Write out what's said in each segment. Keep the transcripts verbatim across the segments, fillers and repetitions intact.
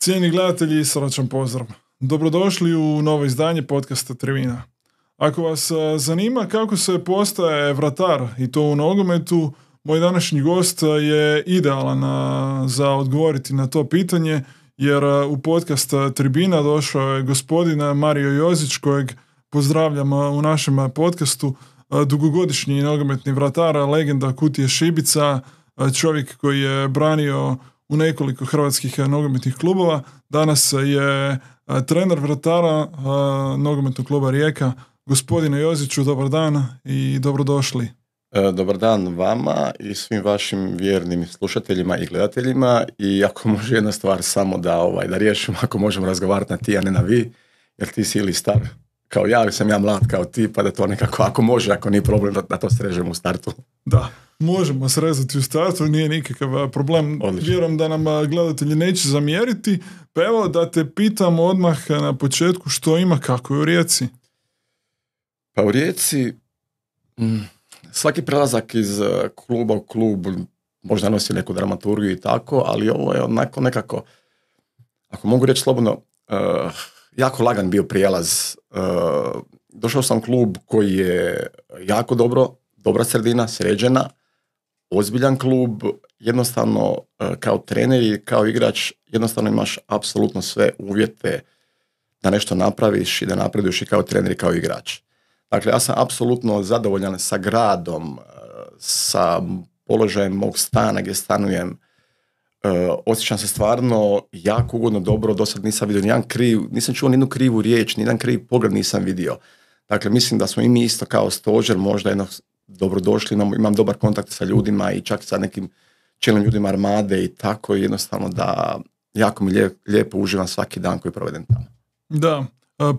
Cijeni gledatelji, srdačan pozdrav. Dobrodošli u novo izdanje podcasta Tribina. Ako vas zanima kako se postaje vratar i to u nogometu, moj današnji gost je idealan za odgovoriti na to pitanje, jer u podcast Tribina došao je gospodin Mario Jozić, kojeg pozdravljam u našem podcastu, dugogodišnji nogometni vratar, legenda Kutije Šibica, čovjek koji je branio u nekoliko hrvatskih nogometnih klubova. Danas je trener vratara nogometnog kluba Rijeka. Gospodine Joziću, dobar dan i dobrodošli. Dobar dan vama i svim vašim vjernim slušateljima i gledateljima. I ako može jedna stvar samo da, ovaj, da riješimo, ako možemo razgovarati na ti, a ne na vi, jer ti si ili star kao ja, ili sam ja mlad kao ti, pa da to nekako, ako može, ako nije problem, da, da to srežemo u startu. Da, možemo srezati u startu, nije nikakav problem. Odlično. Vjerujem da nam gledatelji neće zamjeriti. Pa evo da te pitam odmah na početku što ima, kako je u Rijeci? Pa u Rijeci mm, svaki prelazak iz kluba u klub možda nosi neku dramaturgiju i tako, ali ovo je onako nekako, ako mogu reći slobodno, uh, jako lagan bio prijelaz. Uh, došao sam u klub koji je jako dobro, dobra sredina, sređena, ozbiljan klub, jednostavno uh, kao trener i kao igrač jednostavno imaš apsolutno sve uvjete da nešto napraviš i da napreduješ i kao trener i kao igrač. Dakle, ja sam apsolutno zadovoljan sa gradom, sa položajem mog stana gdje stanujem. Uh, osjećam se stvarno jako ugodno, dobro, do sad nisam vidio nijedan kriv, nisam čuo nijednu krivu riječ, nijedan kriv pogled nisam vidio. Dakle, mislim da smo i mi isto kao stožer možda jedno dobrodošli, imam, imam dobar kontakt sa ljudima i čak sa nekim čelnim ljudima Armade i tako, jednostavno da jako mi lijep, lijepo uživam svaki dan koji provedem tamo. Da,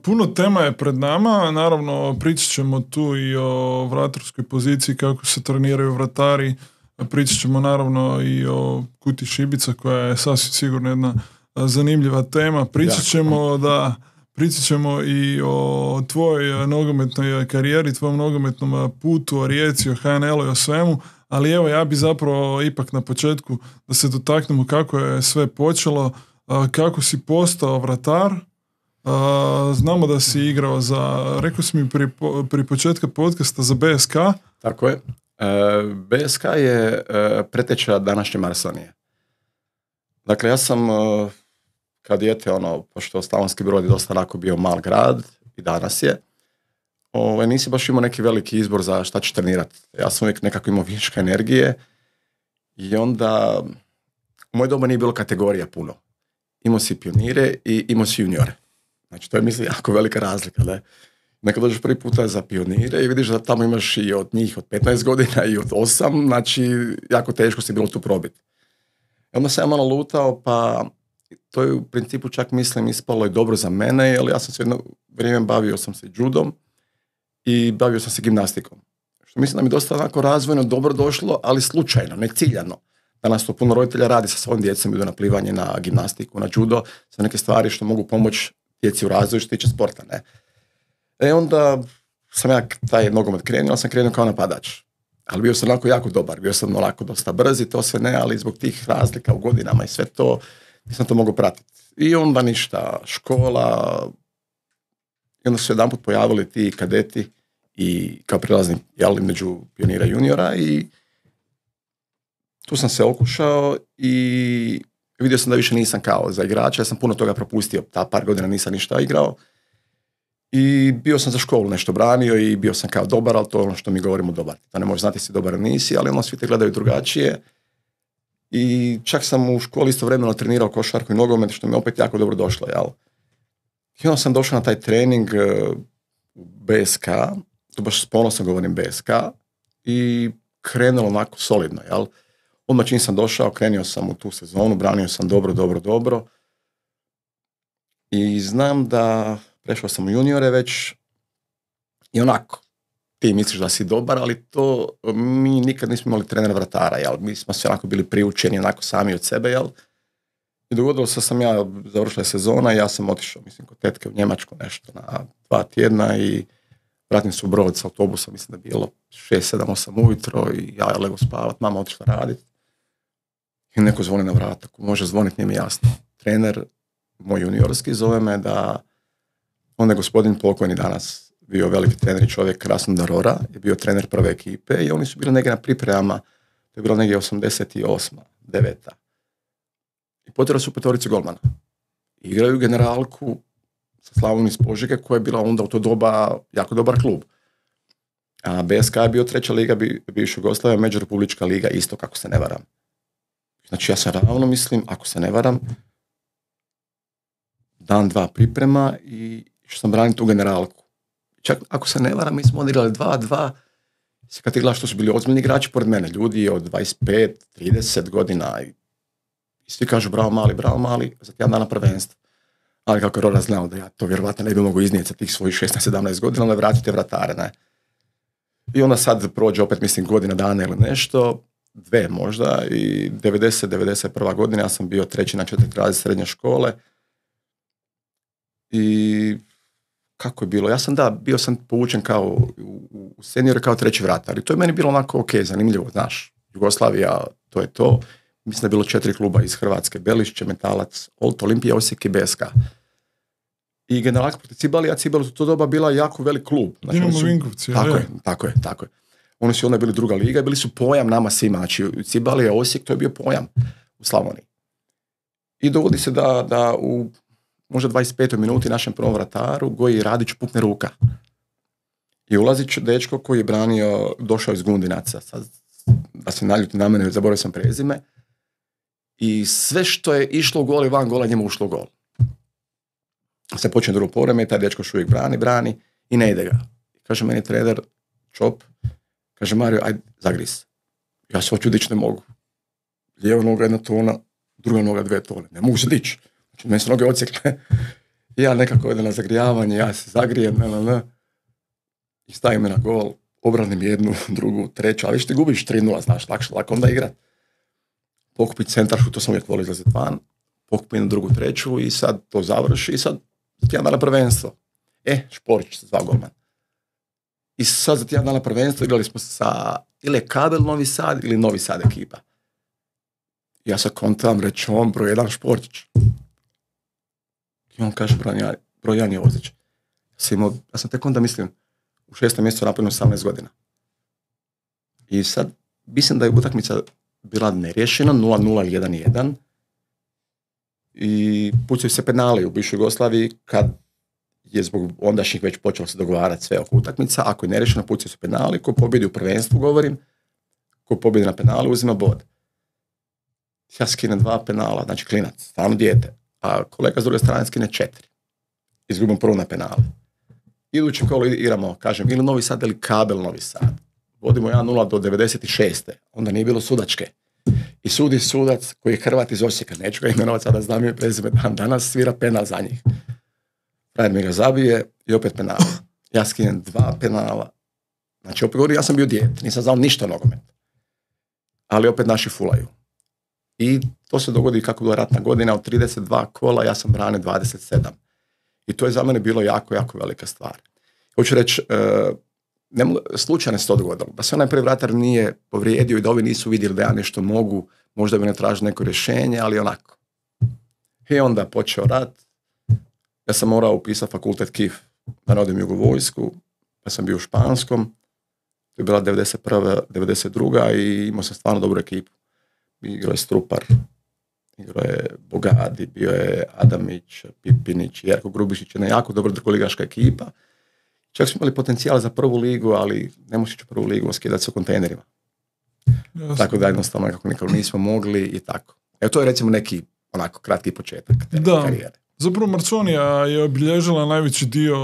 puno tema je pred nama, naravno pričat ćemo tu i o vratarskoj poziciji, kako se treniraju vratari, pričat ćemo naravno i o Kutiji Šibica koja je sasvim sigurno jedna zanimljiva tema, pričat ćemo, da, pričat ćemo i o tvojoj nogometnoj karijeri, tvojom nogometnom putu, o Rijeci, o H N L-u i o svemu, ali evo ja bi zapravo ipak na početku da se dotaknemo kako je sve počelo, kako si postao vratar. Uh, znamo da si igrao za, rekao si mi pri, pri početka podcasta, za B S K. Tako je. E, B S K je e, preteča današnje Marsonije. Dakle, ja sam e, kad dijete, ono, pošto Slavonski Brod je dosta onako bio mal grad i danas je, ovaj, nisi baš imao neki veliki izbor za šta ćeš trenirati. Ja sam uvijek nekako imao viška energije i onda u moje doba nije bilo kategorija puno. Imao si pionire i imao si juniore. Znači, to je, mislim, jako velika razlika, da? Nekad dođeš prvi puta za pionire i vidiš da tamo imaš i od njih od petnaest godina i od osam, znači, jako teško si bilo tu probiti. I onda sam ja malo lutao, pa to je u principu čak, mislim, ispalo i dobro za mene, jer ja sam se jedno vrijeme bavio sam se judom i bavio sam se gimnastikom. Što mislim da mi dosta onako razvojno dobro došlo, ali slučajno, ne ciljano. Danas to puno roditelja radi sa svojim djecom, idu na plivanje, na gimnastiku, na judo, sa neke stvari što mogu pomoći djeci u razvoju što tiče sporta, ne. E onda sam ja taj nogomet krenuo, ali sam krenuo kao napadač. Ali bio sam onako jako dobar, bio sam onako dosta brz i to sve ne, ali zbog tih razlika u godinama i sve to, nisam to mogao pratiti. I onda ništa, škola, i onda su se jedanput pojavili ti kadeti i kao prilazni, jel, među pionira i juniora i tu sam se okušao i vidio sam da više nisam kao za igrača, ja sam puno toga propustio, ta par godina nisam ništa igrao i bio sam za školu nešto branio i bio sam kao dobar, ali to je ono što mi govorimo dobar. To ne možeš znati si dobar ili nisi, ali ono svi te gledaju drugačije i čak sam u školi istovremeno trenirao košarku i nogomet, što mi opet jako dobro došlo, jel? I onda sam došao na taj trening u B S K, tu baš s ponosom govorim B S K i krenulo onako solidno, jel? Odmah čim sam došao, krenio sam u tu sezonu, branio sam dobro, dobro, dobro. I znam da prešao sam u juniore već i onako, ti misliš da si dobar, ali to mi nikad nismo imali trenera vratara, jel? Mi smo se onako bili priučeni onako sami od sebe, jel? I dogodilo se sam ja, završila sezona i ja sam otišao, mislim, kod tetke u Njemačku nešto na dva tjedna i vratim se u Brod s autobusom, mislim da je bilo šest, sedam, osam ujutro i ja lego spavat, mama otišla raditi. I neko zvoni na vrat, ako može zvoniti, nije mi jasno. Trener, moj juniorski, zove me da onda je gospodin pokojni danas bio veliki trener i čovjek Krasnodar Rora, je bio trener prve ekipe i oni su bili negdje na pripremama, to je bilo negdje osamdeset osma, deveta I potjerali su petoricu golmana. Igraju generalku sa Slavom iz Požege koja je bila onda u to doba jako dobar klub. A B S K je bio treća liga bivša Jugoslavija, međurepublička liga, isto kako se ne varam. Znači ja sam ravno mislim, ako se ne varam, dan, dva priprema i što sam branio tu generalku. Čak ako se ne varam, mi smo odigrali dva dva, kad ti gledaš što su bili ozbiljni igrači pored mene, ljudi od dvadeset pet trideset godina i, i svi kažu bravo mali, bravo mali, za tjedan dana prvenstva. Ali kako je Rora znao da ja to vjerovatno ne bi mogu iznijeti sa tih svojih šesnaest sedamnaest godina, onda vratite vratare, ne. I onda sad prođe opet, mislim, godina dana ili nešto, dve možda, i devedeset devedeset prva godina ja sam bio treći na četiri razred srednje škole. I kako je bilo? Ja sam da, bio sam povučen kao u, u seniore kao treći vratar. I to je meni bilo onako ok, zanimljivo, znaš. Jugoslavija, to je to. Mislim da je bilo četiri kluba iz Hrvatske, Belišće, Metalac, Olt, Olimpija, Osijek i B S K. I generalka protiv Cibali, a Cibali u to doba bila jako velik klub. Znači, imamo su, Vinkovci. Tako je, tako je, tako je. Oni su onda bili druga liga i bili su pojam nama svima. Znači, Cibali, Osijek, to je bio pojam u Slavoniji. I dogodi se da, da u možda dvadeset petoj minuti našem prvom vrataru Goji Radić pukne ruka. I ulazi dečko koji je branio, došao iz Gundinaca. Sad, da se naljuti na mene, zaboravio sam prezime. I sve što je išlo u gol i van gola, njemu ušlo u gol. Se počne drugo poreme, taj dečko još uvijek brani, brani i ne ide ga. Kaže meni trener, Čop, kaže Mario, ajde, zagris. Ja se hoću dići, ne mogu. Lijeva noga jedna tona, druga noga dve tone. Ne mogu se dići. Znači, meni su noge odsjekle. I ja nekako idem na zagrijavanje, ja se zagrijem, ne, ne, ne. I stavim me na gol, obranim jednu, drugu, treću, ali više ti gubiš tri nula, znaš, lakše, lako onda igrat. Pokupiti centaršu, to sam uvijek volio izlaziti van. Pokupiti na drugu, treću i sad to završi i sad za tjedan dana prvenstvo. E, Šporić se zvao golman. I sad za tjedan dana prvenstvo igrali smo sa ili Kabel Novi Sad ili Novi Sad ekipa. Ja sad kontam, reći on, broj jedan Šporić. I on kaže, broj jedan je Ozić. Ja sam, imao, ja sam tek onda mislim u šestom mjesecu napunio osamnaest godina. I sad mislim da je utakmica bila neriješena, nula nula ili jedan jedan. I pucaju se penali u bivšoj Jugoslaviji kad je zbog ondašnjih već počelo se dogovarati sve oko utakmica. Ako je neriješeno, pucaju se penali. Ko pobjedi u prvenstvu, govorim, ko pobjedi na penali, uzima bod. Ja skinem dva penala, znači klinac, stvarno dijete. A kolega s druge strane skine četiri. Izgubim prvo na penale. Idući kolo igramo, kažem, ili Novi Sad ili Kabel Novi Sad. Vodimo jedan nula do devedeset šeste. Onda nije bilo sudačke. I sudi sudac koji je Hrvat iz Osijeka, neću ga imenovati sada, znam je prezime, dan danas svira penal za njih. Frajer mi ga zabije i opet penal. Ja skinem dva penala. Znači opet govorim, ja sam bio dijete, nisam znao ništa o nogometu. Ali opet naši fulaju. I to se dogodi kako je bila ratna godina, od trideset dva kola ja sam branio dvadeset sedam. I to je za mene bilo jako, jako velika stvar. Hoću reći, uh, ne mogu, slučajno se to dogodilo. Da se onaj prvi vratar nije povrijedio i da ovi nisu vidjeli da ja nešto mogu, možda bi ne tražio neko rješenje, ali onako. I onda počeo rat. Ja sam morao upisati fakultet K I F da ne odem jugovojsku, pa sam bio u Španskom. To je bila devedeset prva devedeset druga i imao sam stvarno dobru ekipu. Igrao je Strupar, igrao je Bogadi, bio je Adamić, Pipinić, Jerko Grubišić, jedna jako dobra drugoligaška ekipa. Čak smo imali potencijal za prvu ligu, ali ne možeš ići u prvu ligu, skidati se u kontejnerima. Jasno. Tako da jednostavno nekako nikako nismo mogli i tako. Evo to je recimo neki onako kratki početak te da. karijere. Zapravo Marconija je obilježila najveći dio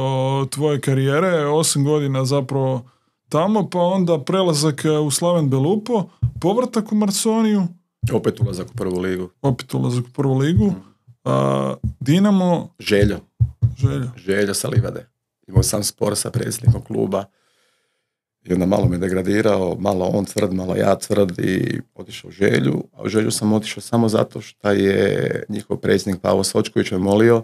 tvoje karijere, osam godina zapravo tamo, pa onda prelazak u Slaven Belupo, povratak u Marconiju. Opet ulazak u prvu ligu. Opet ulazak u prvu ligu. Mm. A, Dinamo. Željo. Željo. Željo sa Livade. Imao sam spor sa predsjednikom kluba i onda malo me degradirao, malo on tvrd, malo ja tvrd i otišao u Želju. A u Želju sam otišao samo zato što je njihov predsjednik Pavo Sočković me molio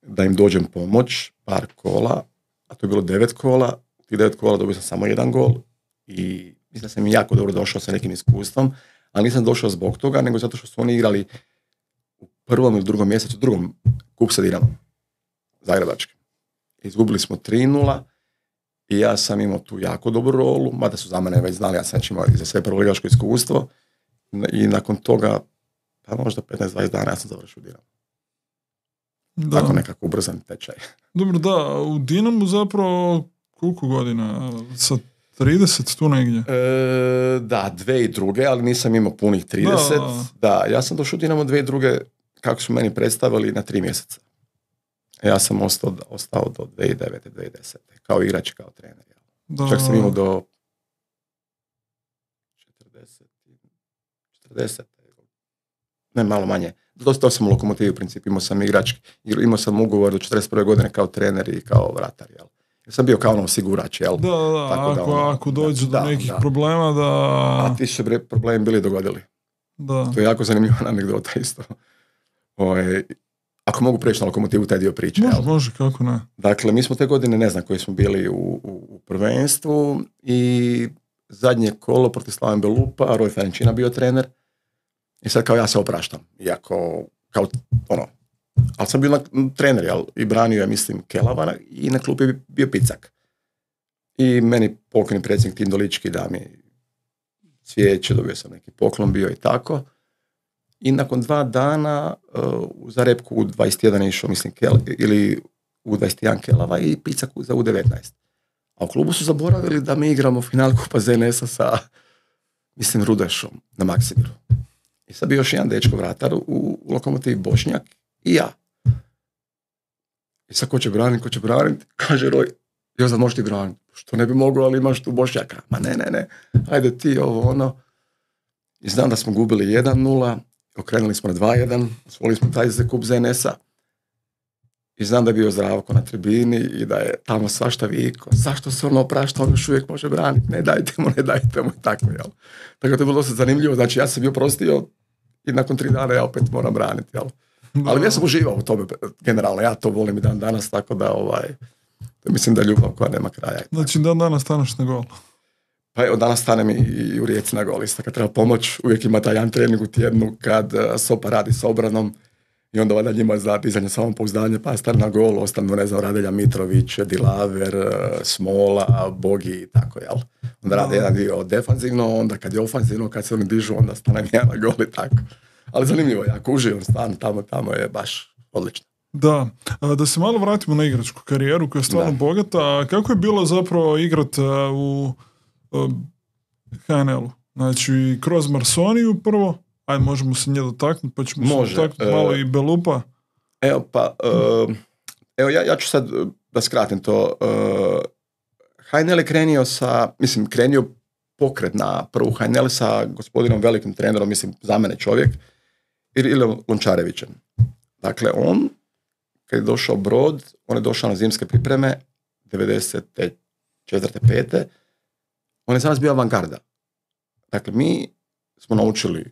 da im dođem pomoć, par kola, a to je bilo devet kola. U tih devet kola dobio sam samo jedan gol i mislim da sam jako dobro došao sa nekim iskustvom, ali nisam došao zbog toga, nego zato što su oni igrali u prvom ili drugom mjesecu, drugom kup sa Dinamom, zagrebačkim. Izgubili smo tri nula i ja sam imao tu jako dobru rolu, mada su za mene već znali, ja sam već imao za sve prvoligaško iskustvo i nakon toga, pa možda petnaest dvadeset dana ja sam završio u Dinamu. Da. Tako nekako ubrzan tečaj. Dobro, da, u Dinamu zapravo koliko godina? Sa trideset tu negdje? E, da, dve i druge, ali nisam imao punih trideset. Da, da ja sam došao u Dinamo dve i druge, kako su meni predstavili, na tri mjeseca. Ja sam ostao, ostao do dvije tisuće devete. dvije tisuće desete. Kao igrač i kao trener. da. Čak sam imao do četrdeset, četrdeset, ne malo manje. Dostao sam u Lokomotivi u principu, imao sam igrač, imao sam ugovor do četrdeset prve godine kao trener i kao vratar, jel? Ja sam bio kao ono osigurač, jel? Da, da, Tako ako, da, ono, ako dođe da, do nekih da. problema da... A ti su bre problemi bili dogodili. Da. To je jako zanimljiva anegdota isto. Oje, ako mogu preći na Lokomotivu taj dio priče. Može, jel? može, kako ne. Dakle, mi smo te godine, ne znam koji smo bili u, u, u prvenstvu i zadnje kolo protiv Slaven Belupa, Roj Ferenčina bio trener i sad kao ja se opraštam. Iako, kao ono, ali sam bio na, trener, jel? I branio je, mislim, Kelavana i na klupi je bio Picak. I meni pokojni predsjednik Tindolički da mi cvijeće, dobio sam neki poklon bio i tako. I nakon dva dana uh, za repku u dvadeset jedan je išao, mislim, Kel, ili u dvadeset jedan Kelava i Picak za u devetnaest. A u klubu su zaboravili da mi igramo final Kupa Z N S-a sa, mislim, Rudešom na Maksimiru. I sad bio još jedan dečko vratar u, u Lokomotivi, Bošnjak i ja. I sad ko će braniti, ko će braniti, kaže Roj, jo, sad možeš ti braniti. Što ne bi mogao, ali imaš tu Bošnjaka. Ma ne, ne, ne, ajde ti ovo, ono. I znam da smo gubili jedan nula, okrenuli smo na dva jedan, osvojili smo taj za kup Z N S-a. I znam da je bio Zdravko na tribini i da je tamo svašta viko. Zašto se ono oprašta, on još uvijek može braniti, ne dajte mu, ne dajte mu i tako, jel. Tako da je bilo dosta zanimljivo, znači ja sam bio prostio i nakon tri dana ja opet moram braniti, jel. Da. Ali ja sam uživao u tome, generalno, ja to volim i dan danas, tako da ovaj, mislim da je ljubav koja nema kraja. Znači dan danas staneš na gol. Pa evo, danas stanem i, i u Rijeci na gol, isto kad treba pomoć, uvijek ima taj jedan trening u tjednu kad uh, Sopa radi s obranom i onda valjda njima za dizanje samopouzdanje, pa stane na gol, ostanu, ne znam, Radelja Mitrović, Dilaver, uh, Smola, Bogi i tako, jel? Onda rade jedan dio defanzivno, onda kad je ofanzivno, kad se oni dižu, onda stane ja na gol i tako. Ali zanimljivo, jako uživam stvarno, tamo, tamo je baš odlično. Da, a, da se malo vratimo na igračku karijeru koja je stvarno Da. bogata. A kako je bilo zapravo igrat a, u a, H N L-u? Znači, kroz Marsoniju prvo, ajde možemo se nje dotaknuti, pa ćemo Može, se dotaknuti e, malo i Belupa. Evo pa, uh, evo ja, ja ću sad uh, da skratim to. Uh, H N L je krenio sa, mislim, krenio pokret na prvu H N L sa gospodinom velikim trenerom, mislim, za mene čovjek, Irilom Lončarevićem. Dakle, on, kad je došao Brod, on je došao na zimske pripreme, devedeset četvrte pete On je za nas bio avangarda. Dakle, mi smo naučili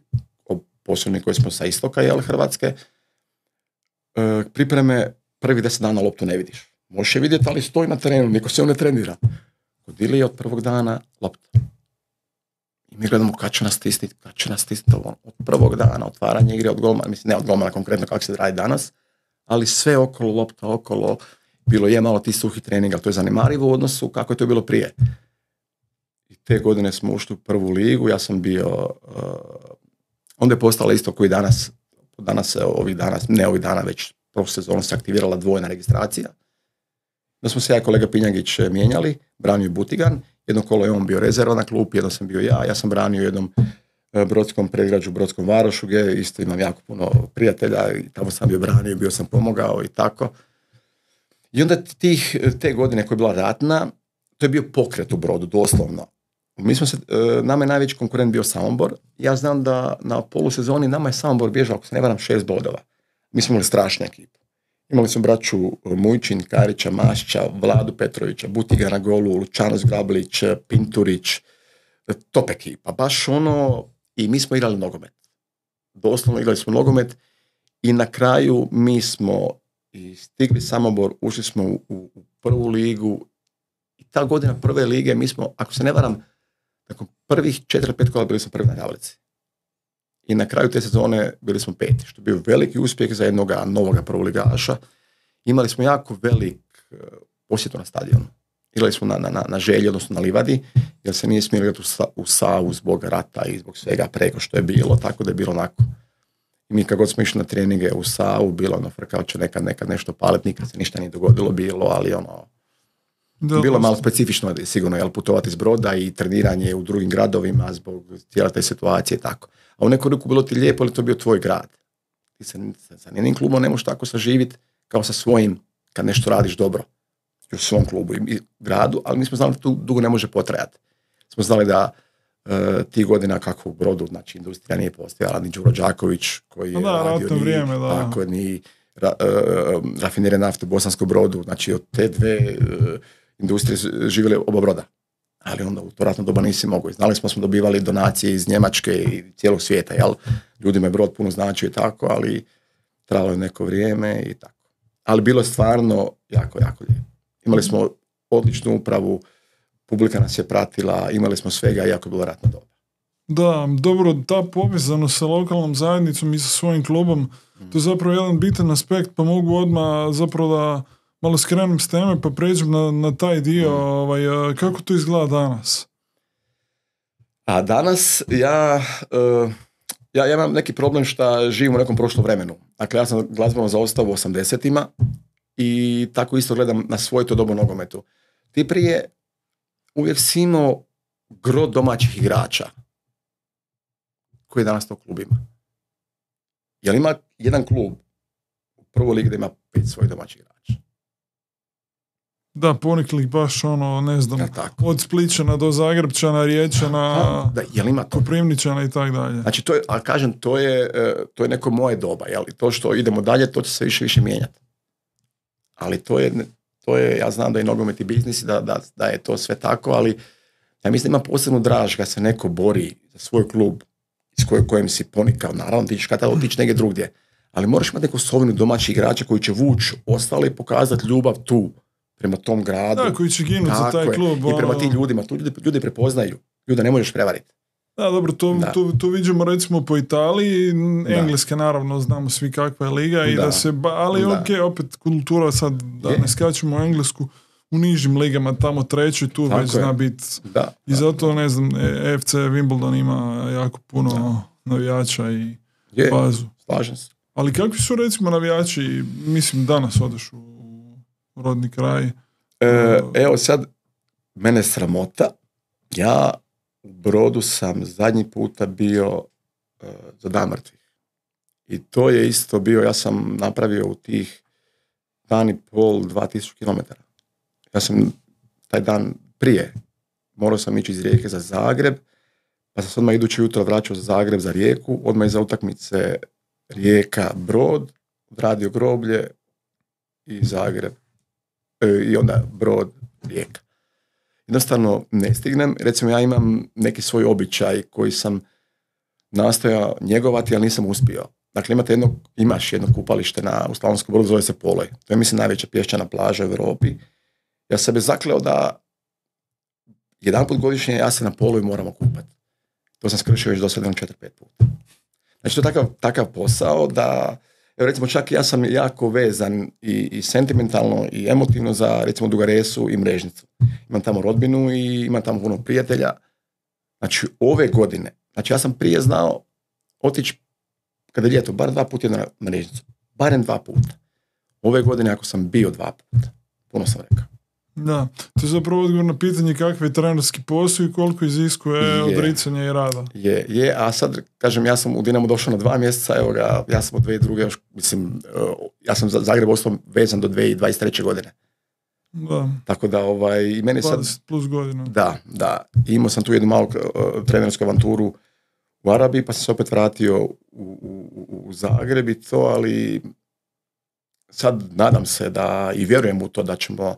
o posebni koji smo sa istoka, jel, Hrvatske, e, pripreme prvi deset dana loptu ne vidiš. Možeš je vidjeti, ali stoji na terenu, niko se on ne trenira. Kod Ilije od prvog dana lopta. I mi gledamo kad će nas stisniti, kad će nas stisniti od prvog dana, otvaranje igre od golmana, mislim ne od golmana konkretno kako se radi danas, ali sve okolo, lopta okolo, bilo je malo ti suhi trening, ali to je zanemarivo u odnosu kako je to bilo prije. I te godine smo ušli u prvu ligu, ja sam bio, uh, onda je postala isto koji danas, danas se ovih dana, ne ovih dana, već prošle sezonu se aktivirala dvojna registracija. Da smo se ja i kolega Pinjagić mijenjali, branio Butigan, jedno kolo je on bio rezerva na klupi, jedno sam bio ja, ja sam branio jednom brodskom predgrađu, Brodskom Varošu, gdje isto imam jako puno prijatelja i tamo sam bio branio, bio sam pomogao i tako. I onda tih, te godine koja je bila ratna, to je bio pokret u Brodu, doslovno. Mi smo se, nama je najveći konkurent bio Samobor. Ja znam da na polusezoni nama je Samobor bježao, ako se ne varam, šest bodova. Mi smo imali strašnu ekipu. Imali smo braću Mujčin, Karića, Mašća, Vladu Petrovića, Butiga na golu, Lučano Zgrabalić, Pinturić, top ekipa. Baš ono, i mi smo igrali nogomet. Doslovno igrali smo nogomet i na kraju mi smo i stigli Samobor, ušli smo u, u, u prvu ligu i ta godina prve lige mi smo, ako se ne varam, nakon prvih četiri pet kola bili smo prvi na tablici. i na kraju te sezone bili smo peti, što je bio veliki uspjeh za jednog novog prvoligaša. Imali smo jako velik uh, posjetu na stadionu. Igrali smo na, na, na Želji, odnosno na Livadi, jer se nije smjeli igrati u, Sa, u Savu zbog rata i zbog svega preko što je bilo, tako da je bilo onako. I mi kad god smo išli na treninge u Savu, bilo ono frkao će nekad, nekad nešto paliti, nikad se ništa nije dogodilo bilo, ali ono, da, bilo malo specifično sigurno, jel, putovati iz Broda i treniranje u drugim gradovima zbog cijela te situacije i tako. A u neku ruku bilo ti lijepo, ali to bio tvoj grad. Ti se sa njenim klubom ne možeš tako saživiti kao sa svojim, kad nešto radiš dobro u svom klubu i gradu, ali mi smo znali da tu dugo ne može potrajati. Smo znali da uh, ti godina kako u Brodu, znači industrija nije postojala, ni Đuro Đaković koji je da, radio, ni, vrijeme, da. tako, ni ra, uh, rafinere nafte u Bosanskom Brodu, znači od te dve uh, industrije živjeli oba Broda. Ali onda u to ratno doba nisi mogao. Znali smo smo dobivali donacije iz Njemačke i cijelog svijeta, jel? Ljudima je Brod puno značio i tako, ali trajalo je neko vrijeme i tako. Ali bilo je stvarno jako, jako lijepo. Imali smo odličnu upravu, publika nas je pratila, imali smo svega, jako je bilo ratno doba. Da, dobro, ta povezanost sa lokalnom zajednicom i sa svojim klubom, mm. to je zapravo jedan bitan aspekt, pa mogu odmah zapravo da malo skrenem s teme, pa pređem na, na taj dio, mm. ovaj, kako to izgleda danas? A danas ja, uh, ja, ja imam neki problem što živim u nekom prošlom vremenu. Dakle, ja sam glazbeno zaostao u osamdesetima, i tako isto gledam na svoj to dobu nogometu. Ti prije uvijek si imao gro domaćih igrača koji danas to klub ima. Jel ima jedan klub u prvoj ligi da ima pet svojih domaćih igrača? Da, ponikli baš ono, ne znam, ja, od Spličana do Zagrebčana, Riječana, da, jel ima to? Koprivničana i tak dalje. Znači, to je, ali kažem, to je, to je neko moje doba, jel? I to što idemo dalje, to će se više više mijenjati. Ali to je, to je, ja znam da je nogomet i biznis, da, da, da je to sve tako, ali ja mislim da ima posebnu draž kad se neko bori za svoj klub iz koje, kojem si ponikao. Naravno, ti ćeš kada otići negdje drugdje, ali moraš imati neku osobinu domaćih igrača koji će vući ostale i pokazati ljubav tu, prema tom gradu. Da, koji će ginuti za taj klub. I prema tim ljudima, tu ljudi, ljudi prepoznaju. Ljude ne možeš prevariti. Da, dobro, to, da. to, to vidimo recimo po Italiji, Engleske naravno, znamo svi kakva je liga, i da. Da se, ali da. Ok, opet kultura sad, da je. Ne skačemo u Englesku, u nižim ligama, tamo treći, tu tako već je. Zna biti. I zato, ne znam, F C Wimbledon ima jako puno da. Navijača i je. Bazu. Slažem se. Ali kakvi su recimo navijači, mislim danas odeš u rodni kraj? E, evo sad, mene sramota, ja u Brodu sam zadnji puta bio uh, za Dan mrtvih. I to je isto bio, ja sam napravio u tih dan i pol, dva tisuća kilometara. Ja sam taj dan prije, morao sam ići iz Rijeke za Zagreb, pa sam se odmah iduće jutro vraćao za Zagreb za Rijeku, odmah iza utakmice Rijeka Brod, odradio groblje i Zagreb, e, i onda Brod Rijeka. Jednostavno ne stignem. Recimo ja imam neki svoj običaj koji sam nastojao njegovati, ali nisam uspio. Dakle, imate jedno, imaš jedno kupalište na, u Slavonskom Brodu, zove se Poloj. To je, mislim, najveća pješčana plaža u Europi. Ja sam sebe zakleo da jedanput godišnje ja se na Poloju moram okupati. To sam skršio već do sada četiri pet puta. Znači, to je takav, takav posao da, evo, recimo, čak ja sam jako vezan i, i sentimentalno i emotivno za, recimo, Dugaresu i Mrežnicu. Imam tamo rodbinu i imam tamo puno prijatelja. Znači, ove godine, znači ja sam prije znao otići kada je ljeto, bar dva puta na Mrežnicu. Barem dva puta. Ove godine, ako sam bio dva puta, puno sam rekao. Da, to je zapravo odgovor na pitanje kakve je trenerski posao i koliko iziskuje je, odricanja i rada. Je, je, a sad, kažem, ja sam u Dinamo došao na dva mjeseca, evo ga, ja sam od dvije druge, još, mislim, ja sam za Zagreb ostao vezan do dvije tisuće dvadeset treće godine. Da. Tako da, ovaj, i meni sad... dvadeset plus godina. Da, da. I imao sam tu jednu malu uh, trenersku avanturu u Arabiji, pa sam se opet vratio u, u, u Zagreb i to, ali sad nadam se da, i vjerujem u to da ćemo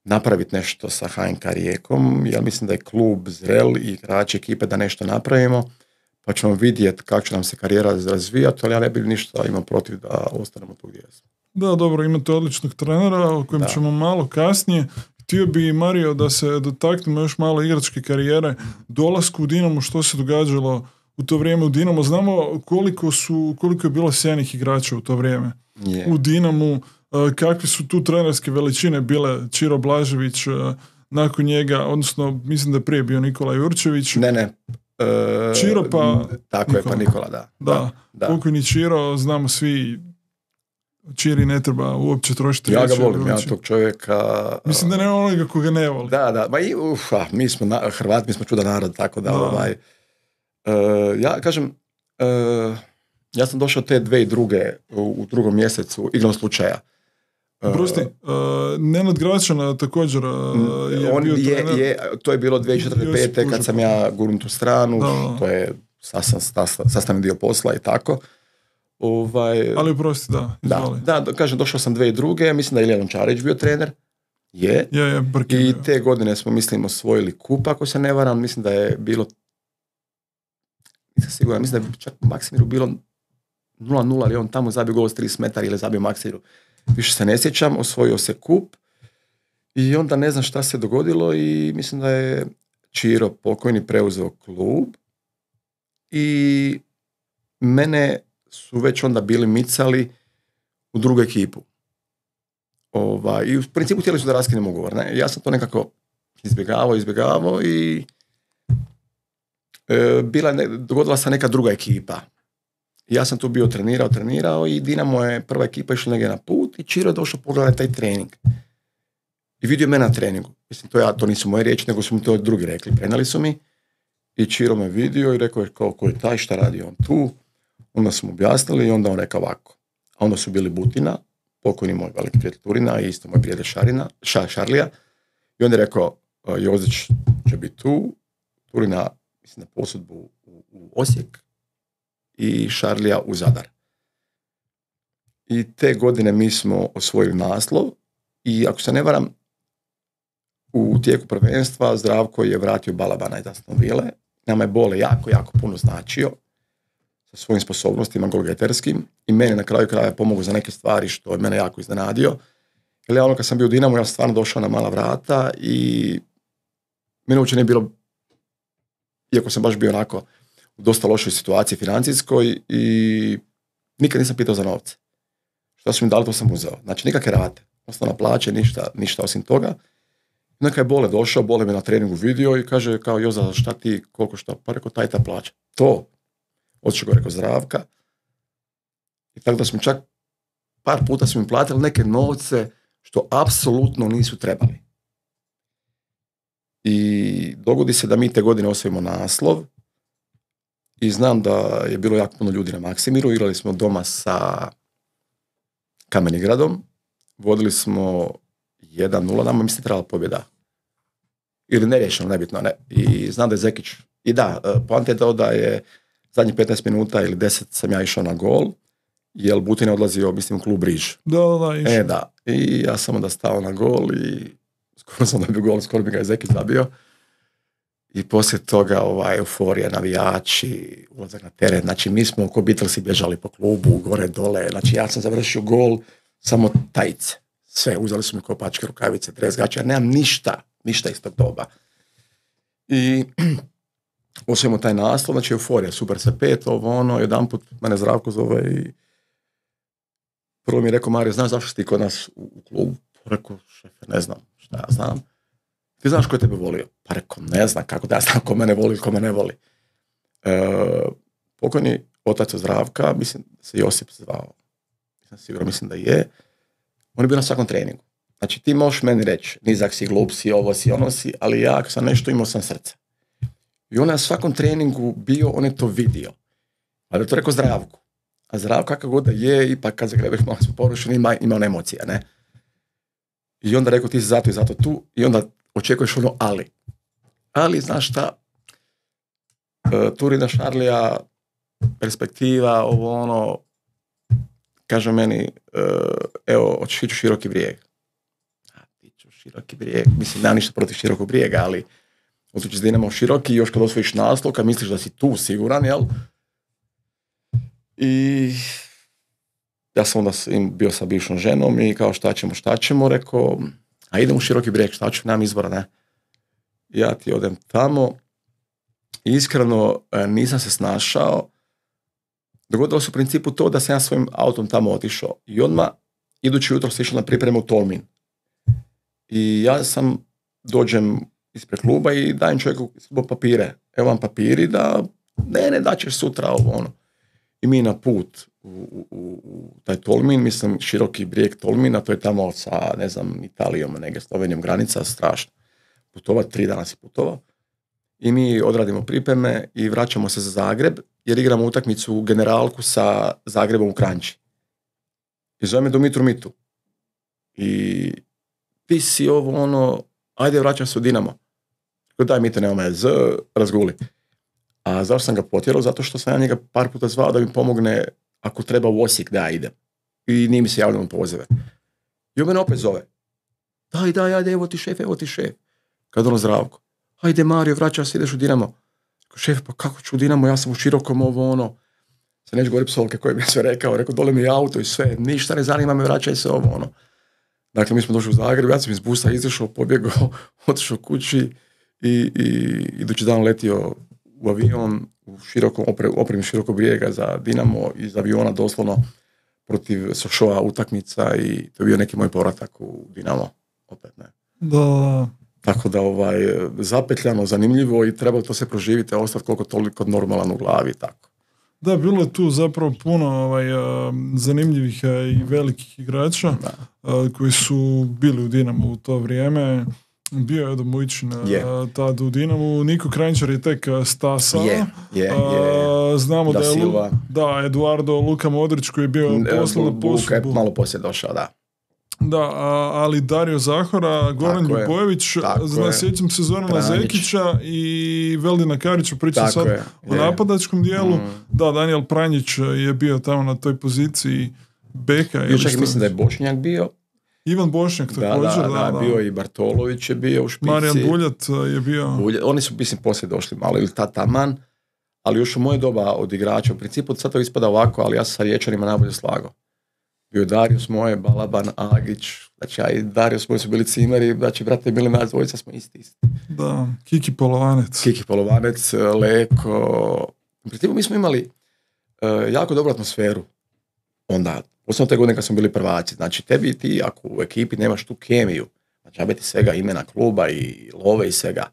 napraviti nešto sa H N K Rijekom, jer mislim da je klub zrel i igrači ekipe da nešto napravimo, pa ćemo vidjeti kako će nam se karijera razvijati, ali ja ne bih ništa imao protiv da ostanemo tu gdje smo. Da, dobro, imate odličnog trenera o kojem da. Ćemo malo kasnije. Htio bi, Mario, da se dotaknemo još malo igračke karijere, dolasku u Dinamo, što se događalo u u to vrijeme u Dinamo. Znamo koliko su, koliko je bilo sjajnih igrača u to vrijeme. Yeah. U Dinamu, uh, kakve su tu trenerske veličine bile. Čiro Blažević, uh, nakon njega, odnosno mislim da je prije bio Nikola Jurčević. Ne, ne. Uh, Čiro pa tako Nikola. je, pa Nikola, da. Da, da. pokojni Čiro, znamo svi, Čiri ne treba uopće trošiti. Ja ga volim, ja tog čovjeka... Mislim da nema onoga koga ne voli. Da, da, ma i, uf, a, mi smo na, Hrvati, mi smo čudan narod, tako da, da. ovaj... Uh, ja kažem, uh, ja sam došao te dve i druge u, u drugom mjesecu, igrom slučaja. Uh, Prosti, uh, Nenad Gračana također uh, je on bio je, trener. je, to je bilo dvije tisuće četvrte pete kad sam ja gurnut u stranu, da. To je sastavni dio posla i tako. Ovaj, Ali prosti, da. Da, da, kažem, došao sam dve i druge, mislim da je Ilija Lončarić bio trener. Je. Je, je, Brkin, I je. te godine smo, mislim, osvojili kup, ako se ne varam, mislim da je bilo, nisam siguran, mislim da je čak Maksimiru bilo nula nula, ali on tamo zabio gol s trideset metara ili zabio Maksimiru. Više se ne sjećam, osvojio se kup i onda ne znam šta se dogodilo i mislim da je Čiro pokojni preuzeo klub i mene su već onda bili micali u drugu ekipu. Ova, i u principu htjeli su da raskinem ugovor. Ne? Ja sam to nekako izbjegavao, izbjegavao i e, bila ne, dogodila se neka druga ekipa. Ja sam tu bio trenirao, trenirao i Dinamo je prva ekipa išla negdje na put i Čiro je došao pogledati taj trening. I vidio mene na treningu. Mislim, to, ja, to nisu moje riječi, nego su mi to drugi rekli. Prenali su mi i Čiro me vidio i rekao je kao, ko je taj, šta radi on tu. Onda smo objasnili i onda on rekao ovako. A onda su bili Butina, pokojni moj veliki prijatelj Turina i isto moj prijatelj Šarina, Ša, Šarlija. I on je rekao, Jozić će biti tu, Turina, mislim, na posudbu u, u Osijek i Šarlija u Zadar. I te godine mi smo osvojili naslov i ako se ne varam, u tijeku prvenstva Zdravko je vratio Balabana iz Aston Ville. Nama je Bole jako, jako puno značio sa svojim sposobnostima golgeterskim i meni na kraju kraja pomogao za neke stvari što je mene jako iznenadio. Jer ja ono kad sam bio u Dinamu, ja sam stvarno došao na mala vrata i meni uopće nije bilo, iako sam baš bio onako u dosta lošoj situaciji financijskoj i nikad nisam pitao za novce. Što su mi dali, to sam uzeo. Znači nikakve rate, osnovna plaća, ništa, ništa osim toga. Neka je Bole došao, Bole me na treningu vidio i kaže kao Joza, šta ti, koliko šta, pa rekao taj ta plaća. To. Otišao go, rekao Zdravka. I tako da smo čak par puta smo im platili neke novce što apsolutno nisu trebali. I dogodi se da mi te godine osvojimo naslov i znam da je bilo jako puno ljudi na Maksimiru. Igrali smo doma sa Kamenigradom. Vodili smo jedan nula, nama mislim trebala pobjeda. Ili neriješeno, nebitno, ne. I znam da je Zekić, i da, poanta je to da je zadnjih petnaest minuta ili deset sam ja išao na gol, jer Butin je odlazio, mislim, u klub Riž. Da, da, išao. E, da. I ja sam onda stao na gol i skoro sam dobio gol, skoro bi ga je Zekić zabio. I poslije toga ovaj, euforija, navijači, ulazak na teren. Znači, mi smo oko Beatlesi bježali po klubu, gore, dole. Znači, ja sam završio gol, samo tajice. Sve, uzeli su mi kopačke, rukavice, dres, gaće. Ja nemam ništa, ništa iz tog doba. I osvojimo taj naslov, znači euforija, super se pet, ovo ono, jedan put mene Zdravko zove i prvo mi je rekao, Mario, znaš zašto si ti kod nas u, u klubu? Rekao, šefe, ne znam, šta ja znam. Ti znaš ko je tebe volio? Pa rekao, ne znam, kako da ja znam ko mene voli ili ko me ne voli. E, pokojni otac Zdravka, mislim da se Josip zvao, nisam siguran, mislim da je, on je bio na svakom treningu. Znači ti možeš meni reći, nizak si, glup si, ovo si, ono si, ali ja ako sam nešto imao sam srce. I on je na svakom treningu bio, on je to vidio. Ali je to rekao Zdravku. A Zdravko kakav god da je, ipak kad zagrebaš malo smo porušeni, ima, ima on emocija, ne? I onda rekao, ti si zato i zato tu, i onda očekuješ ono ali. Ali, znaš šta, e, Turina, Šarlija, perspektiva, ovo ono, kaže meni, e, evo, hoćeš ići u Široki Brijeg. A, ti ću u Široki Brijeg, mislim, nema ništa protiv Širokog Brijega, ali otići s Dinamo u Široki, još kad osvojiš naslov, kad misliš da si tu siguran, jel? I ja sam onda bio sa bivšom ženom i kao šta ćemo, šta ćemo, rekao, a idem u Široki Brijeg, šta ću, nemam izbora, ne. Ja ti odem tamo iskreno nisam se snašao. Dogodilo se u principu to da sam ja svojim autom tamo otišao i odmah idući jutro sam išao na pripremu u Tolmin. I ja sam dođem ispred kluba i dajem čovjeku papire. Evo vam papiri da ne, ne, da ćeš sutra ovo ono. I mi na put u, u, u taj Tolmin, mislim široki brijeg Tolmina, to je tamo sa, ne znam, Italijom, negdje Slovenijom granica, strašno. Putova, tri dana si putovao. I mi odradimo pripreme i vraćamo se za Zagreb, jer igramo utakmicu generalku sa Zagrebom u Kranjči. I zove me Dumitru Mitu. I ti si ovo ono, ajde vraćam se u Dinamo. Daj Mite, nema me, z, razguli. A zašto sam ga potjerao? Zato što sam ja njega par puta zvao da mi pomogne ako treba u Osijek da ja idem. I nije mi se javljeno pozive. I on mene opet zove. Daj, daj, ajde, evo ti šef, evo ti šef. Kad ono Zdravko. Ajde Mario, vraćaj se, ideš u Dinamo. Šef, pa kako ću u Dinamo, ja sam u Širokom ovo ono. Se neću govoriti psovke koje mi je sve rekao. Rekao, dole mi je auto i sve. Ništa ne zanima me, vraćaj se ovo ono. Dakle, mi smo došli u Zagreb, ja sam iz busa izašao, pobjegao, otišao kući i, i idući dan letio u avion, u širokom, opremi širokog brijega za Dinamo, iz aviona doslovno protiv Sošova utakmica i to je bio neki moj povratak u Dinamo. Opet ne. Da. Tako da ovaj, zapetljano, zanimljivo i treba to se proživiti, ostati koliko toliko normalan u glavi. Tako. Da, bilo je tu zapravo puno ovaj, zanimljivih i velikih igrača a, koji su bili u Dinamu u to vrijeme. Bio je Edo Mujičin yeah. tad u Dinamu. Niko Kranjčar je tek stasao. Yeah, yeah, yeah. Znamo da, da je Lu, da, Eduardo Luka Modrić koji je bio poslan na posudbu. Malo poslije došao, da. Da, a, ali Dario Zahora, Goran Ljubojević, zna, sjećam se Zorana Zekića i Veldina Karića, pričam sad je, o je. napadačkom dijelu. Mm. Da, Daniel Pranjić je bio tamo na toj poziciji beka. Bio čak mislim da je Bošnjak bio. Ivan Bošnjak također. Da, da, da, da, bio i Bartolović je bio u špici. Marijan Buljat je bio. Buljat, oni su, mislim, poslije došli malo ili ta taman, ali još u moje doba od igrača. U principu sad to ispada ovako, ali ja sam sa Riječanima najbolje slagao. Bio Darius moje, Balaban, Agić, znači ja i Darius moji su bili cimeri, znači brate bili nas dvojica, smo isti isti. Da, Kiki Polovanec. Kiki Polovanec, Leko. U principu mi smo imali uh, jako dobru atmosferu onda. Posledno te godine kad smo bili prvaci. Znači tebi ti ako u ekipi nemaš tu kemiju, znači ja ti svega imena kluba i love i svega.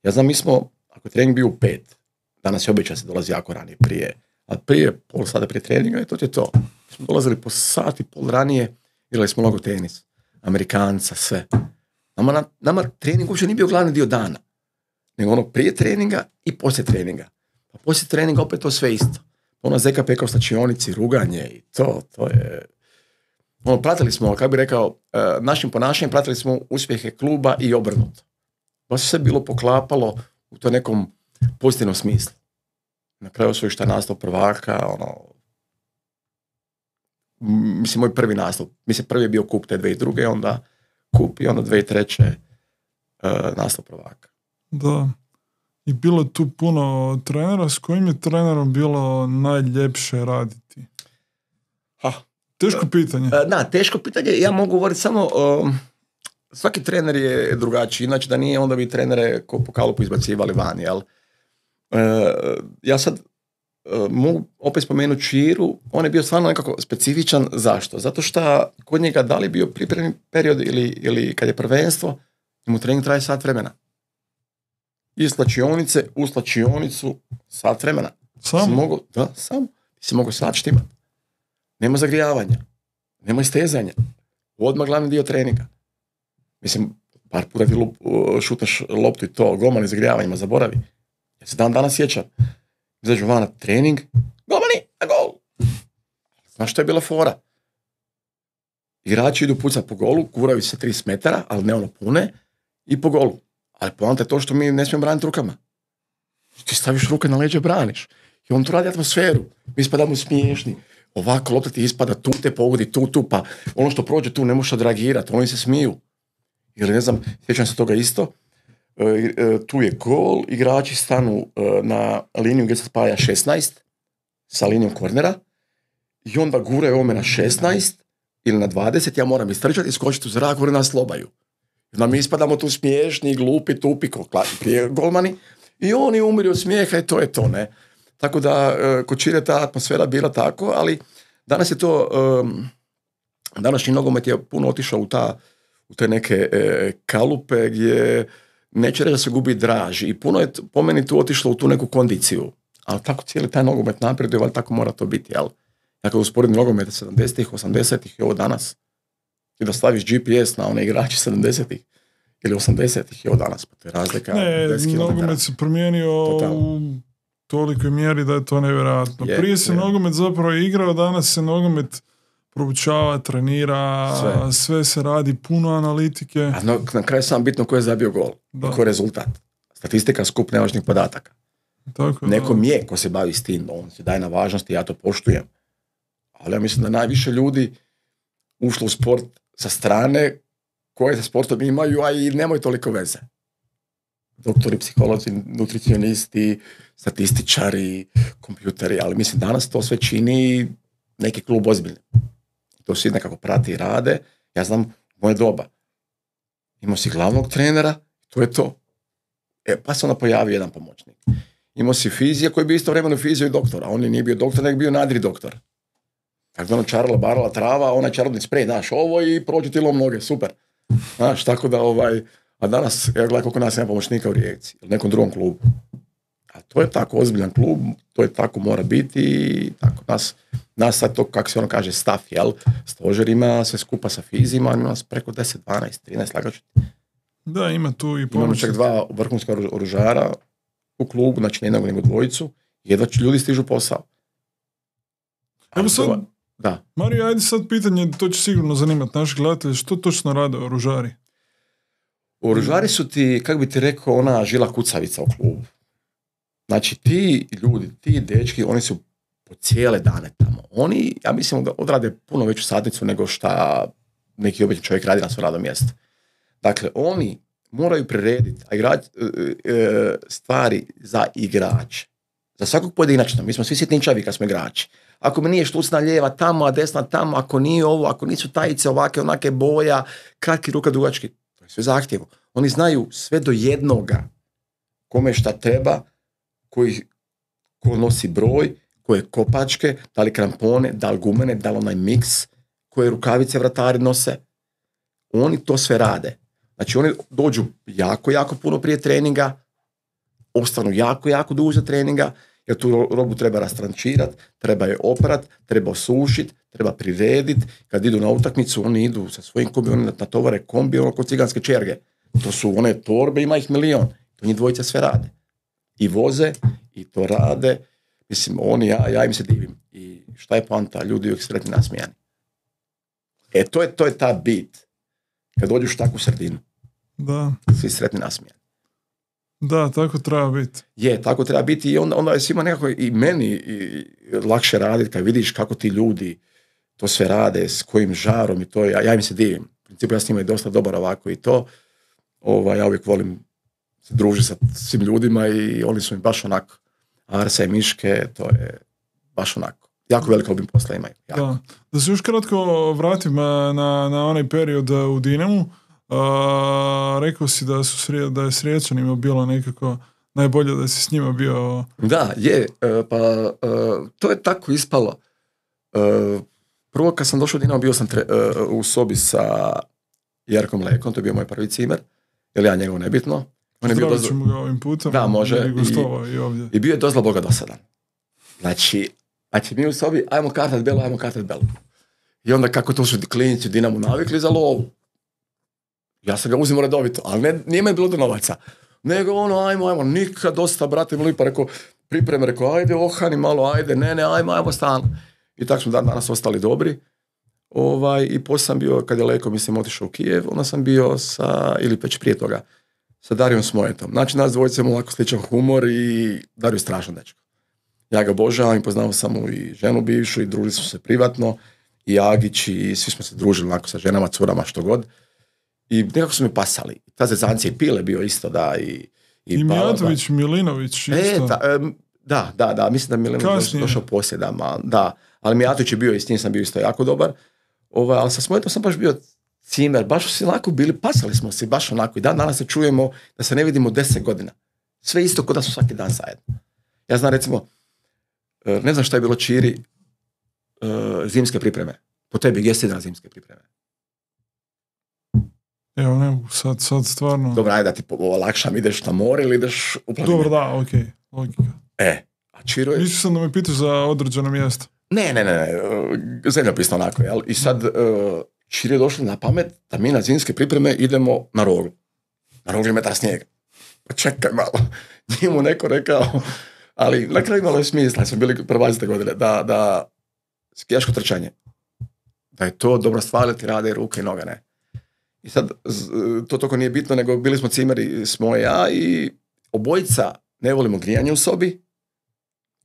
Ja znam, mi smo, ako je trening bio u pet, danas je običaj se dolazi jako ranije prije, a prije pol sata prije treninga i to je to. Mi smo dolazili po sat i pol ranije, igrali smo mnogo tenis, Amerikanca, sve. Nama, na, nama trening uopće nije bio glavni dio dana, nego ono prije treninga i poslije treninga. Pa poslije treninga opet to sve isto. Ono zeka pekao stačionici, ruganje i to, to je... Ono, pratili smo, kako bi rekao, našim ponašanjem pratili smo uspjehe kluba i obrnuto. Baš se sve bilo poklapalo u to nekom pozitivnom smislu. Na kraju su šta nastav prvaka, ono... Mislim, moj prvi nastav. Mislim, prvi je bio kup te dvije i druge, onda kup i onda dvije i treće uh, nastav prvaka. Da. I bilo je tu puno trenera. S kojim je trenerom bilo najljepše raditi? Ha. Teško pitanje. Da, teško pitanje. Ja mogu govoriti samo... Um, svaki trener je drugačiji. Inače da nije, onda bi trenere ko po kalupu izbacivali van. Jel? Uh, ja sad uh, mogu opet spomenuti Čiru. On je bio stvarno nekako specifičan. Zašto? Zato što kod njega da li bio pripremni period ili, ili kad je prvenstvo, mu trening traje sat vremena. Iz slačionice u slačionicu sat vremena. Sam? Mogu, da, sam. Ti si mogu sat štimati. Nema zagrijavanja. Nema istezanja. Odmah glavni dio treninga. Mislim, par puta ti lup, šutaš loptu i to, golmani zagrijavanjima, zaboravi. Ja se dan danas sjećam. Izađu van na trening, golmani, na gol. Znaš što je bila fora? Igrači idu pucati po golu, kuraju se trideset metara, ali ne ono pune, i po golu. Ali poanta je to što mi ne smijemo braniti rukama. Ti staviš ruke na leđe, braniš. I on tu radi atmosferu. Mi ispadamo smiješni. Ovako lopta ti ispada, tu te pogodi, tu, tu, pa ono što prođe tu ne možeš odreagirati. Oni se smiju. Ili ne znam, sjećam se toga isto. E, e, tu je gol, igrači stanu e, na liniju gdje se spaja šesnaest sa linijom kornera i onda guraju ome na šesnaest ili na dvadeset, ja moram istrčati i skočiti u zrak, gore nas slobaju. Da mi ispadamo tu smiješni, glupi, tupi, prije golmani I oni umiru od smijeha i to je to, ne. Tako da, kod Čire ta atmosfera bila tako, ali danas je to, um, današnji nogomet je puno otišao u, ta, u te neke e, kalupe gdje neće reći da se gubi draž i puno je po meni tu otišlo u tu neku kondiciju, ali tako cijeli taj nogomet napreduje, ali tako mora to biti, jel? Ja kad usporedim nogomet sedamdesetih, osamdesetih i ovo danas, i da staviš G P S na one igrače sedamdesetih ili osamdesetih i ovo danas, pa to je razlika. Ne, nogomet se promijenio Totalno. u tolikoj mjeri da je to nevjerojatno. Je, Prije se je. nogomet zapravo igrao, danas se nogomet proučava, trenira, sve. sve se radi, puno analitike. A no, na kraju sam bitno ko je zabio gol, ko je rezultat. Statistika skup nevažnih podataka. Tako, Nekom da. je ko se bavi s tim, on se daje na važnosti, ja to poštujem. Ali ja mislim da najviše ljudi ušlo u sport sa strane koje sa sportom imaju, a i nemaju toliko veze. Doktori, psiholozi, nutricionisti, statističari, kompjuteri, ali mislim danas to sve čini neki klub ozbiljno. To svi nekako prati i rade. Ja znam, moje doba. Imao si glavnog trenera, to je to. E, pa se onda pojavio jedan pomoćnik. Imao si fizija koji je bio istovremeno fizio i doktor, a on nije bio doktor, nego bio nadri doktor. Tako da ono čarala, barala trava, onaj čarobni sprej, znaš, ovo i prođu ti lom noge, super. Znaš, tako da ovaj, a danas, ja gledam koliko nas ima pomoćnika u Rijeci, ili nekom drugom klubu. A to je tako ozbiljan klub, to je tako mora biti i tako nas, nas sad to, kako se ono kaže, staff, jel, stožer ima sve skupa sa fizima, ima nas preko deset, dvanaest, trinaest lagača. Da, ima tu i pomoć. Imamo čak dva vrhunska oružara u klubu, znači ne jednog nego dvojicu, jedva ljudi stižu posao. Evo sad, to, da. Mario, ajde sad pitanje, to će sigurno zanimati naši gledatelji, što točno rade oružari? Oružari su ti, kako bi ti rekao, ona žila kucavica u klubu. Znači ti ljudi, ti dečki, oni su po cijele dane tamo. Oni, ja mislim da odrade puno veću satnicu nego šta neki običan čovjek radi na svom radnom mjestu. Dakle, oni moraju prirediti igrač, stvari za igrače. Za svakog pojedinačno. Mi smo svi sitničavi kad smo igrači. Ako mi nije štucna lijeva tamo, a desna tamo, ako nije ovo, ako nisu tajice ovake, onake boja, kratki ruka, dugački, to je sve zahtjevo. Oni znaju sve do jednoga kome šta treba, koji ko nosi broj, koje kopačke, da li krampone, da li gumene, da li onaj miks, koje rukavice vratari nose. Oni to sve rade. Znači oni dođu jako, jako puno prije treninga, ostanu jako, jako duže treninga, jer tu robu treba rastrančirati, treba je oprat, treba osušiti, treba prirediti. Kad idu na utakmicu, oni idu sa svojim kombi, oni natovare kombi, ono kod ciganske čerge. To su one torbe, ima ih milion. To njih dvojica sve rade. I voze, i to rade. Mislim, oni, ja, ja im se divim. I šta je poanta? Ljudi uvijek sretni nasmijani. E, to je, to je ta bit. Kad dođuš u takvu sredinu. Da. Svi sretni nasmijani. Da, tako treba biti. Je, tako treba biti i onda, onda je svima nekako i meni i lakše raditi kad vidiš kako ti ljudi to sve rade, s kojim žarom i to, ja, ja im se divim. U principu ja s njima je dosta dobar ovako i to. Ovaj, ja uvijek volim se družiti sa svim ljudima i oni su mi baš onako Arsa i Miške, to je baš onako. Jako veliko obim posla imaju. Da. Da se još kratko vratim na, na onaj period u Dinamu. Uh, rekao si da, su srije, da je s Riječanima bilo nekako najbolje da si s njima bio... Da, je. Uh, pa uh, to je tako ispalo. Uh, prvo kad sam došao u Dinamo bio sam tre, uh, u sobi sa Jerkom Lekom, to je bio moj prvi cimer, jer ja njegov nebitno. Zdravit ćemo ga ovim putem. Da, može. I, i, ovdje. I bio je dozla Boga dosadan. Znači, znači mi u sobi, ajmo kartat belu, ajmo kartat belu. I onda kako to su klinici u Dinamu navikli za lovu. Ja sam ga uzimao redovito, ali ne, nije me bilo do novaca. Nego ono, ajmo, ajmo, nikad dosta, brate, mi lipa, rekao, pripreme, rekao, ajde, ohani malo, ajde, ne, ne, ajmo, ajmo, stalno. I tako smo dan danas ostali dobri. Ovaj, I poslije sam bio, kad je Leko, mislim, otišao u Kijev, onda sam bio sa, ili već prije toga, sa Darijom Smojetom. Znači, nas dvojice imamo lako sličan humor i Dario je strašan dečko. Ja ga obožavam i poznao sam mu i ženu bivšu i družili smo se privatno i Agić i svi smo se družili onako sa ženama, curama, što god. I nekako su mi pasali. Ta zezancija i Pile bio isto, da. I, i, I Mijatović, Milinović isto. E, ta, um, da, da, da. Mislim da Milinović došao, došao poslije, da, ma, da. Ali Mijatović je bio i s njim sam bio isto jako dobar. Ovaj, ali sa Smojetom sam baš bio cimer. Baš su si onako bili, pasali smo se baš onako. I dan danas se čujemo da se ne vidimo deset godina. Sve isto kod da su svaki dan zajedno. Ja znam recimo, ne znam šta je bilo Čiri, zimske pripreme. Po tebi, gdje si na zimske pripreme? Evo ne, sad, sad stvarno... Dobro, ajde da ti olakšam, ideš na more ili ideš u planine? Dobro, da, okej, okay. Logika. E, a Čiro je... Mislio sam da me pitaš za određeno mjesto. Ne, ne, ne, ne, zemljopisno onako, jel? I sad Čiri je došlo na pamet da mi na zimske pripreme idemo na Roglu. Na Rogli metar snijega. Pa čekaj malo, njemu neko rekao, ali na kraju imalo je smisla, smo bili prvazite godine, da, da skijaško trčanje, da je to dobra stvar, ti rade ruke i noga, ne. I sad, to toliko nije bitno, nego bili smo cimeri, smo ja i obojica ne volimo grijanje u sobi,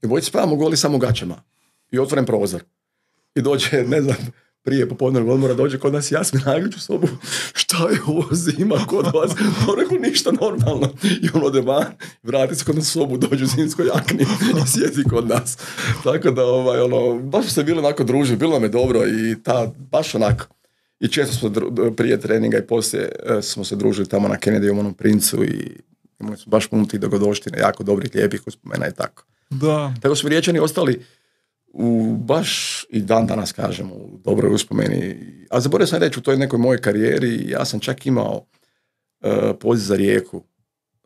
i obojica spavamo goli samo u gaćama i otvoren prozor. I dođe, ne znam, prije popodnevnog odmora dođe kod nas Jasmin Agić u sobu, šta je ovo zima kod vas? No, rekao, ništa normalno. I on ode van, vrati se kod nas u sobu, dođe u zimskoj jakni i sjedi kod nas. Tako da, ovaj, ono, baš se bili onako družili, bilo nam je dobro i ta, baš onako. I često smo dru, prije treninga i poslije smo se družili tamo na Kennedy u onom Princu i imali smo baš puno tih dogodoštine, jako dobrih, lijepih uspomena i tako. Da. Tako su Riječani ostali u baš i dan danas kažem u dobroj uspomeni. A zaboravio sam reći u toj nekoj mojoj karijeri, ja sam čak imao uh, poziv za Rijeku.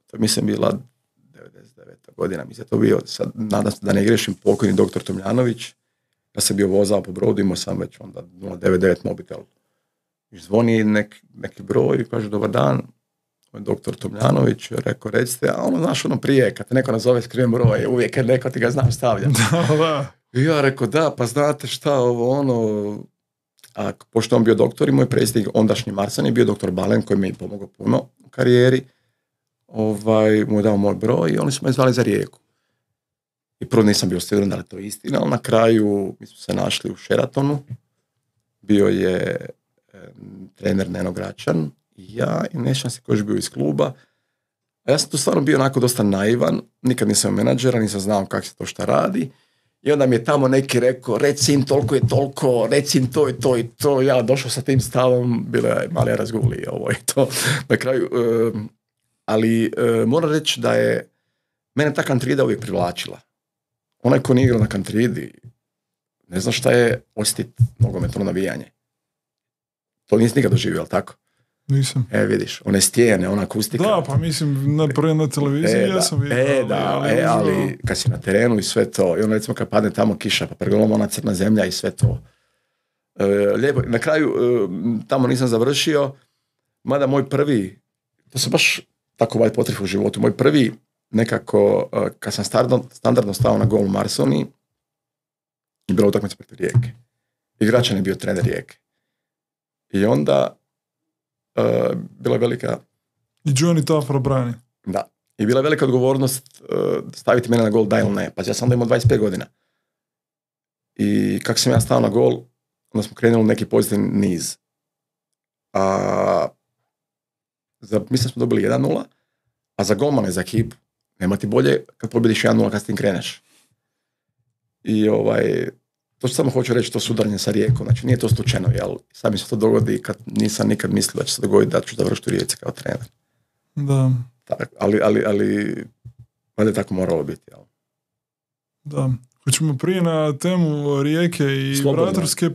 To mislim bila devedeset deveta godina, mislim to bio, sad nadam se da ne grešim, pokojni doktor Tomljanović. Ja sam bio vozao po brodu, imao sam već onda nula devet devet mobitel. I zvoni nek, neki broj i kaže dobar dan, doktor Tomljanović, rekao recite, a ono znaš ono prije, kad te neko nazove skriven broj, uvijek je neko ti ga znam stavlja. Da, da. I ja rekao, da, pa znate šta, ovo ono, a pošto on bio doktor i moj predsjednik, ondašnji Marsan je bio doktor Balen, koji mi je pomogao puno u karijeri, ovaj, mu je dao moj broj i oni su me zvali za Rijeku. I prvo nisam bio siguran da li to istina, ali na kraju mi smo se našli u Sheratonu, bio je e, trener Neno Gračan, i ja i nešam se koji je bio iz kluba. A ja sam tu stvarno bio onako dosta naivan, nikad nisam menadžera, nisam znao kako se to šta radi. I onda mi je tamo neki rekao, reci im toliko je toliko, reci im to i to i to. Ja došao sa tim stavom, bilo je mali razguli ovo i to. Na kraju, uh, ali uh, moram reći da je mene ta kantrida uvijek privlačila. Onaj ko nije igrao na kantridi, ne zna šta je osjetiti nogometno navijanje. To nisi nikad doživio, ali tako? Nisam. E, vidiš, one stijene, ona akustika. Da, pa mislim, na, prije na televiziji e, ja sam vidio. E, da, ali, e, ali kad si na terenu i sve to, i ono recimo kad padne tamo kiša, pa pregledam ona crna zemlja i sve to. E, lijepo, na kraju, e, tamo nisam završio, mada moj prvi, to se baš tako valj potref u životu, moj prvi nekako, e, kad sam standardno, standardno stao na gol u Marsoni, je bila utakmica protiv Rijeke. Igračan je bio trener Rijeke. I onda Uh, bila velika... I Johnny Tafra brani. Da. I bila velika odgovornost uh, staviti mene na gol, da ili ne. Pa ja sam onda imao dvadeset pet godina. I kako sam ja stao na gol, onda smo krenuli neki pozitivni niz. A, za, mislim smo dobili jedan nula, a za golmane, za ekipu, nema ti bolje kad pobjediš jedan nula kad s tim kreneš. I ovaj... To što samo hoću reći, to sudaranje sa Rijekom, znači nije to slučajno, jel? Sad mi se to dogodi kad nisam nikad mislio da će se dogoditi da ću završiti u Rijeci kao trener. Da. Tak, ali, ali, ali, valjda je tako moralo biti, jel? Da. Hoćemo prije na temu Rijeke i slobodno. vratarske,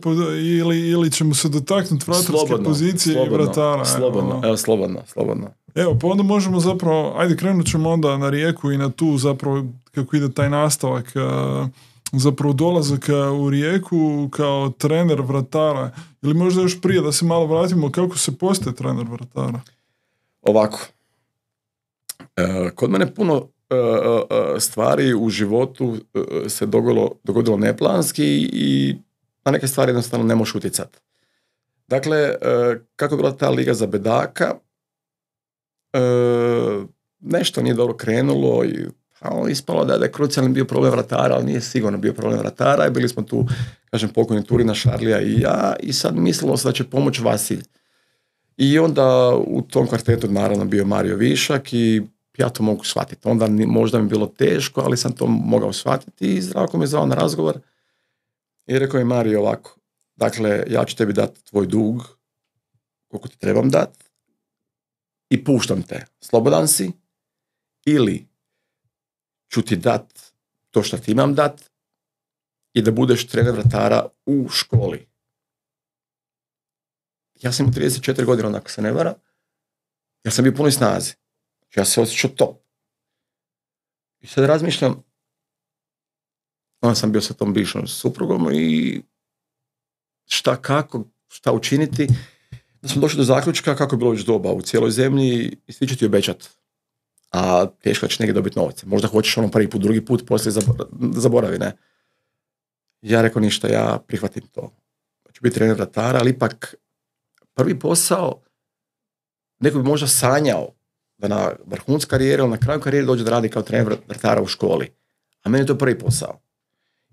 ili, ili ćemo se dotaknuti vratarske slobodno, pozicije slobodno, i vratara. Slobodno, evo. evo, slobodno, slobodno. Evo, pa onda možemo zapravo, ajde krenut ćemo onda na Rijeku i na tu zapravo kako ide taj nastavak, uh, zapravo dolazak u Rijeku kao trener vratara, ili možda još prije da se malo vratimo kako se postaje trener vratara. Ovako, e, kod mene puno e, e, stvari u životu e, se dogodilo, dogodilo neplanski i na neke stvari jednostavno ne možeš utjecati. Dakle, e, kako je bila ta liga za bedaka, e, nešto nije dobro krenulo i a ispalo da je krucijalni bio problem vratara, ali nije sigurno bio problem vratara i bili smo tu, kažem, pokojni Turina, Šarlija i ja i sad mislilo se da će pomoći Vasilj. I onda u tom kvartetu naravno bio Mario Višak i ja to mogu shvatiti. Onda možda mi bilo teško, ali sam to mogao shvatiti i Zdravko me zvao na razgovor i rekao je Mario ovako, dakle, ja ću tebi dati tvoj dug, koliko ti trebam dati i puštam te. Slobodan si ili ću ti dat to što ti imam dat i da budeš trener vratara u školi. Ja sam imao trideset četiri godine, onako se ne vara. Ja sam bio punoj snazi. Ja se osjećao top. I sad razmišljam, onda sam bio sa tom bivšom suprugom i šta, kako, šta učiniti. Da smo došli do zaključka kako je bilo već doba u cijeloj zemlji i svi će ti obećati. A teško da će negdje dobiti novce. Možda hoćeš ono prvi put, drugi put, poslije zaboravi, ne. Ja rekao ništa, ja prihvatim to. Ću biti trener vratara, ali ipak prvi posao, neko bi možda sanjao da na vrhuncu karijere ili na kraju karijere dođe da radi kao trener vratara u školi. A meni je to prvi posao.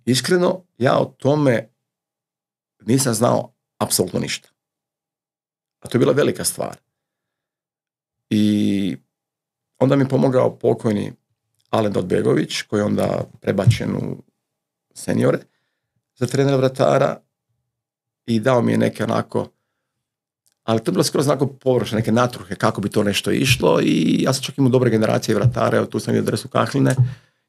Iskreno, ja o tome nisam znao apsolutno ništa. A to je bila velika stvar. I onda mi je pomogao pokojni Alen Dodbegović, koji je onda prebačen u seniore za trenera vratara i dao mi je neke onako, ali to je bilo skroz onako površne, neke natruhe kako bi to nešto išlo i ja sam čak imao dobre generacije vratara, evo tu sam vidio adresu Kahline,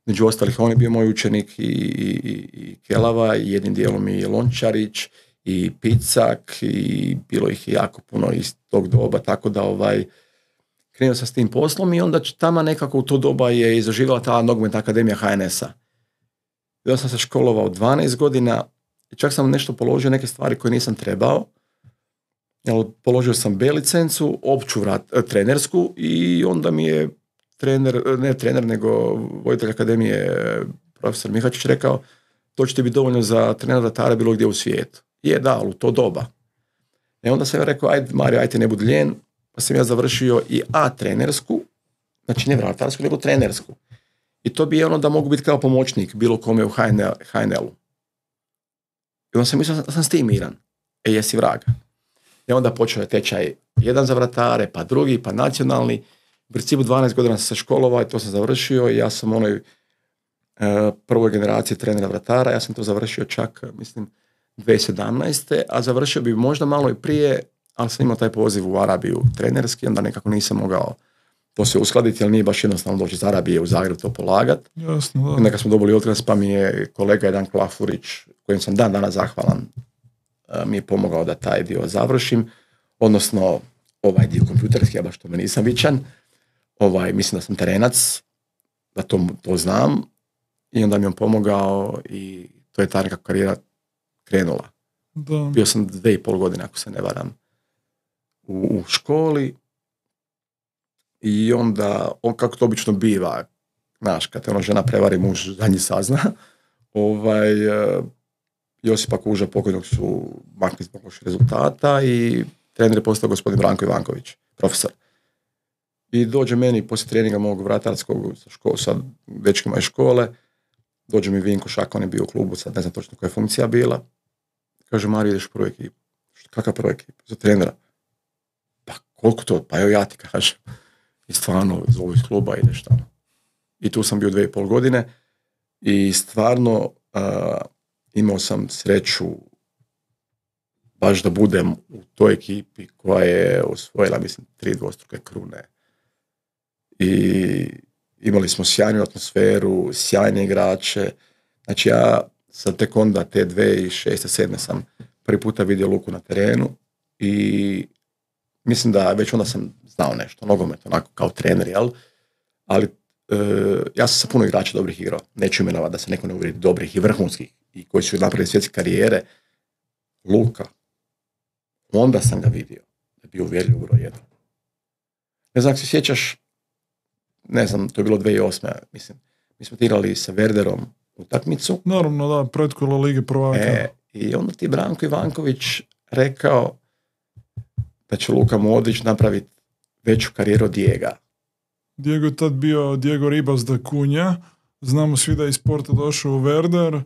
među ostalih on je bio moj učenik i, i, i Kelava i jednim dijelom i Lončarić i Picak i bilo ih jako puno iz tog doba, tako da ovaj krenuo sam s tim poslom i onda tamo nekako u to doba je izaživala ta nogometna akademija H N S-a. Ja sam se školovao dvanaest godina i čak sam nešto položio neke stvari koje nisam trebao. Jel, položio sam B licencu, opću vrat, trenersku i onda mi je trener, ne trener, nego voditelj akademije profesor Mihačić rekao to će ti biti dovoljno za trenera vratara bilo gdje u svijetu. Je, da, ali u to doba. I onda sam ja rekao, ajde Mario, ajde ne budi lijen, pa sam ja završio i A trenersku, znači ne vratarsku, nego trenersku. I to bi je ono da mogu biti kao pomoćnik bilo kome u H N L-u. I onda sam mislio da sam s tim miran. E, jesi vraga. I onda počeo je tečaj jedan za vratare, pa drugi, pa nacionalni. U principu dvanaest godina sam se školovao i to sam završio i ja sam u onoj uh, prvoj generaciji trenera vratara, ja sam to završio čak, mislim, dvije tisuće sedamnaeste. a završio bi možda malo i prije, ali sam imao taj poziv u Arabiju trenerski, onda nekako nisam mogao to se uskladiti, jer nije baš jednostavno doći iz Arabije u Zagreb to polagat. Jasno, da. Onda kad smo dobili otkaz, pa mi je kolega jedan Klafurić, kojem sam dan danas zahvalan, mi je pomogao da taj dio završim, odnosno ovaj dio kompjuterski, ja baš tome nisam vičan, ovaj, mislim da sam terenac, da to, to znam, i onda mi je on pomogao i to je ta neka karijera krenula. Da. Bio sam dve i pol godine, ako se ne varam, u, u školi i onda, on, kako to obično biva, znaš, kad te ono žena prevari, muž zadnji sazna, ovaj, Josipa Kuža pokojnog su makli zbog loših rezultata i trener je postao gospodin Branko Ivanković, profesor. I dođe meni poslije treninga mog vratarskog sa, ško, sa dečkima iz škole, dođe mi Vinko Šak, on je bio u klubu, sad ne znam točno koja je funkcija bila. Kaže, Mario, ideš u prvu ekipu. Kakav prvu ekipu? Za trenera. Pa koliko to? Pa evo ja ti kažem. I stvarno, zovu iz kluba, ideš tamo. I tu sam bio dvije i pol godine i stvarno uh, imao sam sreću baš da budem u toj ekipi koja je osvojila, mislim, tri dvostruke krune. I imali smo sjajnu atmosferu, sjajne igrače. Znači ja sam tek onda te dvije tisuće šeste sedme sam prvi puta vidio Luku na terenu i mislim da već onda sam znao nešto, nogomet, onako kao trener, jel? Ali e, ja sam sa puno igrača dobrih igrao. Neću imenovati da se neko ne uvrijedi, dobrih i vrhunskih i koji su napravili svjetske karijere. Luka, onda sam ga vidio da je bio uvjerljiv broj jedan. Ne znam, ako se sjećaš, ne znam, to je bilo dvije tisuće osme. mislim. Mi smo igrali sa Werderom utakmicu. Naravno, da, pretkola Lige prvaka. E, i onda ti Branko Ivanković rekao da će Luka Modrić napraviti veću karijeru od Dijega. Diego je tad bio Diego Ribas da Kunja. Znamo svi da je iz Sporta došao u Werder.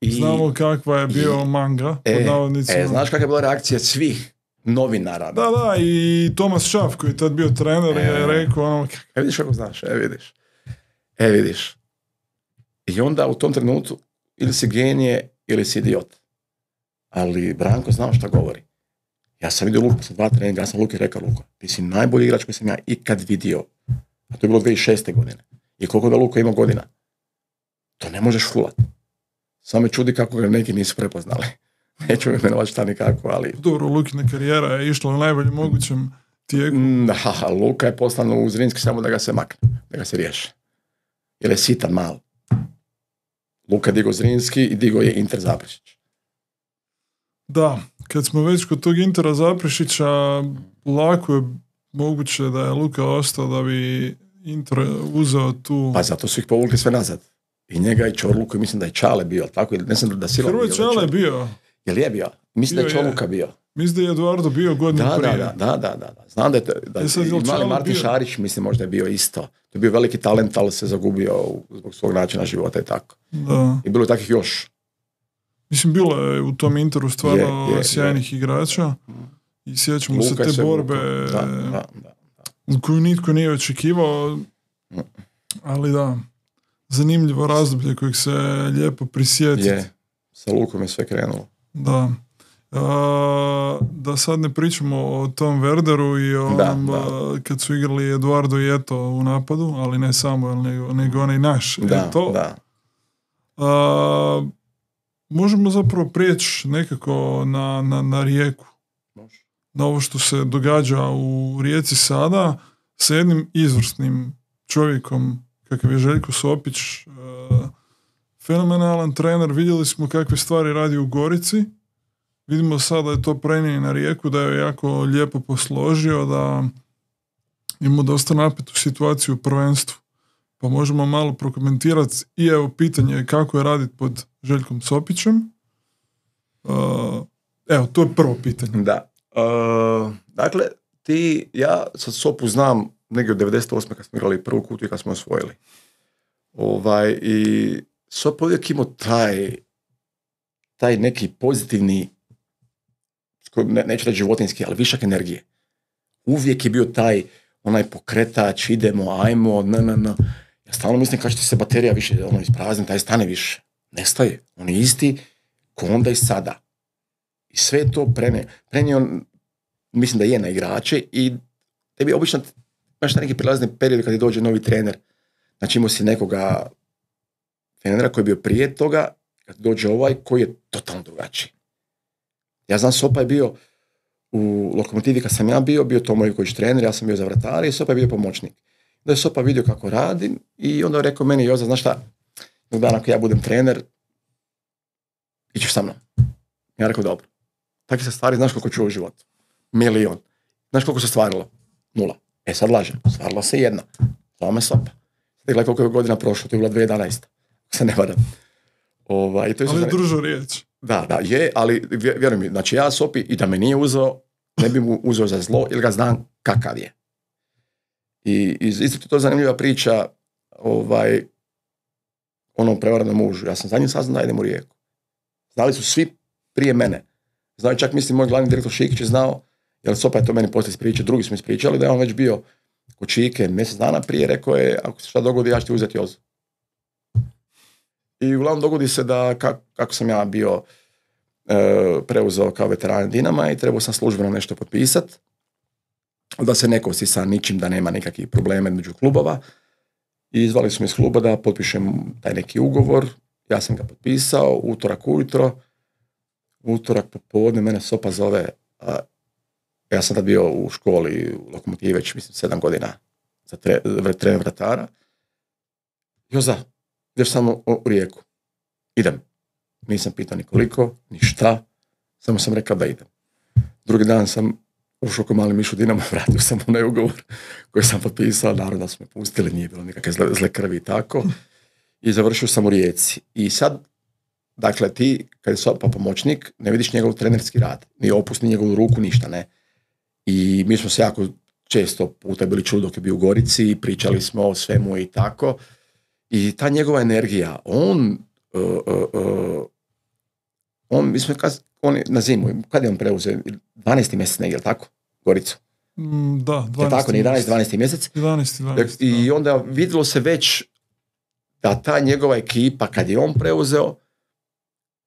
I, znamo kakva je bio i, manga. E, e, znaš kakva je bila reakcija svih novinara? Da, da, i Tomas Šaf koji je tad bio trener e, je rekao ono... E, vidiš kako znaš, e, vidiš. E, vidiš. I onda u tom trenutku ili si genije ili si idiot. Ali Branko znao šta govori. Ja sam vidio Luku sa dva treninga, ja sam Luki rekao, Luka, ti si najbolji igrač koji sam ja ikad vidio. A to je bilo dvije tisuće šeste godine. I koliko da Luka ima godina? to ne možeš fulat. Samo me čudi kako ga neki nisu prepoznali. Neću imenovati šta nikako, ali... Dobro, Lukina karijera je išla u najboljem mogućem tijeku. Da, Luka je poslan u Zrinski samo da ga se makne, da ga se riješi. Jer je sitan mal. Luka je digo Zrinski i digo je Inter Zaprešić. Da, kad smo već kod tog Intera Zaprešića, lako je moguće da je Luka ostao da bi Inter uzeo tu... Pa zato su ih povukli sve nazad. I njega i Čorluku, i mislim da je Čale bio, tako? Ne znam da Sila Hrvoj bio. Čale je bio. Jel je bio? Mislim Bio da je Čorluka bio. Mislim da je Eduardo bio godinu Da, prije. da, da, da, da. Znam da je, da E sad, i jel mali Čale Martin bio? Šarić, mislim, možda je bio isto. To je bio veliki talent, ali se zagubio zbog svog načina života i tako. Da. I bilo je takvih još. Mislim, bilo je u tom Interu stvarno Je, je, sjajnih je. igrača. I sjećamo Luka se je te se borbe vukao. Da, da, da. koju nitko nije očekivao. Ali da, zanimljivo razdoblje kojeg se lijepo prisjetiti. Je, sa Lukom je sve krenulo. Da. A, da sad ne pričamo o tom Werderu i o Da, onom, da. a, kad su igrali Eduardo i Eto u napadu, ali ne samo, nego, nego onaj naš Da, Eto. da. A, možemo zapravo prijeći nekako na, na, na Rijeku. Može. Na ovo što se događa u Rijeci sada sa jednim izvrsnim čovjekom kakav je Željko Sopić, e, fenomenalan trener. Vidjeli smo kakve stvari radi u Gorici. Vidimo sada da je to prenio na Rijeku, da je jako lijepo posložio, da ima dosta napetu situaciju u prvenstvu. Pa možemo malo prokomentirati i evo pitanje je kako je raditi pod Željkom Sopićem. E, evo, to je prvo pitanje. Da. Uh, dakle, ti, ja sa Sopu znam negdje od devedeset osme kad smo igrali prvu kutu i kad smo osvojili. Ovaj, i Sopa uvijek imao taj, taj neki pozitivni, ne, neću reći životinski, ali višak energije. Uvijek je bio taj onaj pokretač, idemo, ajmo, na, na, na. Ja stalno mislim kad će se baterija više ono, isprazni, taj stane više. Nestaje. On je isti ko onda i sada. I sve to prene, prenio, mislim da je na igrače i tebi obično imaš neki prilazni period kad ti dođe novi trener. Znači imao si nekoga trenera koji je bio prije toga, kad dođe ovaj koji je totalno drugačiji. Ja znam, Sopa je bio u Lokomotivi kad sam ja bio, bio to moj kojić trener, ja sam bio za vratare i Sopa je bio pomoćnik. Da je Sopa vidio kako radim i onda je rekao meni, Joza, znaš šta, jednog dana ako ja budem trener, ićeš sa mnom. Ja rekao, dobro. Takve se stvari, znaš koliko čuo u životu? Milion. Znaš koliko se stvarilo? Nula. E sad lažem, stvarilo se jedna. Zvala me Sopa. Sad gledaj koliko je godina prošlo, to je bila dvije tisuće jedanaesta. Se ne varam. Ovaj, to je Ali sad... držao riječ. Da, da, je, ali vjeruj mi, znači ja Sopi i da me nije uzeo, ne bi mu uzeo za zlo, jer ga znam kakav je. I isto to je zanimljiva priča ovaj, onom prevarenom mužu. Ja sam za njim saznao da idem u Rijeku. Znali su svi prije mene. Znao čak, mislim, moj glavni direktor Šikić je znao, jer Sopa je to meni poslije ispričao, drugi smo ispričali, da je on već bio kod Šike mjesec dana prije, rekao je, ako se šta dogodi, ja ću ti uzeti Jozu. I uglavnom dogodi se da, kako, kako sam ja bio e, preuzeo kao veteran Dinama i trebao sam službeno nešto potpisati, da se ne kosi sa ničim, da nema nikakvih problema među klubova. I zvali su me iz kluba da potpišem taj neki ugovor. Ja sam ga potpisao, utorak ujutro, utorak popodne, mene Sopa zove, a, ja sam tad bio u školi u Lokomotivi već, mislim, sedam godina za tre, trener vratara. Joza, ideš samo u Rijeku. Idem. Nisam pitao ni koliko, ni šta, samo sam rekao da idem. Drugi dan sam ušao ko mali miš u Dinamo, vratio sam onaj ugovor koji sam potpisao, naravno da su me pustili, nije bilo nikakve zle, zle krvi i tako. I završio sam u Rijeci. I sad, dakle, ti, kad je Sopa pomoćnik, ne vidiš njegov trenerski rad, ni opust, ni njegovu ruku, ništa, ne. I mi smo se jako često puta bili čuli dok je bio u Gorici, pričali smo o svemu i tako. I ta njegova energija, on, uh, uh, uh, on, mi smo kad, on na zimu, kad je on preuzeo? dvanaesti mjesec negdje, je tako? Goricu. Mm, da, dvanaesti. Je tako, ne jedanaesti dvanaesti mjesec? jedanaesti dvanaesti. I onda vidjelo se već da ta njegova ekipa, kad je on preuzeo,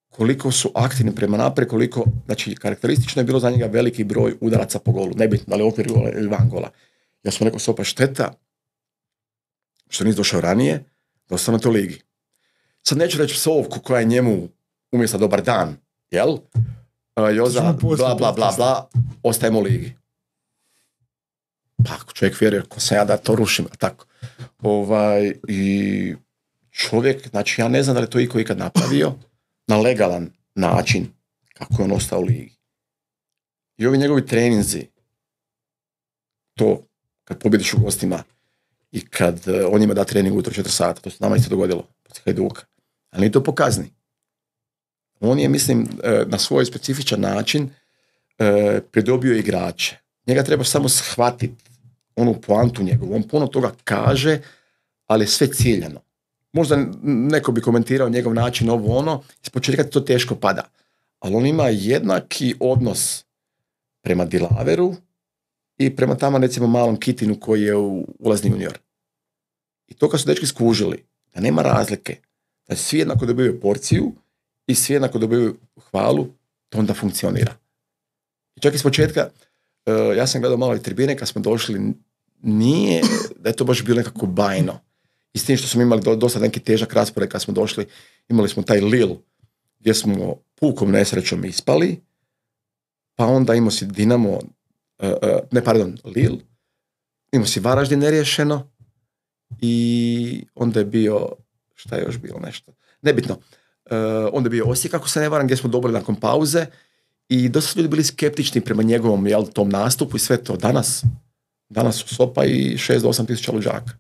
koliko su aktivni prema naprijed, koliko, znači, karakteristično je bilo za njega veliki broj udaraca po golu, nebitno da li okvir gola ili van gola. Ja sam rekao, Sopa, šteta što nisi došao ranije, da ostane to ligi. sad neću reći psovku koja je njemu umjesto dobar dan, jel? Uh, Joza, bla, bla, bla, bla, ostajemo u ligi. Pa ako čovjek vjeruje, ko sam ja da to rušim, tako. Ovaj, i čovjek, znači ja ne znam da li to iko ikad napravio na legalan način kako je on ostao u ligi. I ovi njegovi treninzi, to kad pobjediš u gostima i kad uh, on njima da trening ujutro četiri sata, to se nama isto dogodilo, protiv Hajduka. Ali nije to pokazni. On je, mislim, uh, na svoj specifičan način uh, pridobio igrače. Njega treba samo shvatiti, onu poantu njegovu. On puno toga kaže, ali sve ciljano. Možda neko bi komentirao njegov način ovo ono, iz početka to teško pada. Ali on ima jednaki odnos prema Dilaveru i prema tamo recimo malom Kitinu koji je u ulazni junior. I to kad su dečki skužili, da nema razlike, da svi jednako dobivaju porciju i svi jednako dobivaju hvalu, to onda funkcionira. I čak iz početka, uh, ja sam gledao malo i tribine kad smo došli, nije da je to baš bilo nekako bajno. I s tim što smo imali do, dosta neki težak raspored kad smo došli, imali smo taj Lil gdje smo pukom nesrećom ispali, pa onda imao si Dinamo, uh, uh, ne pardon, Lil, imao si Varaždin neriješeno i onda je bio, šta je još bilo nešto, nebitno, uh, onda je bio Osijek, ako se ne varam, gdje smo dobili nakon pauze i dosta su ljudi bili skeptični prema njegovom, jel, tom nastupu i sve to. Danas, danas su Sopa i šest do osam tisuća luđaka.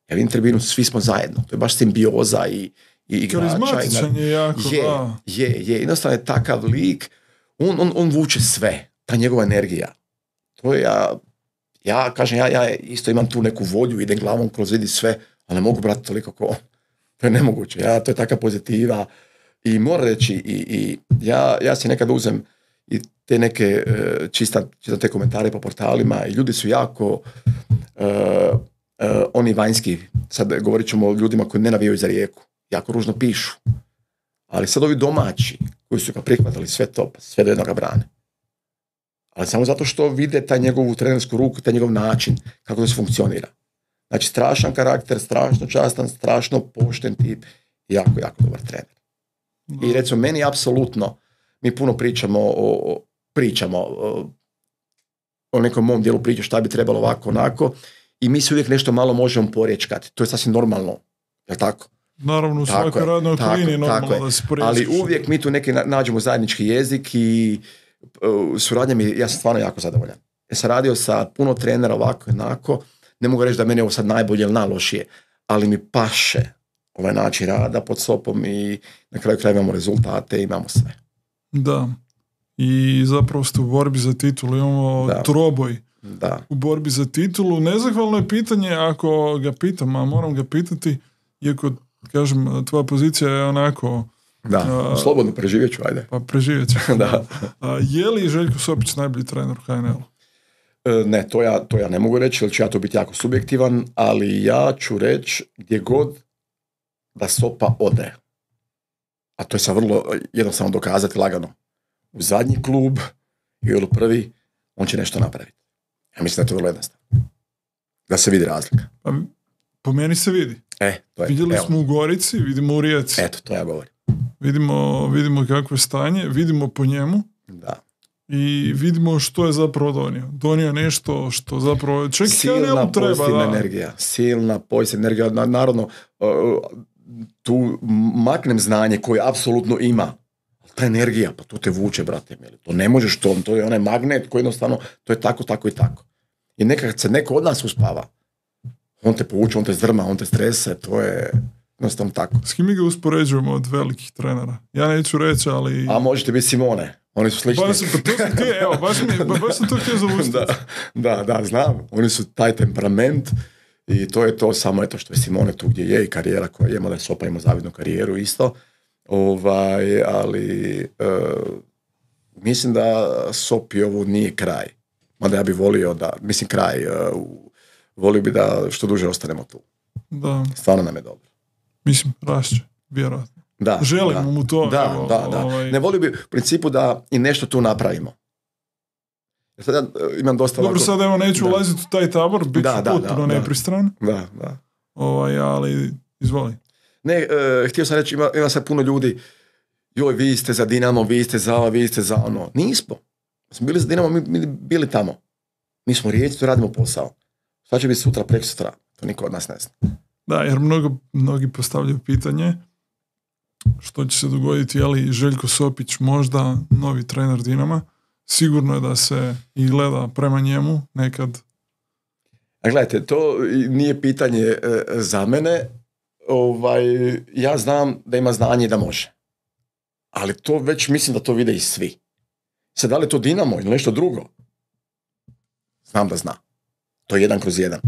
Ja vidim tribinu, svi smo zajedno. To je baš simbioza i, i igrača. Karizmatičan je jako, je, da. Je, je. Jednostavno je takav lik, on, on, on vuče sve. Ta njegova energija. To je ja, ja kažem, ja, ja isto imam tu neku volju, idem glavom kroz vidi sve, ali ne mogu brati toliko ko on. To je nemoguće. Ja, to je taka pozitiva. I moram reći, i, i ja, ja si nekad uzem i te neke uh, čista, čista te komentare po portalima i ljudi su jako uh, uh, oni vanjski, sad govorit ćemo o ljudima koji ne navijaju za Rijeku, jako ružno pišu. Ali sad ovi domaći koji su ga prihvatili sve to, pa sve do jednoga brane. Ali samo zato što vide taj njegovu trenersku ruku, taj njegov način, kako to se funkcionira. Znači, strašan karakter, strašno častan, strašno pošten tip i jako, jako dobar trener. I recimo, meni apsolutno, mi puno pričamo o, pričamo o, o nekom mom dijelu priče šta bi trebalo ovako, onako, i mi se uvijek nešto malo možemo porječkati. To je sasvim normalno, je tako? Naravno, u svakoj radnoj okolini je normalno da se porječkaš. Ali uvijek mi tu neki nađemo zajednički jezik i uh, suradnja mi, ja sam stvarno jako zadovoljan. Ja sam radio sa puno trenera ovako, onako, ne mogu reći da meni je ovo sad najbolje ili najlošije, ali mi paše ovaj način rada pod Sopom i na kraju kraja imamo rezultate, imamo sve. Da. I zapravo ste u borbi za titulu, imamo da. troboj da. u borbi za titulu. Nezahvalno je pitanje, ako ga pitam, a moram ga pitati, iako, kažem, tvoja pozicija je onako... Da, a, slobodno preživjet ću, ajde. Pa preživjet ću. da. A, je li Željko Sopić najbolji trener u H N L-u? Ne, to ja, to ja ne mogu reći, jer ću ja to biti jako subjektivan, ali ja ću reći gdje god da Sopa ode, a to je sad vrlo jednostavno dokazati lagano, u zadnji klub ili u prvi, on će nešto napraviti. Ja mislim da je to vrlo jednostavno. Da se vidi razlika. Pa, po meni se vidi. E, to je, Vidjeli evo. smo u Gorici, vidimo u Rijeci. Eto, to ja govorim. Vidimo, vidimo kakvo je stanje, vidimo po njemu. Da. I vidimo što je zapravo donio. Donio nešto što zapravo... Ček, silna treba, pozitivna da. energija. Silna pozitivna energija. Naravno, tu maknem znanje koje apsolutno ima. Ta energija, pa to te vuče, brate mili. To ne možeš to, to je onaj magnet koji jednostavno, to je tako, tako i tako. I nekad se neko od nas uspava. On te povuče, on te zdrma, on te strese, to je jednostavno tako. S kim mi ga uspoređujemo od velikih trenera? Ja neću reći, ali... A možete biti Simone. Oni su slični. Baš, pa to sam htio, evo, baš, mi, baš sam to htio zavustiti. da, da, da, znam. Oni su taj temperament i to je to samo eto što je Simone tu gdje je i karijera koja je, mada je Sopa ima zavidnu karijeru isto. Ovaj, ali uh, mislim da Sopi ovo nije kraj. Mada ja bih volio da, mislim kraj, uh, volio bi da što duže ostanemo tu. Da. Stvarno nam je dobro. Mislim, rašće, vjerojatno. Da, želimo da, mu to. Da, evo, da, da. Ovaj... Ne volio bi u principu da i nešto tu napravimo. Sad ja imam dosta Dobro, ovako... sad evo neću da. ulaziti u taj tabor, bit ću da, da, potpuno da, nepristran. Da, da. Ovaj, ali izvoli. Ne, uh, htio sam reći, ima, ima sad puno ljudi, joj, vi ste za Dinamo, vi ste za ovo, vi ste za ono. Nismo. Smo bili za Dinamo, mi, mi bili tamo. Mi smo Rijeci, tu radimo posao. Šta će biti sutra, preko sutra? To niko od nas ne zna. Da, jer mnogo, mnogi postavljaju pitanje što će se dogoditi, je li Željko Sopić možda novi trener Dinama. Sigurno je da se i gleda prema njemu nekad. A gledajte, to nije pitanje e, za mene. Ovaj, ja znam da ima znanje i da može. Ali to već mislim da to vide i svi. Sad, da li je to Dinamo ili nešto drugo? Znam da zna. To je jedan kroz jedan.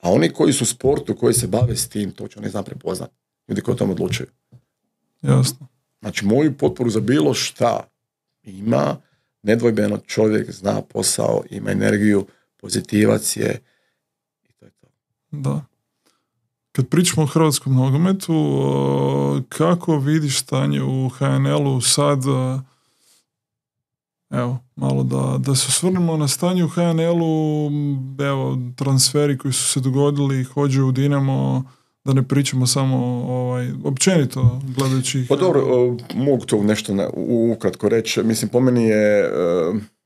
A oni koji su u sportu, koji se bave s tim, to će oni zna prepoznat. Ljudi koji o tom odlučuju. Jasno. Znači, moju potporu za bilo šta ima, nedvojbeno čovjek zna posao, ima energiju, pozitivac je i to je to. Da. Kad pričamo o hrvatskom nogometu, kako vidiš stanje u ha en el-u sad? Evo, malo da, da se osvrnemo na stanje u ha en el-u, evo, transferi koji su se dogodili, hođe u Dinamo, da ne pričamo samo ovaj, općenito gledajući. Pa dobro, mogu to nešto ne, ukratko reći. Mislim, po meni je,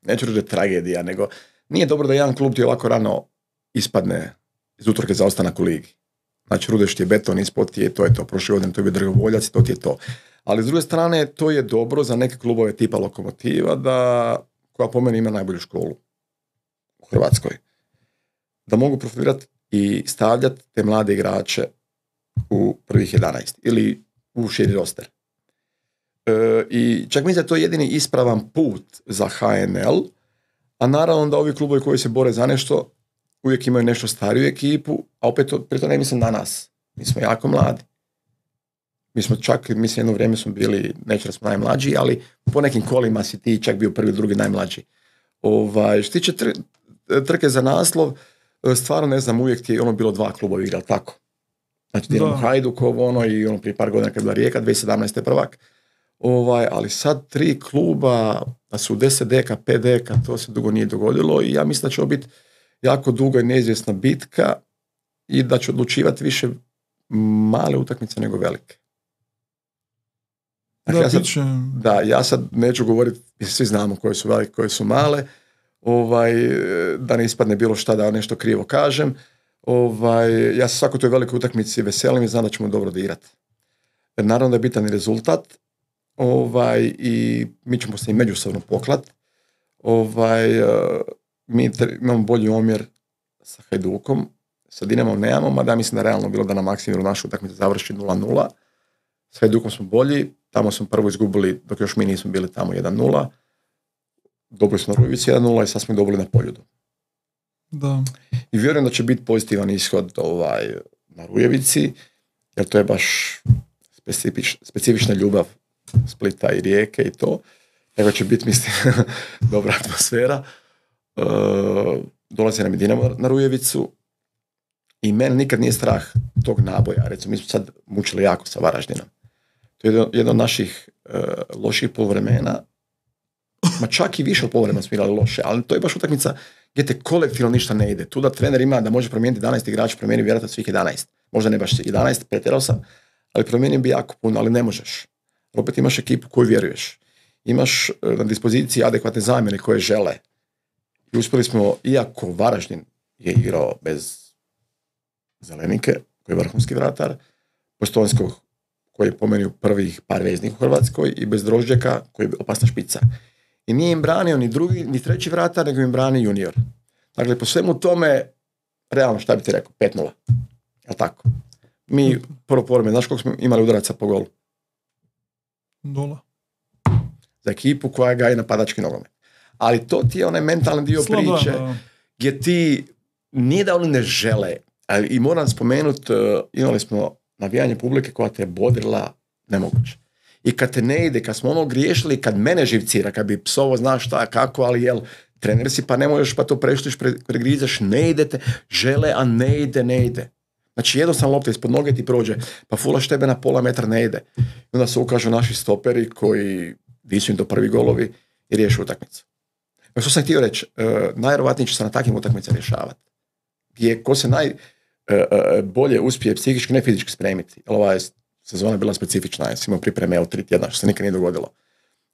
neću reći tragedija, nego nije dobro da jedan klub ti ovako rano ispadne iz utorke za ostanak u ligi. Znači, Rudeš ti je beton, ispod ti je, to je to. Prošle godine to je bio Dragovoljac i to ti je to. Ali s druge strane, to je dobro za neke klubove tipa Lokomotiva, da, koja po meni ima najbolju školu u Hrvatskoj. Da mogu profilirati i stavljati te mlade igrače u prvih jedanaest ili u širi roster. E, I čak mislim da je to jedini ispravan put za ha en el, a naravno da ovi klubovi koji se bore za nešto uvijek imaju nešto stariju ekipu, a opet to, to ne mislim na nas. Mi smo jako mladi. Mi smo čak, mislim, jedno vrijeme smo bili, neću da smo najmlađi, ali po nekim kolima si ti čak bio prvi, drugi najmlađi. Ovaj, što tiče tr- trke za naslov, stvarno ne znam, uvijek ti je ono bilo dva kluba igrali tako. Znači, Dinamo Hajdukovo, ono, i ono prije par godina kad je bila Rijeka, dvije tisuće sedamnaeste prvak. Ovaj, ali sad tri kluba, da su deset deka, pet deka, to se dugo nije dogodilo i ja mislim da će ovo biti jako duga i neizvjesna bitka i da će odlučivati više male utakmice nego velike. Dakle, da, ja sad, biće... da, ja sad neću govoriti, svi znamo koje su velike, koje su male, ovaj, da ne ispadne bilo šta da nešto krivo kažem. Ovaj, ja se svakoj toj velikoj utakmici veselim i znam da ćemo dobro odigrati. Naravno da je bitan i rezultat, ovaj, i mi ćemo se i međusobno poklat. Ovaj, mi imamo bolji omjer sa Hajdukom, sa Dinamom nemamo, mada mislim da realno bilo da na maksimumu našu utakmicu završi nula nula. S Hajdukom smo bolji, tamo smo prvo izgubili dok još mi nismo bili tamo jedan nula. Dobili smo na Rujevici jedan nula i sad smo dobili na Poljudu. Da. I vjerujem da će biti pozitivan ishod ovaj, na Rujevici, jer to je baš specifič, specifična ljubav Splita i Rijeke i to. Tako će biti, mislim, dobra atmosfera. E, dolazi nam i Dinamo na Rujevicu i mene nikad nije strah tog naboja. Recimo, mi smo sad mučili jako sa Varaždinom. To je jedno od naših e, loših poluvremena. Ma čak i više od poluvremena smo igrali loše, ali to je baš utakmica gdje te kolektivno ništa ne ide. Tu da trener ima da može promijeniti jedanaest igrača, promijeni vjerojatno svih jedanaest. Možda ne baš jedanaest, pretjerao sam, ali promijenio bi jako puno, ali ne možeš. Opet imaš ekipu koju vjeruješ. Imaš na dispoziciji adekvatne zamjene koje žele. I uspjeli smo, iako Varaždin je igrao bez Zelenike, koji je vrhunski vratar, Postojnskog, koji je po meni prvih par veznih u Hrvatskoj, i bez Drožđeka, koji je opasna špica. I nije im branio ni drugi, ni treći vratar, nego im brani junior. Dakle, po svemu tome, realno, šta bi ti rekao, pet nula. Jel' tako? Mi, prvo porme, znaš koliko smo imali udaraca po golu? Nula. Za ekipu koja gaji napadački nogomet. Ali to ti je onaj mentalni dio Slaba, priče, da. gdje ti, nije da oni ne žele, ali i moram spomenuti, uh, imali smo navijanje publike koja te je bodrila nemoguće. I kad te ne ide, kad smo ono griješili, kad mene živcira, kad bi psovo znaš šta, kako, ali jel, trener si pa ne možeš, pa to preštiš, pre, pregrizaš, ne idete, žele, a ne ide, ne ide. Znači jednostavno lopta ispod noge ti prođe, pa fulaš tebe na pola metra ne ide. I onda se ukažu naši stoperi koji visu im do prvi golovi i riješu utakmicu. Što sam htio reći, uh, najvjerovatnije će se na takvim utakmicama rješavati. Gdje ko se naj, uh, bolje uspije psihički, ne fizički spremiti. Jer ova je sezona bila specifična, ja sam imao pripreme evo tri tjedna, što se nikad nije dogodilo.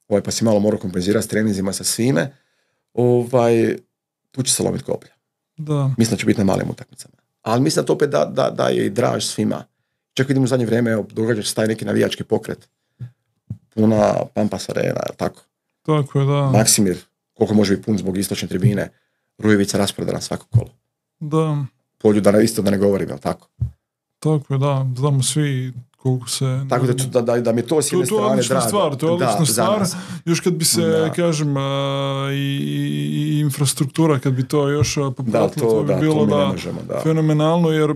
Ovaj, pa si malo morao kompenzirati s treninzima, sa svime. Ovaj, tu će se lomiti koplja. Da. Mislim da će biti na malim utakmicama. Ali mislim da to opet da, da, da je i draž svima. Čak vidimo u zadnje vrijeme, evo, događa se taj neki navijački pokret. Puna Pampas Arena, tako. Tako je, da. Maksimir, koliko može biti pun zbog istočne tribine, Rujevica rasprodana svako kolo. Da. Polju da isto da ne govorim, jel tako? Tako je, da. Znamo svi koliko se... Tako da, da, da, da mi to s jedne strane drago. To je odlična stvar, to je odlična stvar. Još kad bi se, da. kažem, a, i, i infrastruktura, kad bi to još popratilo, da, to, to bi da, bilo to da, možemo, da. fenomenalno, jer,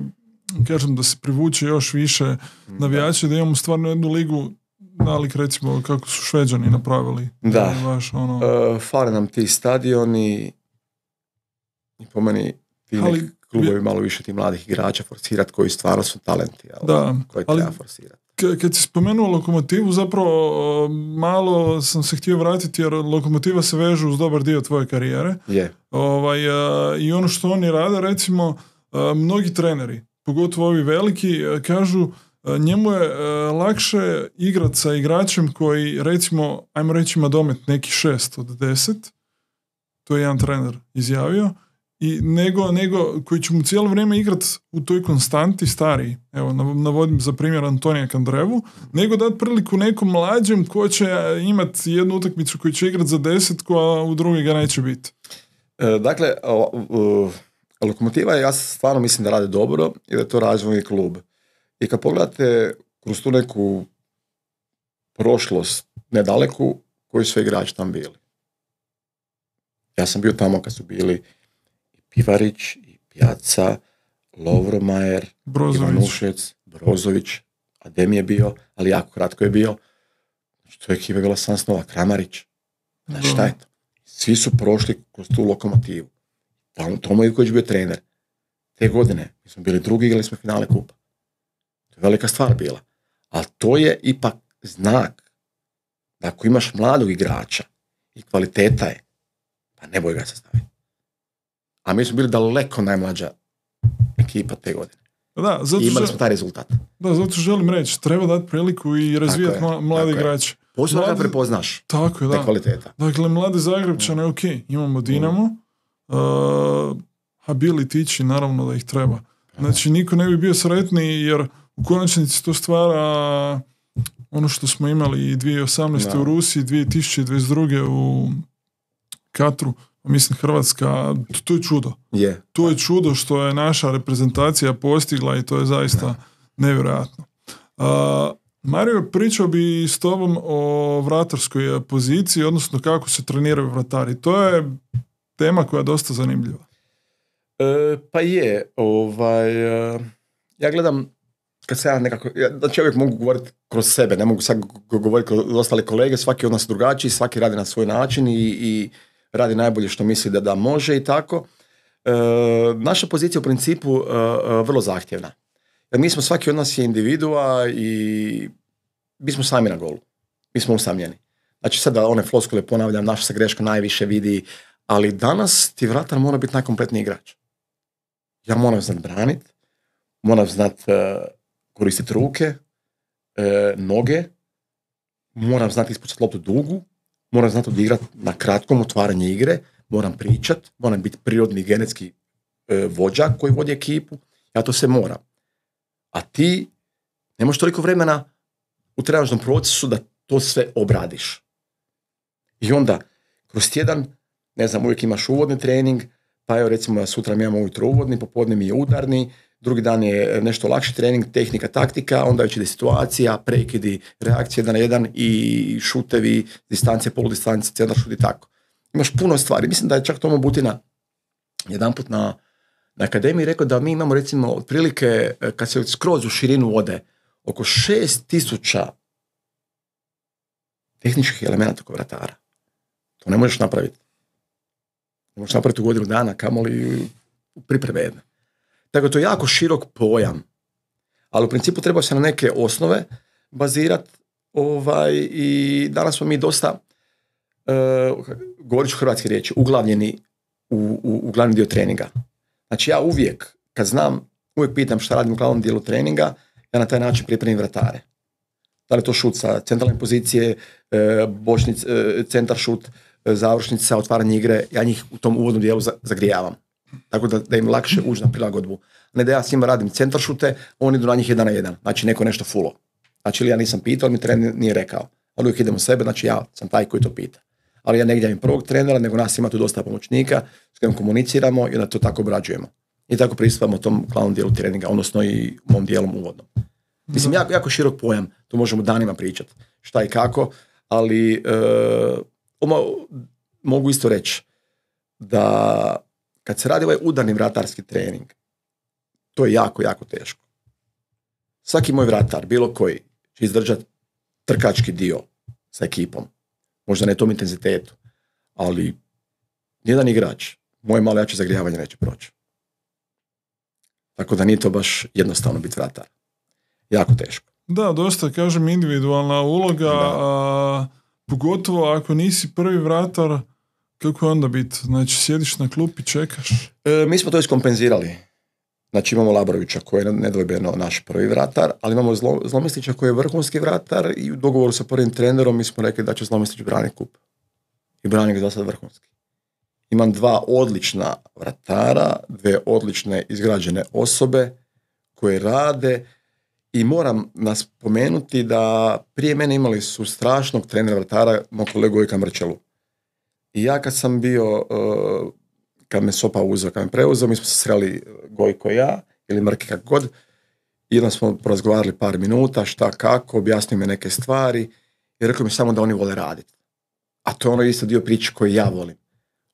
kažem, da se privuče još više navijača, da imamo stvarno jednu ligu, nalik recimo kako su Šveđani napravili. Da, baš, ono... uh, fale nam ti stadioni i po meni ti ali, neki klubovi malo više ti mladih igrača forsirati koji stvarno su talenti, ali, da, koji ali, treba forsirati. K- kad si spomenuo Lokomotivu, zapravo malo sam se htio vratiti jer Lokomotiva se veže uz dobar dio tvoje karijere. Yeah. Ovaj, a, i ono što oni rade, recimo, a, mnogi treneri, pogotovo ovi veliki, a, kažu a, njemu je a, lakše igrati sa igračem koji, recimo, ajmo reći ima domet neki šest od deset, to je jedan trener izjavio, i nego, nego koji će mu cijelo vrijeme igrati u toj konstanti stariji, evo navodim za primjer Antonija Kandrevu, nego dati priliku nekom mlađem ko će imati jednu utakmicu koju će igrati za deset, koja u drugi ga neće biti. E, dakle, o, o, Lokomotiva, ja stvarno mislim da rade dobro i da je to razvojni klub. I kad pogledate kroz tu neku prošlost nedaleku, koji su igrači tam bili. Ja sam bio tamo kad su bili Pivarić, i Pjaca, Lovromajer, Ivanušec, Brozović, Adem je bio, ali jako kratko je bio. Znači, to je ekipa bila sam snova, Kramarić. Znači, šta je to? Svi su prošli kroz tu Lokomotivu. Tomo Ivković bio trener. Te godine mi smo bili drugi, igrali smo finale kupa. To je velika stvar bila. Ali to je ipak znak da ako imaš mladog igrača i kvaliteta je, pa ne boj ga se staviti. A mi smo bili daleko najmlađa ekipa te godine. Da, zato I imali že... smo taj rezultat. Da, zato želim reći, treba dati priliku i razvijati ma- mlade igrače. Posebno kad prepoznaš tako je, da. te kvaliteta. Dakle, mlade Zagrebčane, ok, imamo Dinamo, uh, a bili tići, naravno da ih treba. Znači, niko ne bi bio sretniji, jer u konačnici to stvara ono što smo imali i dvije tisuće osamnaeste. Da. U Rusiji, dvije tisuće dvadeset druge. u Katru, mislim Hrvatska, to, to je čudo. Yeah. To je čudo što je naša reprezentacija postigla i to je zaista yeah. nevjerojatno. Uh, Mario, pričao bi s tobom o vratarskoj poziciji, odnosno kako se treniraju vratari. To je tema koja je dosta zanimljiva. E, pa je, ovaj, uh, ja gledam, kad se ja nekako, ja, znači ja uvijek mogu govoriti kroz sebe, ne mogu sad govoriti kroz ostale kolege, svaki od nas drugačiji, svaki radi na svoj način i, i radi najbolje što misli da, da može i tako. E, naša pozicija u principu e, vrlo zahtjevna. Jer mi smo, svaki od nas je individua i mi smo sami na golu. Mi smo usamljeni. Znači sad da one floskule ponavljam, naša se greška najviše vidi, ali danas ti vratar mora biti najkompletniji igrač. Ja moram znat braniti, moram znat uh, koristiti ruke, uh, noge, moram znati ispucati loptu dugu, moram znati odigrati na kratkom otvaranje igre, moram pričat, moram biti prirodni genetski uh, vođa koji vodi ekipu, ja to sve moram. A ti nemaš toliko vremena u trenažnom procesu da to sve obradiš. I onda, kroz tjedan, ne znam, uvijek imaš uvodni trening, pa evo recimo sutra mi imamo ujutro uvodni, popodne mi je udarni, drugi dan je nešto lakši trening, tehnika, taktika, onda već ide situacija, prekidi, reakcije jedan na jedan i šutevi, distancije, poludistancije, centar šut i tako. Imaš puno stvari. Mislim da je čak Tomo Butina jedanput na, na akademiji rekao da mi imamo recimo otprilike, kad se skroz u širinu ode, oko šest tisuća tehničkih elemenata kod vratara. To ne možeš napraviti. Ne možeš napraviti u godinu dana, kamoli u pripreme jedne. Tako to je jako širok pojam. Ali u principu treba se na neke osnove bazirati ovaj, i danas smo mi dosta, uh, govorit ću hrvatske riječi, uglavljeni u, u, u glavni dio treninga. Znači ja uvijek, kad znam uvijek pitam šta radim u glavnom dijelu treninga, ja na taj način pripremim vratare. Da li je to šut sa centralne pozicije, bočnic, centar šut, završnica, otvaranje igre, ja njih u tom uvodnom dijelu zagrijavam. Tako da, da im lakše uđe na prilagodbu. Ne da ja s njima radim centar šute, oni idu na njih jedan na jedan. Znači neko nešto fulo. Znači ja nisam pitao, mi trener nije rekao. Ali uvijek idemo sebe, znači ja sam taj koji to pita. Ali ja ne gledam prvog trenera, nego nas ima tu dosta pomoćnika s kojim komuniciramo i onda to tako obrađujemo. I tako pristupamo tom glavnom dijelu treninga, odnosno i u mom dijelom uvodnom. Mislim, jako, jako širok pojam, tu možemo danima pričati šta i kako, ali e, oma, mogu isto reći da kad se radi ovaj udarni vratarski trening, to je jako, jako teško. Svaki moj vratar, bilo koji, će izdržati trkački dio sa ekipom. Možda ne tom intenzitetu, ali nijedan igrač moje malo jače zagrijavanje neće proći. Tako da nije to baš jednostavno biti vratar. Jako teško. Da, dosta, kažem, individualna uloga, a, pogotovo ako nisi prvi vratar, kako je onda biti? Znači, sjediš na klupi, čekaš? E, mi smo to iskompenzirali. Znači, imamo Labrovića koji je nedvojbeno naš prvi vratar, ali imamo Zlo, Zlomislića koji je vrhunski vratar i u dogovoru sa prvim trenerom mi smo rekli da će Zlomislić braniti kup. I brani ga za sad vrhunski. Imam dva odlična vratara, dve odlične izgrađene osobe koje rade i moram nas pomenuti da prije mene imali su strašnog trenera vratara, moj kolegu Gojka Mrčelu. I ja kad sam bio, kad me Sopa uzeo, kad me preuzeo, mi smo se sreli Gojko i ja, ili Mrke kako god, i onda smo porazgovarali par minuta, šta kako, objasnio mi neke stvari i rekao mi samo da oni vole raditi. A to je ono isto dio priče koji ja volim.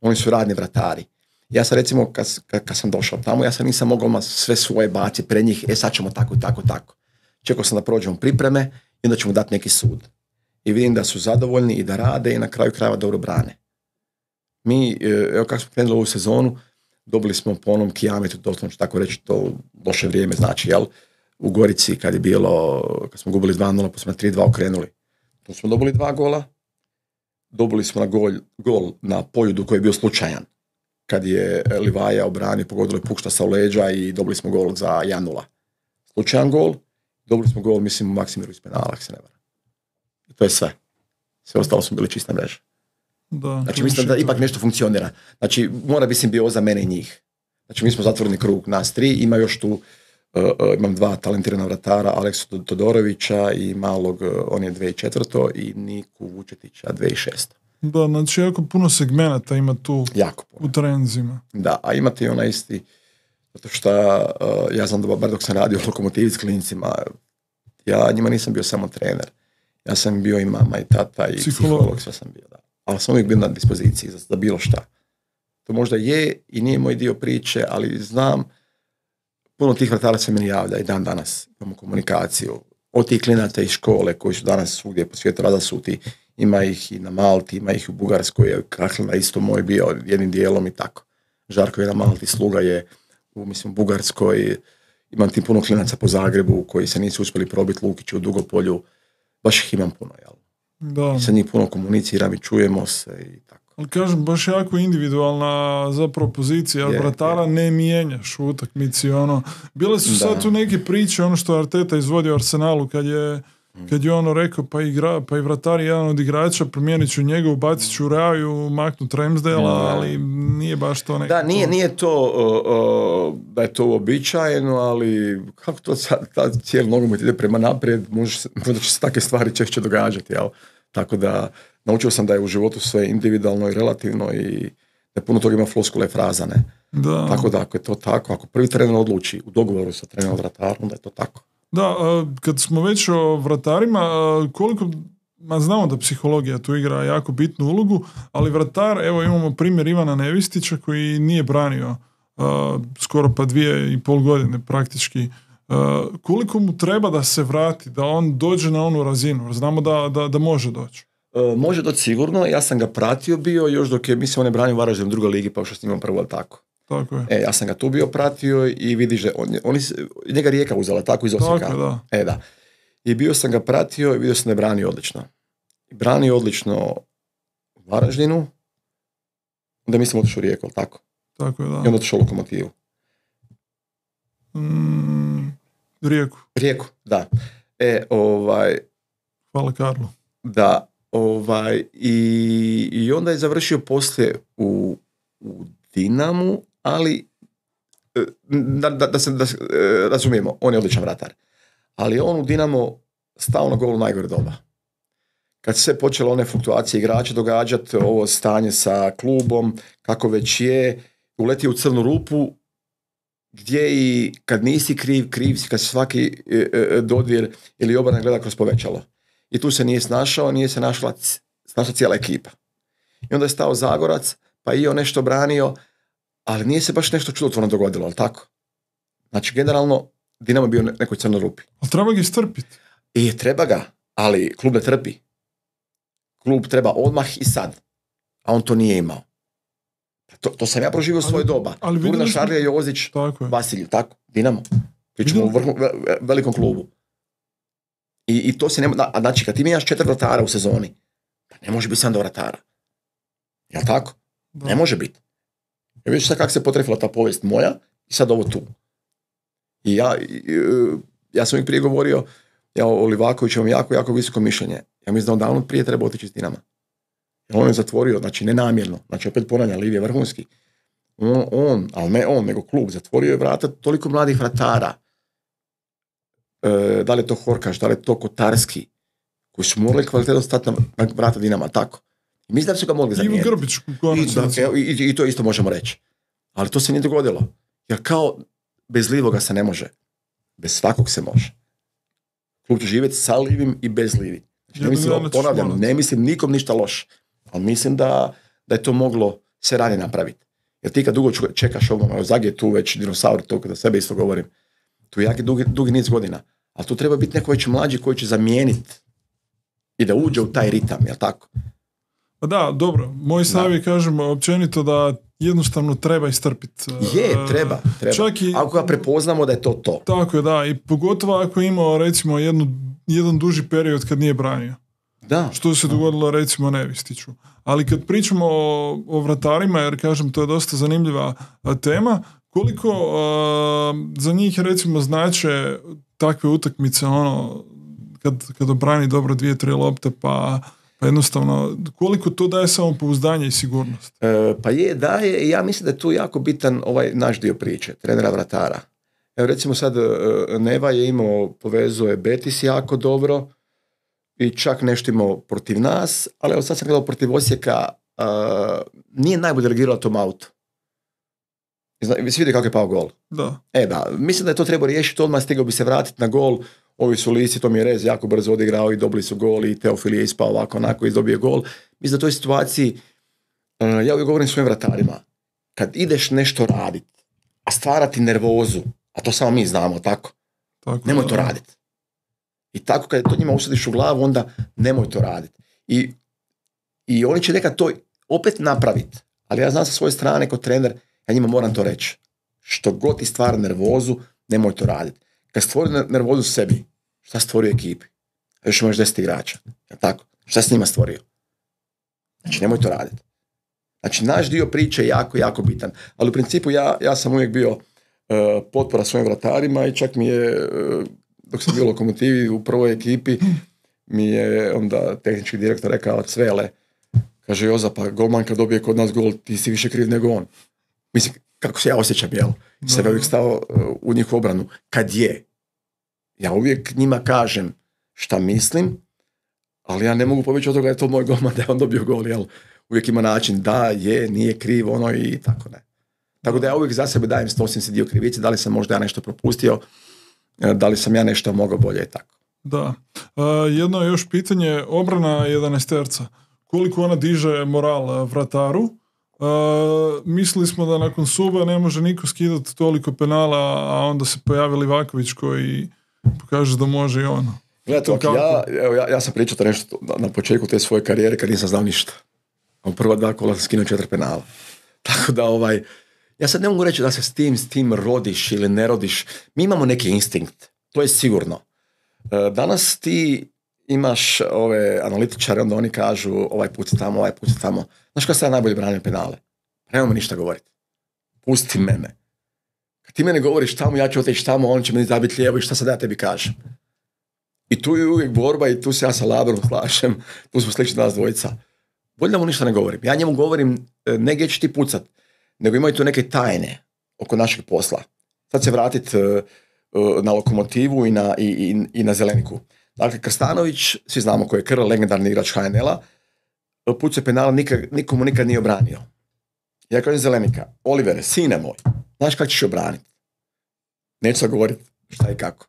Oni su radni vratari. Ja sam recimo, kad, kad, kad sam došao tamo, ja sam nisam mogao sve svoje baciti pred njih, e sad ćemo tako, tako, tako. Čekao sam da prođemo pripreme i onda ćemo dati neki sud. I vidim da su zadovoljni i da rade i na kraju krajeva dobro brane. Mi, evo kako smo krenuli ovu sezonu, dobili smo po onom kijametu, doslovno ću tako reći, to loše vrijeme znači, jel? U Gorici kad je bilo, kad smo gubili dva nula, pa smo na tri dva okrenuli. Tu smo dobili dva gola, dobili smo na gol, gol na Poljudu koji je bio slučajan. Kad je Livaja obranio, pogodilo je Pukšta sa leđa i dobili smo gol za jedan nula. Slučajan gol, dobili smo gol, mislim, u Maksimiru iz penala, ako se ne varam. I to je sve. Sve ostalo smo bili čista mreža. Da, znači mislim da ipak nešto funkcionira. Znači mora bi simbioza za mene i njih. Znači mi smo zatvoreni krug, nas tri, ima još tu, uh, uh, imam dva talentirana vratara, Aleksu Todorovića i malog, uh, on je dvije tisuće četvrto i Niku Vučetića dvije tisuće šesto. Da, znači jako puno segmenata ima tu jako puno. U trenzima. Da, a imate i ona isti, zato što uh, ja znam da bar dok sam radio u Lokomotivi s klincima, ja njima nisam bio samo trener. Ja sam bio i mama i tata i psiholog, psiholog sve sam bio, da. Ali sam uvijek bio na dispoziciji za, za bilo šta. To možda je i nije moj dio priče, ali znam, puno tih vratara se meni javlja i dan danas imamo komunikaciju. Od tih klinaca iz škole koji su danas svugdje po svijetu razasuti, ima ih i na Malti, ima ih u Bugarskoj, Kahlina isto moj bio jednim dijelom i tako. Žarko je na Malti, Sluga je u, mislim, Bugarskoj, imam ti puno klinaca po Zagrebu koji se nisu uspjeli probiti, Lukić u Dugopolju, baš ih imam puno, jel? Da. I sa njih puno komuniciram i čujemo se i tako. Ali kažem, baš jako individualna zapravo pozicija, jer vratara je. Ne mijenjaš u utakmici, ono. Bile su da. Sad tu neke priče, ono što Arteta izvodio Arsenalu, kad je, kad je ono rekao, pa, igra, pa i vratar je jedan od igrača, promijenit ću njega, ubacit ću Raju, maknut Ramsdale, ali nije baš to nekako. Da, nije, nije to uh, uh, da je to uobičajeno, ali kako to sad, cijeli nogomet ide prema naprijed, možda, možda će se takve stvari češće događati, jel? Tako da naučio sam da je u životu sve individualno i relativno i da puno toga ima floskule i fraza, ne? Da. Tako da ako je to tako, ako prvi trener odluči u dogovoru sa trenerom vratarom, da je to tako. Da, kad smo već o vratarima, koliko, ma znamo da psihologija tu igra jako bitnu ulogu, ali vratar, evo imamo primjer Ivana Nevistića koji nije branio uh, skoro pa dvije i pol godine praktički. Uh, koliko mu treba da se vrati, da on dođe na onu razinu? Znamo da, da, da može doći. Uh, može doći sigurno, ja sam ga pratio bio još dok je, mislim, on je branio Varaždin u drugoj ligi, pa što s njimom prvo, ali tako. Tako je. E, ja sam ga tu bio pratio i vidiš da on, oni, njega Rijeka uzela, tako iz Osijeka. Tako, da. E, da. I bio sam ga pratio i vidio sam da je branio odlično. I branio odlično u Varaždinu, onda mislim otišao u Rijeku, ali tako? Tako je, da. I onda otišao u Lokomotivu. Mm, Rijeku. Rijeku, da. E, ovaj, Hvala Karlu. da, ovaj, i, i onda je završio poslije u, u Dinamu, ali da, da, da se da, razumijemo, on je odličan vratar. Ali on u Dinamo stao na gol u najgore doba. Kad se počelo one fluktuacije igrača događati, ovo stanje sa klubom, kako već je, uletio u crnu rupu, gdje i kad nisi kriv, kriv si kad se svaki e, e, dodir ili obrana gleda kroz povećalo. I tu se nije snašao, nije se našla, snašla cijela ekipa. I onda je stao Zagorac, pa i on nešto branio, ali nije se baš nešto čudotvorno dogodilo, ali tako? Znači, generalno, Dinamo je bio u nekoj crnoj rupi. Ali treba ga istrpiti. I treba ga, ali klub ne trpi. Klub treba odmah i sad. A on to nije imao. To, to sam ja proživio u svoje doba. Turna, Šarlija, Jozić, Vasilju, tako, Dinamo. Pričamo u vrhu, velikom klubu. I, i to se ne... A znači, kad ti imaš četiri vratara u sezoni, pa ne može biti sam do vratara. Jel' tako? Da. Ne može biti. Ja vidiš sad kako se potrefila ta povijest moja i sad ovo tu. I ja, ja sam uvijek prije govorio, ja o Livakoviću imam jako, jako visoko mišljenje. Ja mislim da on davno prije treba otići iz Dinama. Jer on je zatvorio, znači nenamjerno, znači opet ponavljam, Liv je vrhunski. On, on, ali ne on, nego klub, zatvorio je vrata toliko mladih vratara. E, da li je to Horkaš, da li je to Kotarski, koji su morali kvalitetno stati na vrata Dinama, tako. I mislim da su ga mogli zamijeniti. Ivo Grbić. I, i, i, I to isto možemo reći. Ali to se nije dogodilo. Jer kao bez Livoga se ne može. Bez svakog se može. Klub će živjeti sa Livim i bez Livi. Znači, ne mislim, ponavljam, ne mislim nikom ništa loše. Ali mislim da, da je to moglo se ranije napraviti. Jer ti kad dugo čekaš ovo, Zag je tu već dinosaur, to kada sebe isto govorim, tu je jaki dugi, dugi niz godina. Ali tu treba biti neko već mlađi koji će zamijeniti i da uđe u taj ritam, jel tako? Pa da, dobro. Moj stav je, kažem, općenito da jednostavno treba istrpiti. Je, treba. treba. Čak i, ako ga prepoznamo da je to to. Tako je, da. I pogotovo ako imao, recimo, jednu, jedan duži period kad nije branio. Da. Što se dogodilo, recimo, Nevistiću. Ali kad pričamo o, o vratarima, jer, kažem, to je dosta zanimljiva a, tema, koliko a, za njih, recimo, znače takve utakmice, ono, kad, kad obrani dobro dvije, tri lopte, pa... Pa jednostavno, koliko to daje samopouzdanje i sigurnost? E, pa je, daje, i ja mislim da je tu jako bitan ovaj naš dio priče, trenera vratara. Evo recimo sad Neva je imao, povezuje Betis jako dobro i čak nešto imao protiv nas, ali evo sad sam gledao protiv Osijeka, uh, nije najbolje reagirao tom autu. Vi se vidi kako je pao gol. Da. E da, mislim da je to treba riješiti, odmah stigao bi se vratiti na gol. Ovi su Lisi, to mi je Rez jako brzo odigrao i dobili su gol i Teofil je ispao ovako onako i dobio gol. Mislim da u toj situaciji, uh, ja uvijek govorim svojim vratarima, kad ideš nešto raditi, a stvarati nervozu, a to samo mi znamo, tako, tako nemoj to raditi. I tako kad to njima usadiš u glavu, onda nemoj to raditi. I, i oni će nekad to opet napraviti, ali ja znam sa svoje strane kao trener, ja njima moram to reći. Što god ti stvara nervozu, nemoj to raditi. Kad stvori nervozu sebi, šta stvorio ekipi? Još imaš deset igrača. Ja tako? Šta s njima stvorio? Znači, nemoj to raditi. Znači, naš dio priče je jako, jako bitan. Ali u principu ja, ja sam uvijek bio uh, potpora svojim vratarima i čak mi je, uh, dok sam bio u Lokomotivi u prvoj ekipi, mi je onda tehnički direktor rekao, Cvele, kaže, Joza, pa golman kad dobije kod nas gol, ti si više kriv nego on. Mislim, kako se ja osjećam, jel? Sebe uvijek stao u njihovu obranu. Kad je, ja uvijek njima kažem šta mislim, ali ja ne mogu pobjeći od toga da je to moj golman, da je on dobio gol, jel? Uvijek ima način da je, nije kriv, ono i tako ne. Tako da ja uvijek za sebe dajem stosim se dio krivice, da li sam možda ja nešto propustio, da li sam ja nešto mogao bolje i tako. Da. Uh, jedno je još pitanje, obrana jedanaesterca. Koliko ona diže moral vrataru? Uh, mislili smo da nakon suba ne može niko skidati toliko penala, a onda se pojavi Livaković koji pokaže da može i ono. Gledajte, ja, evo, ja, ja sam pričao to nešto na, na početku te svoje karijere kad nisam znao ništa. A u prva dva kola sam skinuo četiri penala. Tako da ovaj, ja sad ne mogu reći da se s tim, s tim rodiš ili ne rodiš. Mi imamo neki instinkt, to je sigurno. Uh, danas ti imaš ove analitičare, onda oni kažu ovaj put tamo, ovaj put tamo. Znaš kada sad najbolje branim penale? Nemamo ništa govoriti. Pusti mene. kad ti mene govoriš tamo, ja ću otići tamo, on će meni zabiti lijevo i šta sad ja tebi kažem. I tu je uvijek borba i tu se ja sa Labrom slažem, tu smo slični nas dvojica. Bolje da mu ništa ne govorim. Ja njemu govorim, ne gdje ću ti pucat, nego imaju tu neke tajne oko našeg posla. Sad se vratit uh, uh, na Lokomotivu i na, i, i, i na Zeleniku. Dakle, Krstanović, svi znamo ko je Krl, legendarni igrač H N L-a, pucao penala, nikad, nikomu nikad nije obranio. Ja kažem Zelenika, Olivere, sine moj, znaš kako ćeš obraniti? Neću sad govoriti šta i kako.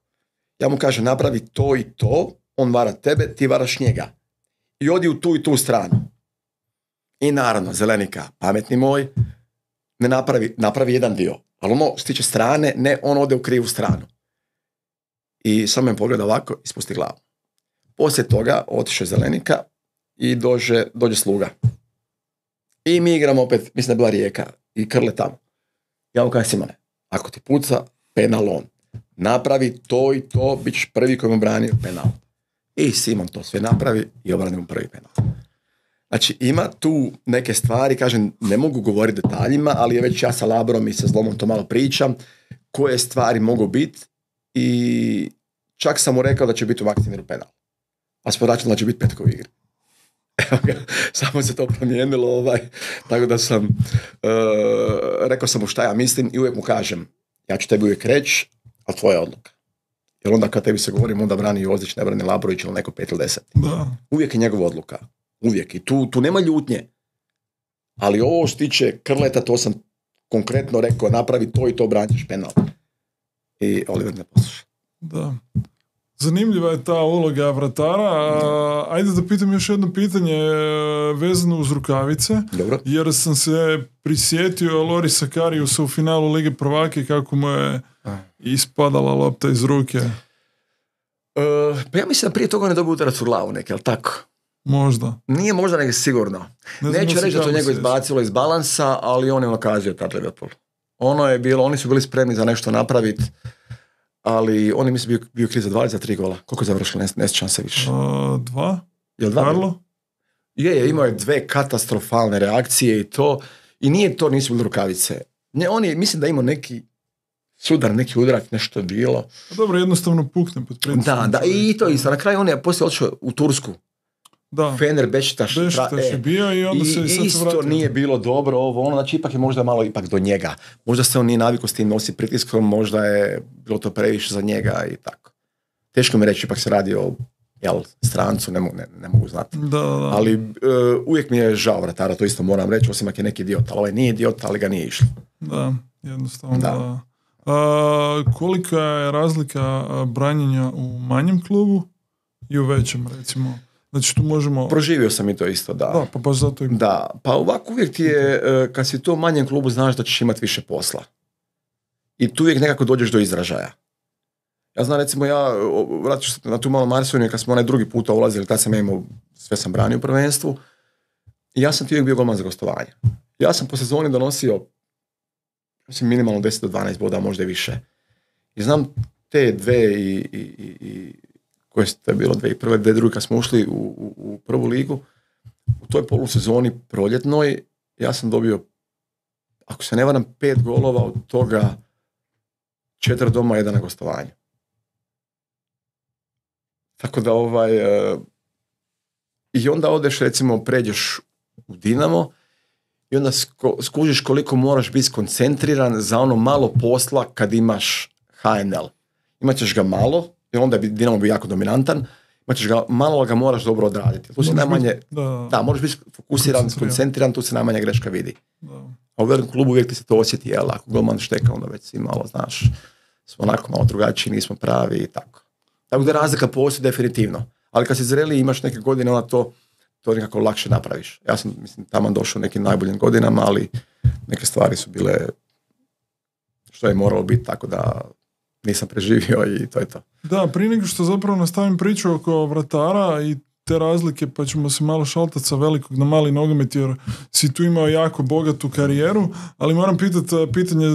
Ja mu kažem, napravi to i to, on vara tebe, ti varaš njega. I odi u tu i tu stranu. I naravno, Zelenika, pametni moj, ne napravi, napravi jedan dio. Ali ono što tiče strane, ne, on ode u krivu stranu. I samo me pogleda ovako i spusti glavu. Poslije toga otišao Zelenika i dođe, dođe sluga. I mi igramo opet, mislim da je bila Rijeka i Krle tamo. Ja mu kažem, Simone, ako ti puca, penal on. Napravi to i to, bit ćeš prvi koji mu branio penal. I Simon to sve napravi i obrani mu prvi penal. Znači, ima tu neke stvari, kažem, ne mogu govoriti detaljima, ali je već ja sa Labrom i sa Zlomom to malo pričam, koje stvari mogu biti i čak sam mu rekao da će biti u Maksimiru penal. A smo računali da će biti Petko u igri. Samo se to promijenilo, ovaj, tako da sam, uh, rekao sam mu šta ja mislim i uvijek mu kažem, ja ću tebi uvijek reći, a tvoja odluka. Jer onda kad tebi se govorim, onda brani Jozić, ne brani Labrović ili neko pet ili deset. Da. Uvijek je njegova odluka. Uvijek. I tu, tu nema ljutnje. Ali ovo što tiče Krleta, to sam konkretno rekao, napravi to i to, branjiš penal. I Oliver ne posluša. Da. Zanimljiva je ta uloga vratara. A, ajde da pitam još jedno pitanje vezano uz rukavice. Dobro. Jer sam se prisjetio Lorisa Kariusa u finalu Lige prvake kako mu je ispadala lopta iz ruke. Uh, pa ja mislim da prije toga ne dobio udarac u glavu neke, ali tako? Možda. Nije možda, nego sigurno. Ne Neću reći da to njego izbacilo iz balansa, ali on je nakazio tad Liverpool. Ono je bilo, oni su bili spremni za nešto napraviti, ali on je mislim bio, bio kriv za dva ili za tri gola. Koliko je završilo, ne, ne sjećam se više. Uh, dva? Je li dva? Karlo? Je, je, imao je dve katastrofalne reakcije i to, i nije to, nisu bili rukavice. Ne, on je, mislim da imao neki sudar, neki udarak, nešto je bilo. A dobro, jednostavno pukne pod pritiskom. Da, da, i to isto. Na kraju on je poslije otišao u Tursku. Da. Fener Bešiktaš je bio i onda se sad isto vratio. Nije bilo dobro ovo, ono, znači ipak je možda malo ipak do njega. Možda se on nije navikao s tim nosi pritiskom, možda je bilo to previše za njega i tako. Teško mi reći, ipak se radi o jel, strancu, ne, ne, ne mogu znati. Da, da. Ali uh, uvijek mi je žao vratara, to isto moram reći, osim ako je neki idiot, ali ovaj nije idiot, ali ga nije išlo. Da, jednostavno da. da. A, kolika je razlika branjenja u manjem klubu i u većem, recimo? Znači tu možemo... Proživio sam i to isto, da. Da, pa baš zato i... Da, pa ovako uvijek ti je, kad si u tom manjem klubu, znaš da ćeš imati više posla. I tu uvijek nekako dođeš do izražaja. Ja znam, recimo, ja vratit ću se na tu malo Marsoniju, kad smo onaj drugi puta ulazili, tad sam ja imao, sve sam branio u prvenstvu, i ja sam ti uvijek bio golman za gostovanje. Ja sam po sezoni donosio, mislim, minimalno deset do dvanaest boda, možda i više. I znam te dve i... i, i koje je bilo dve i prve, dve druge kad smo ušli u, u, u prvu ligu, u toj polusezoni proljetnoj, ja sam dobio, ako se ne varam, pet golova, od toga četiri doma, jedan na gostovanju. Tako da ovaj, uh, i onda odeš, recimo, pređeš u Dinamo i onda sko, skužiš koliko moraš biti skoncentriran za ono malo posla kad imaš H N L. Imat ćeš ga malo, jer onda je Dinamo bio jako dominantan, imaćeš ga, malo ga moraš dobro odraditi. Tu si najmanje, biti, da, da, moraš biti fokusiran, skoncentriran, tu se najmanje greška vidi. Da. A u velikom klubu uvijek ti se to osjeti, jel, ako golman šteka, onda već si malo, znaš, smo onako malo drugačiji, nismo pravi i tako. Tako da razlika postoji definitivno. Ali kad si zreli i imaš neke godine, onda to, to nekako lakše napraviš. Ja sam, mislim, tamo došao u nekim najboljim godinama, ali neke stvari su bile što je moralo biti, tako da nisam preživio i to je to. Da, prije nego što zapravo nastavim priču oko vratara i te razlike, pa ćemo se malo šaltati sa velikog na mali nogomet, jer si tu imao jako bogatu karijeru, ali moram pitati pitanje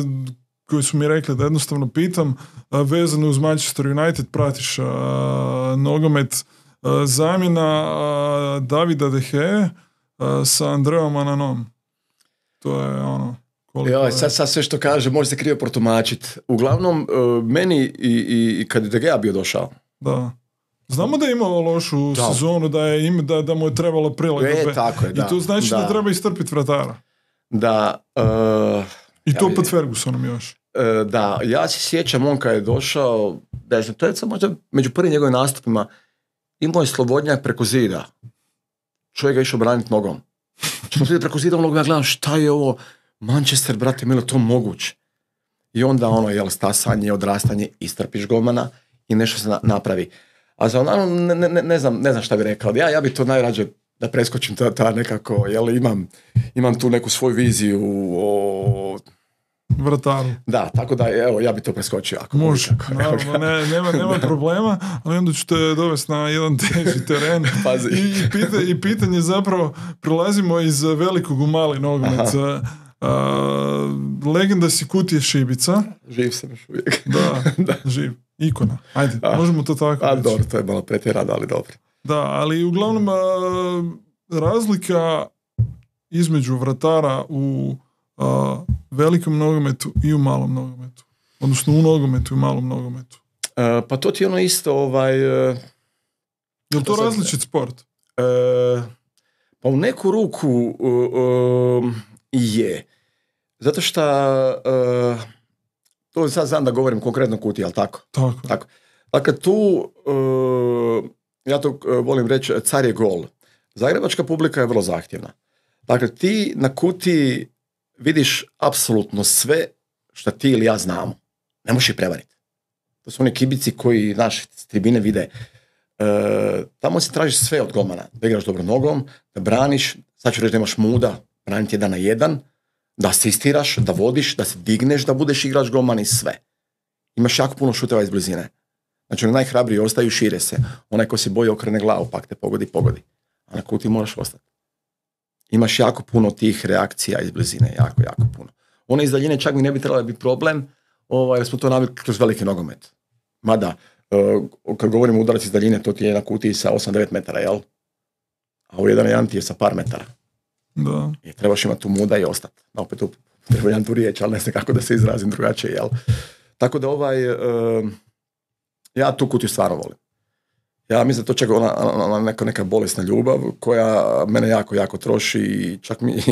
koje su mi rekli da jednostavno pitam, vezano uz Manchester United, pratiš a, nogomet, a, zamjena a, Davida De Gea a, sa Andreom Ananom. To je ono, Ja, sad, sad sve što kaže može se krivo protumačiti. Uglavnom, uh, meni i, i, i kad je De Gea bio došao. Da. Znamo da je imao lošu da. sezonu, da, je im, da, da mu je trebalo prilagodbe. E, tako je, da. I to znači da, da treba istrpiti vratara. Da. Uh, I to ja, pod Fergusonom još. Uh, da, ja se sjećam on kad je došao, da je, to je sad možda među prvim njegovim nastupima, imao je slobodnjak preko zida. Čovjek ga išao braniti nogom. Što sam preko zida onog, ja gledam šta je ovo, Manchester, brate, milo, to moguće. I onda ono, jel, stasanje, odrastanje, istrpiš golmana i nešto se na, napravi. A za ono, ne, ne, ne, znam, ne znam šta bi rekao. Ja, ja bi to najrađe da preskočim ta, ta nekako, jel, imam, imam tu neku svoju viziju o... vrataru. Da, tako da, evo, ja bi to preskočio. Ako može, naravno, ne, nema, nema problema, ali onda ću te dovesti na jedan teži teren. Pazi. I, i, pita, I pitanje zapravo, prelazimo iz velikog u mali nogomet. Uh, legenda si Kutije Šibica. Živ sam još uvijek. Da, da. Živ. Ikona. Ajde, a, možemo to tako a, reći. Dobro, to je malo pretjerano, ali dobro. Da, ali uglavnom uh, razlika između vratara u uh, velikom nogometu i u malom nogometu. Odnosno u nogometu i u malom nogometu. Uh, pa to ti je ono isto, ovaj... Uh, je li to različit sport? Uh, pa u neku ruku uh, uh, je. Zato što uh, to sad znam da govorim konkretno Kutiji, ali tako? Tako. tako. Dakle, tu uh, ja to uh, volim reći, car je gol. Zagrebačka publika je vrlo zahtjevna. Dakle, ti na Kutiji vidiš apsolutno sve što ti ili ja znamo. Ne možeš ih prevariti. To su oni kibici koji, znaš, tribine vide. E, tamo si tražiš sve od golmana. Da igraš dobro nogom, da braniš, sad ću reći da imaš muda, braniti jedan na jedan, da asistiraš, da vodiš, da se digneš, da budeš igrač golman i sve. Imaš jako puno šuteva iz blizine. Znači, oni najhrabriji ostaju, šire se. Onaj ko se boji okrene glavu, pak te pogodi, pogodi. A na Kutiji moraš ostati. Imaš jako puno tih reakcija iz blizine, jako, jako puno. One iz daljine čak mi ne bi trebalo biti problem, ovaj, jer smo to navikli kroz veliki nogomet. Mada, uh, kad govorimo udarac iz daljine, to ti je na Kutiji sa osam devet metara, jel? A u jedan jedan ti je sa par metara. Da. I trebaš imati tu muda i ostati. Da, opet tu treba jedan tu riječ, ali ne znam kako da se izrazim drugačije, jel? Tako da ovaj, uh, ja tu Kutiju stvarno volim. Ja mislim da to čak ona, ona neka, neka bolesna ljubav koja mene jako, jako troši i čak mi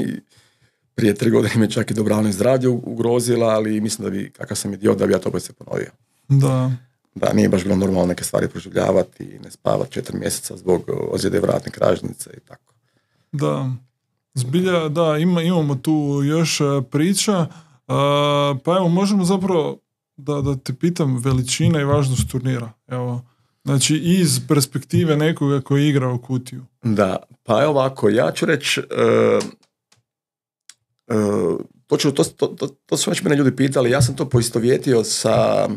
prije tri godine me čak i dobrano zdravlje ugrozila, ali mislim da bi, kakav sam idiot, da bi ja to opet se ponovio. Da. Da, nije baš bilo normalno neke stvari proživljavati i ne spavati četiri mjeseca zbog ozljede vratne kražnice i tako. Da, zbilja, da, ima, imamo tu još priča, uh, pa evo, možemo zapravo da, da te pitam veličina i važnost turnira, evo. Znači, iz perspektive nekoga koji igra u Kutiju. Da, pa je ovako, ja ću reći, uh, uh, to, ću, to, to, to, to su već mene ljudi pitali, ja sam to poistovjetio sa,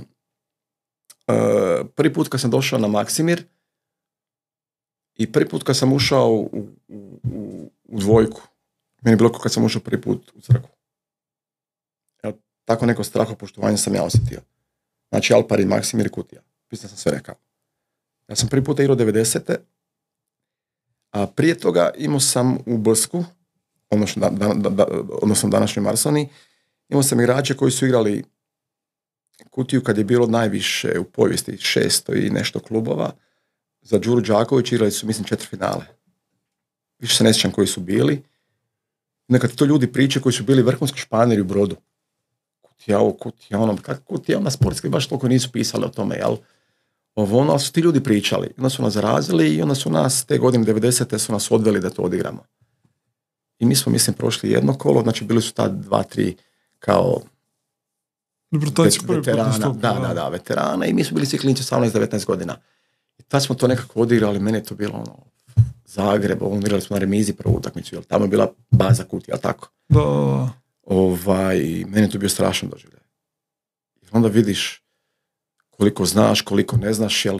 uh, prvi put kad sam došao na Maksimir i prvi put kad sam ušao u, u, u, u dvojku. Meni je bilo kao kad sam ušao prvi put u crkvu. Ja, tako neko strahopoštovanje sam ja osjetio. Znači, Alpari, Maksimir i Kutija. Pisao sam sve rekao. Ja sam prvi puta igrao devedesete, a prije toga imao sam u Bsku, odnosno, da, da, da, odnosno današnjoj Marsoni, imao sam igrače koji su igrali Kutiju kad je bilo najviše u povijesti šesto i nešto klubova. Za Đuru Đaković igrali su, mislim, četiri finale. Više se ne sjećam koji su bili. Nekad to ljudi priče koji su bili vrhunski španjeri u Brodu. Kutija ovo, Kutija ono, kako Kutija ona sportski, baš toliko nisu pisali o tome, jel? Ovo, ono, ali su ti ljudi pričali. Onda su nas zarazili i onda su nas, te godine devedesete su nas odveli da to odigramo. I mi smo, mislim, prošli jedno kolo, znači bili su ta dva, tri kao Dobro, vet, veterana. Stup, da, da, da, veterana i mi smo bili svi klinci osamnaest devetnaest godina. I tad smo to nekako odigrali, meni je to bilo ono, Zagreb, ovo, igrali smo na remizi prvu utakmicu, jel tamo je bila baza Kutija, jel tako? Da. Ovaj, meni je to bio strašan doživljaj. I onda vidiš koliko znaš, koliko ne znaš, jel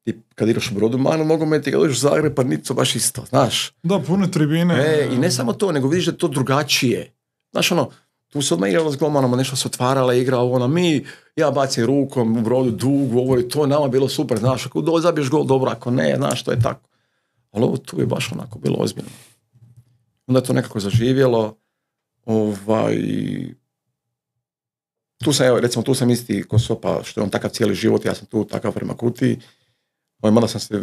ti kad igraš u Brodu manu nogomet i kad dođeš u Zagreb, pa niti to baš isto, znaš. Da, pune tribine. E, i ne samo to, nego vidiš da je to drugačije. Znaš, ono, tu se odmah igralo s golmanama, nešto se otvarala igra, ono, mi, ja bacim rukom u Brodu dugu, ovo je to, nama bilo super, znaš, ako do, zabiješ gol, dobro, ako ne, znaš, to je tako. Ali ovo tu je baš onako bilo ozbiljno. Onda je to nekako zaživjelo, Ovaj, tu sam, evo, recimo, tu sam isti ko Sopa, što je on takav cijeli život, ja sam tu takav prema Kutiji. Ovaj, mada sam se,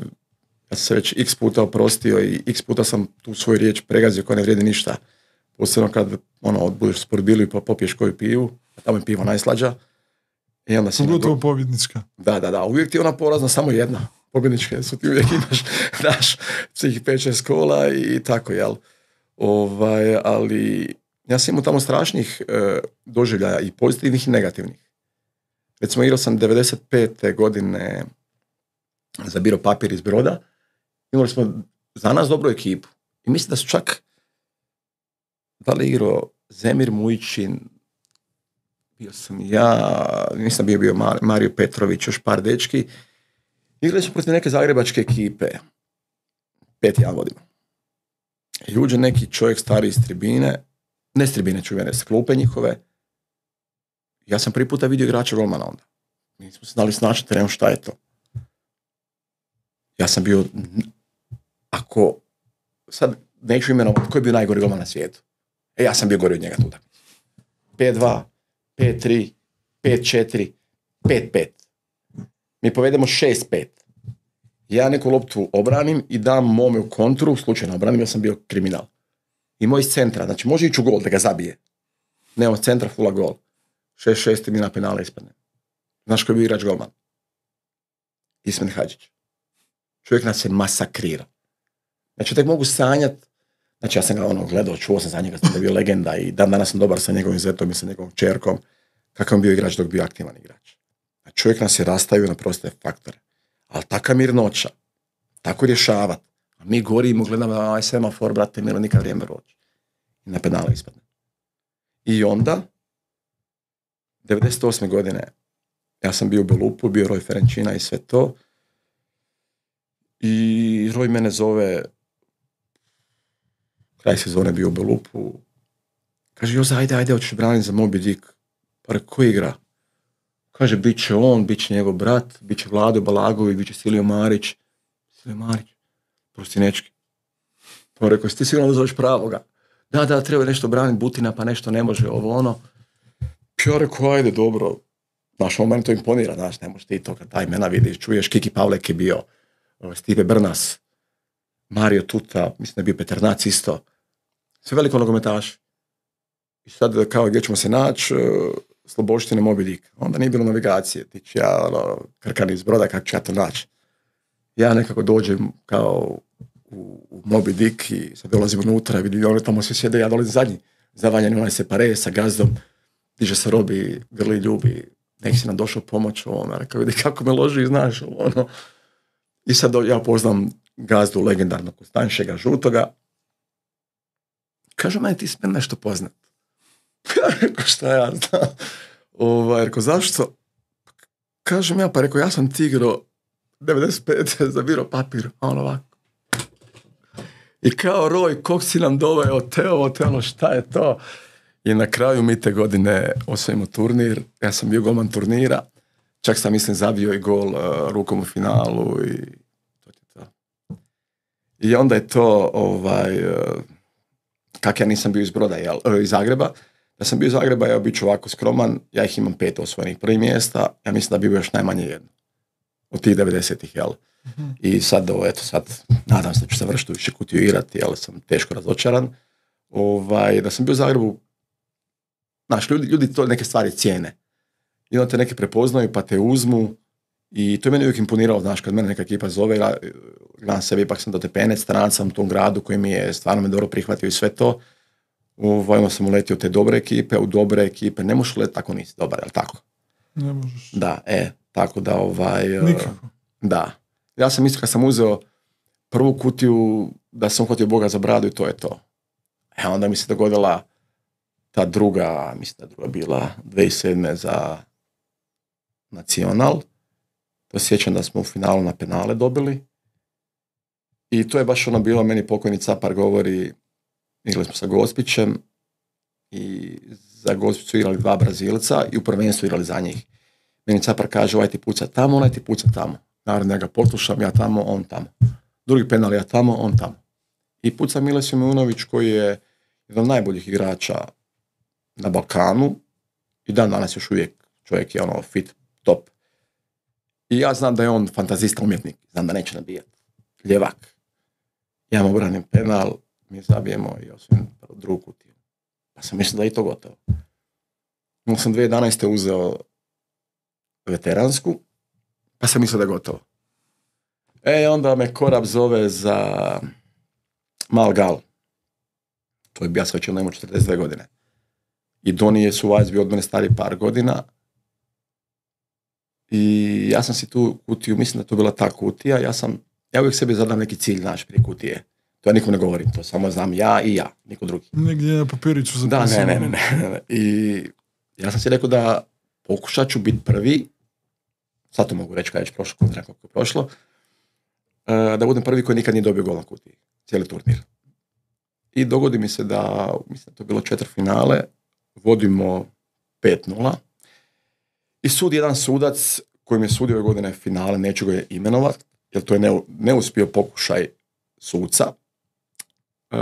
ja sam se već x puta oprostio i x puta sam tu svoju riječ pregazio koja ne vrijedi ništa. Posebno kad, ono, budeš sportbili pa popiješ koju pivu, a tamo je pivo najslađa. I onda si... Pogotovo pobjednička. Da, da, da, uvijek ti je ona porazna samo jedna. Pobjedničke su ti uvijek imaš, daš svih pet šest kola i tako, jel? Ovaj, ali ja sam imao tamo strašnih e, doživljaja i pozitivnih i negativnih. Recimo, igrao sam devedeset pete godine za Biro Papir iz Broda. Imali smo za nas dobru ekipu. I mislim da su čak, da li igrao Zemir Mujićin, bio sam ja, nisam bio bio Mario Petrović, još par dečki. Igrali su protiv neke zagrebačke ekipe. pet jedan vodimo. I uđe neki čovjek stari iz tribine, ne s tribine čuvene, s klupe njihove. Ja sam prvi puta vidio igrača golmana onda. Mi smo se znali snaći terenu šta je to. Ja sam bio, ako, sad neću imenovati, koji je bio najgori golman na svijetu? E, ja sam bio gori od njega tuda. pet dva, pet tri, pet četiri, pet pet. Mi povedemo šest pet. Ja neku loptu obranim i dam mome u kontru, slučajno obranim, ja sam bio kriminal. I moj iz centra, znači može ići u gol da ga zabije. Ne, od centra fula gol. šest šest mi na penale ispadne. Znaš koji je bio igrač golman? Ismen Hadžić. Čovjek nas se masakrira. Znači, tek mogu sanjati. Znači, ja sam ga ono gledao, čuo sam za njega, sam da je bio legenda i dan danas sam dobar sa njegovim zetom i sa njegovom čerkom. Kakav je bio igrač dok bio aktivan igrač. A čovjek nas je rastavio na proste faktore. Ali taka mirnoća, tako rješavat. A mi gorimo, gledamo, aj semafor, brate, milo, nikad vrijeme roći. I na penale ispadne. I onda, devedeset osme godine, ja sam bio u Belupu, bio Roj Ferenčina i sve to. I Roj mene zove, kraj sezone bio u Belupu. Kaže, Joza, ajde, ajde, hoćeš braniti za Moby Dick. Pa reko, ko igra? Kaže, bit će on, bit će njegov brat, bit će Vlado Balagović, bit će Silio Marić. Silio Marić, prostinečki. Pa rekao, si ti sigurno da zoveš pravoga? Da, da, treba nešto braniti Butina, pa nešto ne može, ovo ono. Ja rekao, ajde, dobro. Znaš, ovo meni to imponira, znaš, ne možeš ti to kad taj imena vidiš, čuješ, Kiki Pavlek je bio, Stipe Brnas, Mario Tuta, mislim da je bio Petar Nac isto. Sve veliko nogometaši. I sad, kao, gdje ćemo se naći, Sloboštine, Moby Dick. Onda nije bilo navigacije. Ti ću ja, ono, Krkan iz Broda, kako ću ja to naći. Ja nekako dođem kao u, u Moby Dick i sad dolazim unutra, vidim, oni tamo svi sjede, ja dolazim zadnji. Zavanjeni onaj separe sa gazdom, diže se Robi, grli, ljubi, nek si nam došao pomoć ovome. Rekao, vidi kako me loži, znaš, ono. I sad ja poznam gazdu legendarnog Kostanjšega Žutoga. Kaže, meni ti smije nešto poznat. Ja rekao, šta ja znam? Ovaj, rekao, zašto? Kažem ja, pa rekao, ja sam tigro devedeset pete za Biro Papir, a on ovako. I kao Roj, kog si nam doveo, te ovo, te ono, šta je to? I na kraju mi te godine osvojimo turnir, ja sam bio golman turnira, čak sam, mislim, zabio i gol uh, rukom u finalu i to je to. I onda je to, ovaj, uh, kak ja nisam bio iz Broda, jel, uh, iz Zagreba, da sam bio iz Zagreba, ja bit ću ovako skroman, ja ih imam pet osvojenih prvih mjesta, ja mislim da bi bio još najmanje jedno. Od tih devedesetih, jel? Mm-hmm. I sad, ovo, eto, sad, nadam se da ću se vršiti više Kutiju igrati, jel, sam teško razočaran. Ovaj, da sam bio u Zagrebu, znaš, ljudi, ljudi to neke stvari cijene. I onda te neke prepoznaju, pa te uzmu. I to je meni uvijek imponiralo, znaš, kad mene neka ekipa zove, gledam sebi, ipak sam dotepenec, stranac sam u tom gradu koji mi je stvarno me dobro prihvatio i sve to. Ovaj, onda sam uletio u te dobre ekipe, u dobre ekipe, ne možeš letiti tako nisi dobar, jel tako? Ne možeš. Da, e, tako da ovaj... Nikako. Da. Ja sam isto kad sam uzeo prvu kutiju, da sam uhvatio Boga za bradu i to je to. E, onda mi se dogodila ta druga, mislim da je druga bila dvije tisuće sedme za Nacional. To sjećam da smo u finalu na penale dobili. I to je baš ono bilo, meni pokojni Capar govori, igrali smo sa Gospićem i za Gospić su igrali dva Brazilca i u prvenstvu igrali za njih. Meni Capar kaže, ovaj ti puca tamo, onaj ti puca tamo. Naravno, ja ga poslušam, ja tamo, on tamo. Drugi penal, ja tamo, on tamo. I puca Miles Simunović koji je jedan od najboljih igrača na Balkanu i dan danas još uvijek čovjek je ono fit, top. I ja znam da je on fantazista, umjetnik, znam da neće nabijati. Ljevak. Ja mu obranim penal, mi zabijemo i osvojim drugu kutiju. Pa sam mislio da je i to gotovo. Onda sam dvije tisuće jedanaeste uzeo veteransku, pa sam mislio da je gotovo. E, onda me Korab zove za Mal Gal. To je bio, ja sam već onda imao četrdeset dvije godine. I Doni je Suvajs bio od mene stari par godina. I ja sam si tu kutiju, mislim da to bila ta kutija, ja sam, ja uvijek sebi zadam neki cilj naš prije kutije. To ja nikom ne govorim, to samo znam ja i ja, niko drugi. Negdje na papiriću zapisano. Da, ne, ne, ne, ne. I ja sam si rekao da pokušat ću biti prvi, sad to mogu reći kada je već prošlo, kod nekako je prošlo, da budem prvi koji nikad nije dobio gol na kutiji, cijeli turnir. I dogodi mi se da, mislim da to je bilo četvrtfinale, vodimo pet nula i sudi jedan sudac koji mi je sudio ove godine finale, neću ga imenovati, jer to je neuspio pokušaj suca. Uh,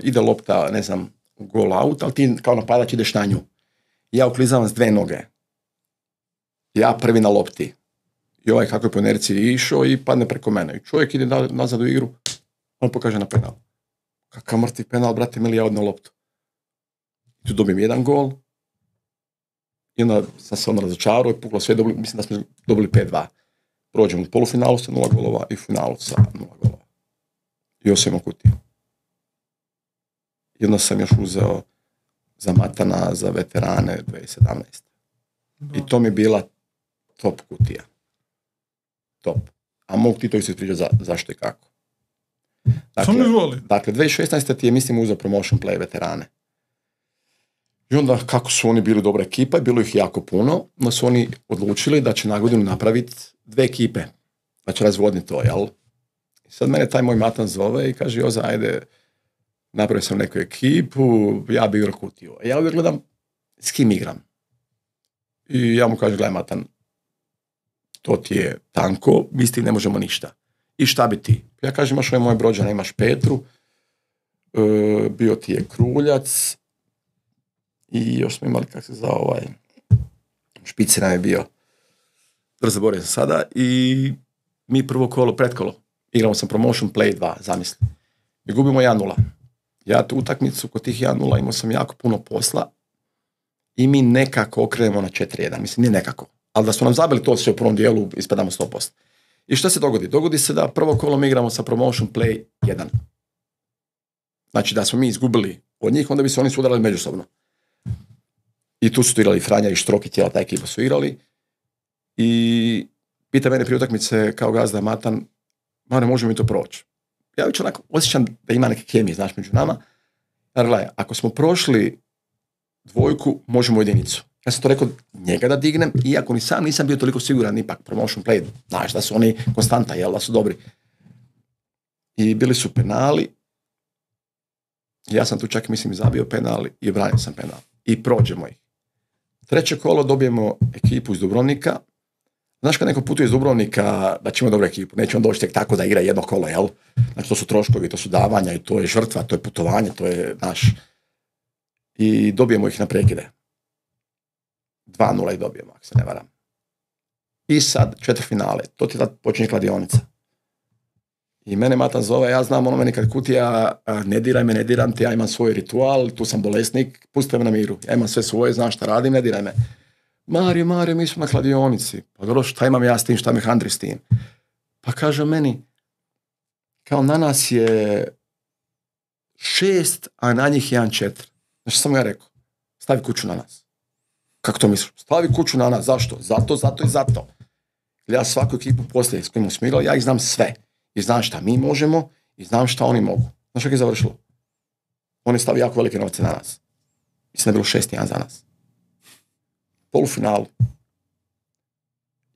ide lopta, ne znam, gol out, ali ti kao napadač ideš na nju. Ja uklizavam s dve noge. Ja prvi na lopti. I ovaj kako je po inerciji išao i padne preko mene. I čovjek ide nazad u igru, on pokaže na penal. Kakav mrtvi penal, brate, mili, ja odno loptu. Tu dobijem jedan gol. I onda sam se ono razočarao i puklo sve, dobili, mislim da smo dobili pet dva. Prođemo u polufinalu sa nula golova i u finalu sa nula golova. I osvojimo kutiju. I onda sam još uzeo za Matana, za veterane dvije tisuće sedamnaeste. I to mi je bila top kutija. Top. A mogu ti to isto ispričati za, zašto i kako. Dakle, dakle, dvije tisuće šesnaeste ti je, mislim, uzeo promotion play veterane. I onda, kako su oni bili dobra ekipa, bilo ih jako puno, no su oni odlučili da će na godinu napraviti dve ekipe. Da će razvodniti to, jel? I sad mene taj moj Matan zove i kaže, Joza, ajde, napravio sam neku ekipu, ja bi igrao kutiju. A ja uvijek gledam s kim igram. I ja mu kažem, gledaj Matan, to ti je tanko, mi s tim ne možemo ništa. I šta bi ti? Ja kažem, imaš ovaj moj brođana, imaš Petru, e, bio ti je Kruljac i još smo imali, kak se zove, ovaj, Špici nam je bio, da zaboravim sam sada, i mi prvo kolo, pretkolo, igramo sam promotion play dva, zamisli. I gubimo jedan nula. Ja tu utakmicu kod tih jedan nula imao sam jako puno posla i mi nekako okrenemo na četiri jedan. Mislim, nije nekako. Ali da smo nam zabili to sve u prvom dijelu, ispadamo sto posto. I što se dogodi? Dogodi se da prvo kolo mi igramo sa promotion play jedan. Znači da smo mi izgubili od njih, onda bi se oni sudarali međusobno. I tu su igrali Franja i Štrok i cijela ta ekipa su igrali. I pita mene prije utakmice kao gazda Matan, Mane, možemo mi to proći? Ja već onako osjećam da ima neke kemije, znaš, među nama. Jer gledaj, ako smo prošli dvojku, možemo jedinicu. Ja sam to rekao njega da dignem, iako ni sam nisam bio toliko siguran, ipak promotion play, znaš, da su oni konstanta, jel, da su dobri. I bili su penali. Ja sam tu čak, mislim, zabio penali i branio sam penal. I prođemo ih. Treće kolo dobijemo ekipu iz Dubrovnika. Znaš kad neko putuje iz Dubrovnika da će imati dobru ekipu, neće on doći tek tako da igra jedno kolo, jel? Znači to su troškovi, to su davanja i to je žrtva, to je putovanje, to je naš. I dobijemo ih na prekide. dva nula ih dobijemo, ako se ne varam. I sad četvrtfinale, to ti tad počinje kladionica. I mene Matan zove, ja znam ono meni kad kutija, ne diraj me, ne diram te, ja imam svoj ritual, tu sam bolesnik, pusti me na miru. Ja imam sve svoje, znam šta radim, ne diraj me. Mario, Mario, mi smo na kladionici. Pa dobro, šta imam ja s tim, šta me handri s tim? Pa kaže meni, kao na nas je šest, a na njih jedan četiri. Znači sam ja rekao, stavi kuću na nas. Kako to misliš? Stavi kuću na nas, zašto? Zato, zato i zato. Ja svaku ekipu poslije s kojim smo igrali, ja ih znam sve. I znam šta mi možemo i znam šta oni mogu. Znaš kako je završilo? Oni stavi jako velike novce na nas. Mislim da je bilo šest jedan za nas. Polufinalu.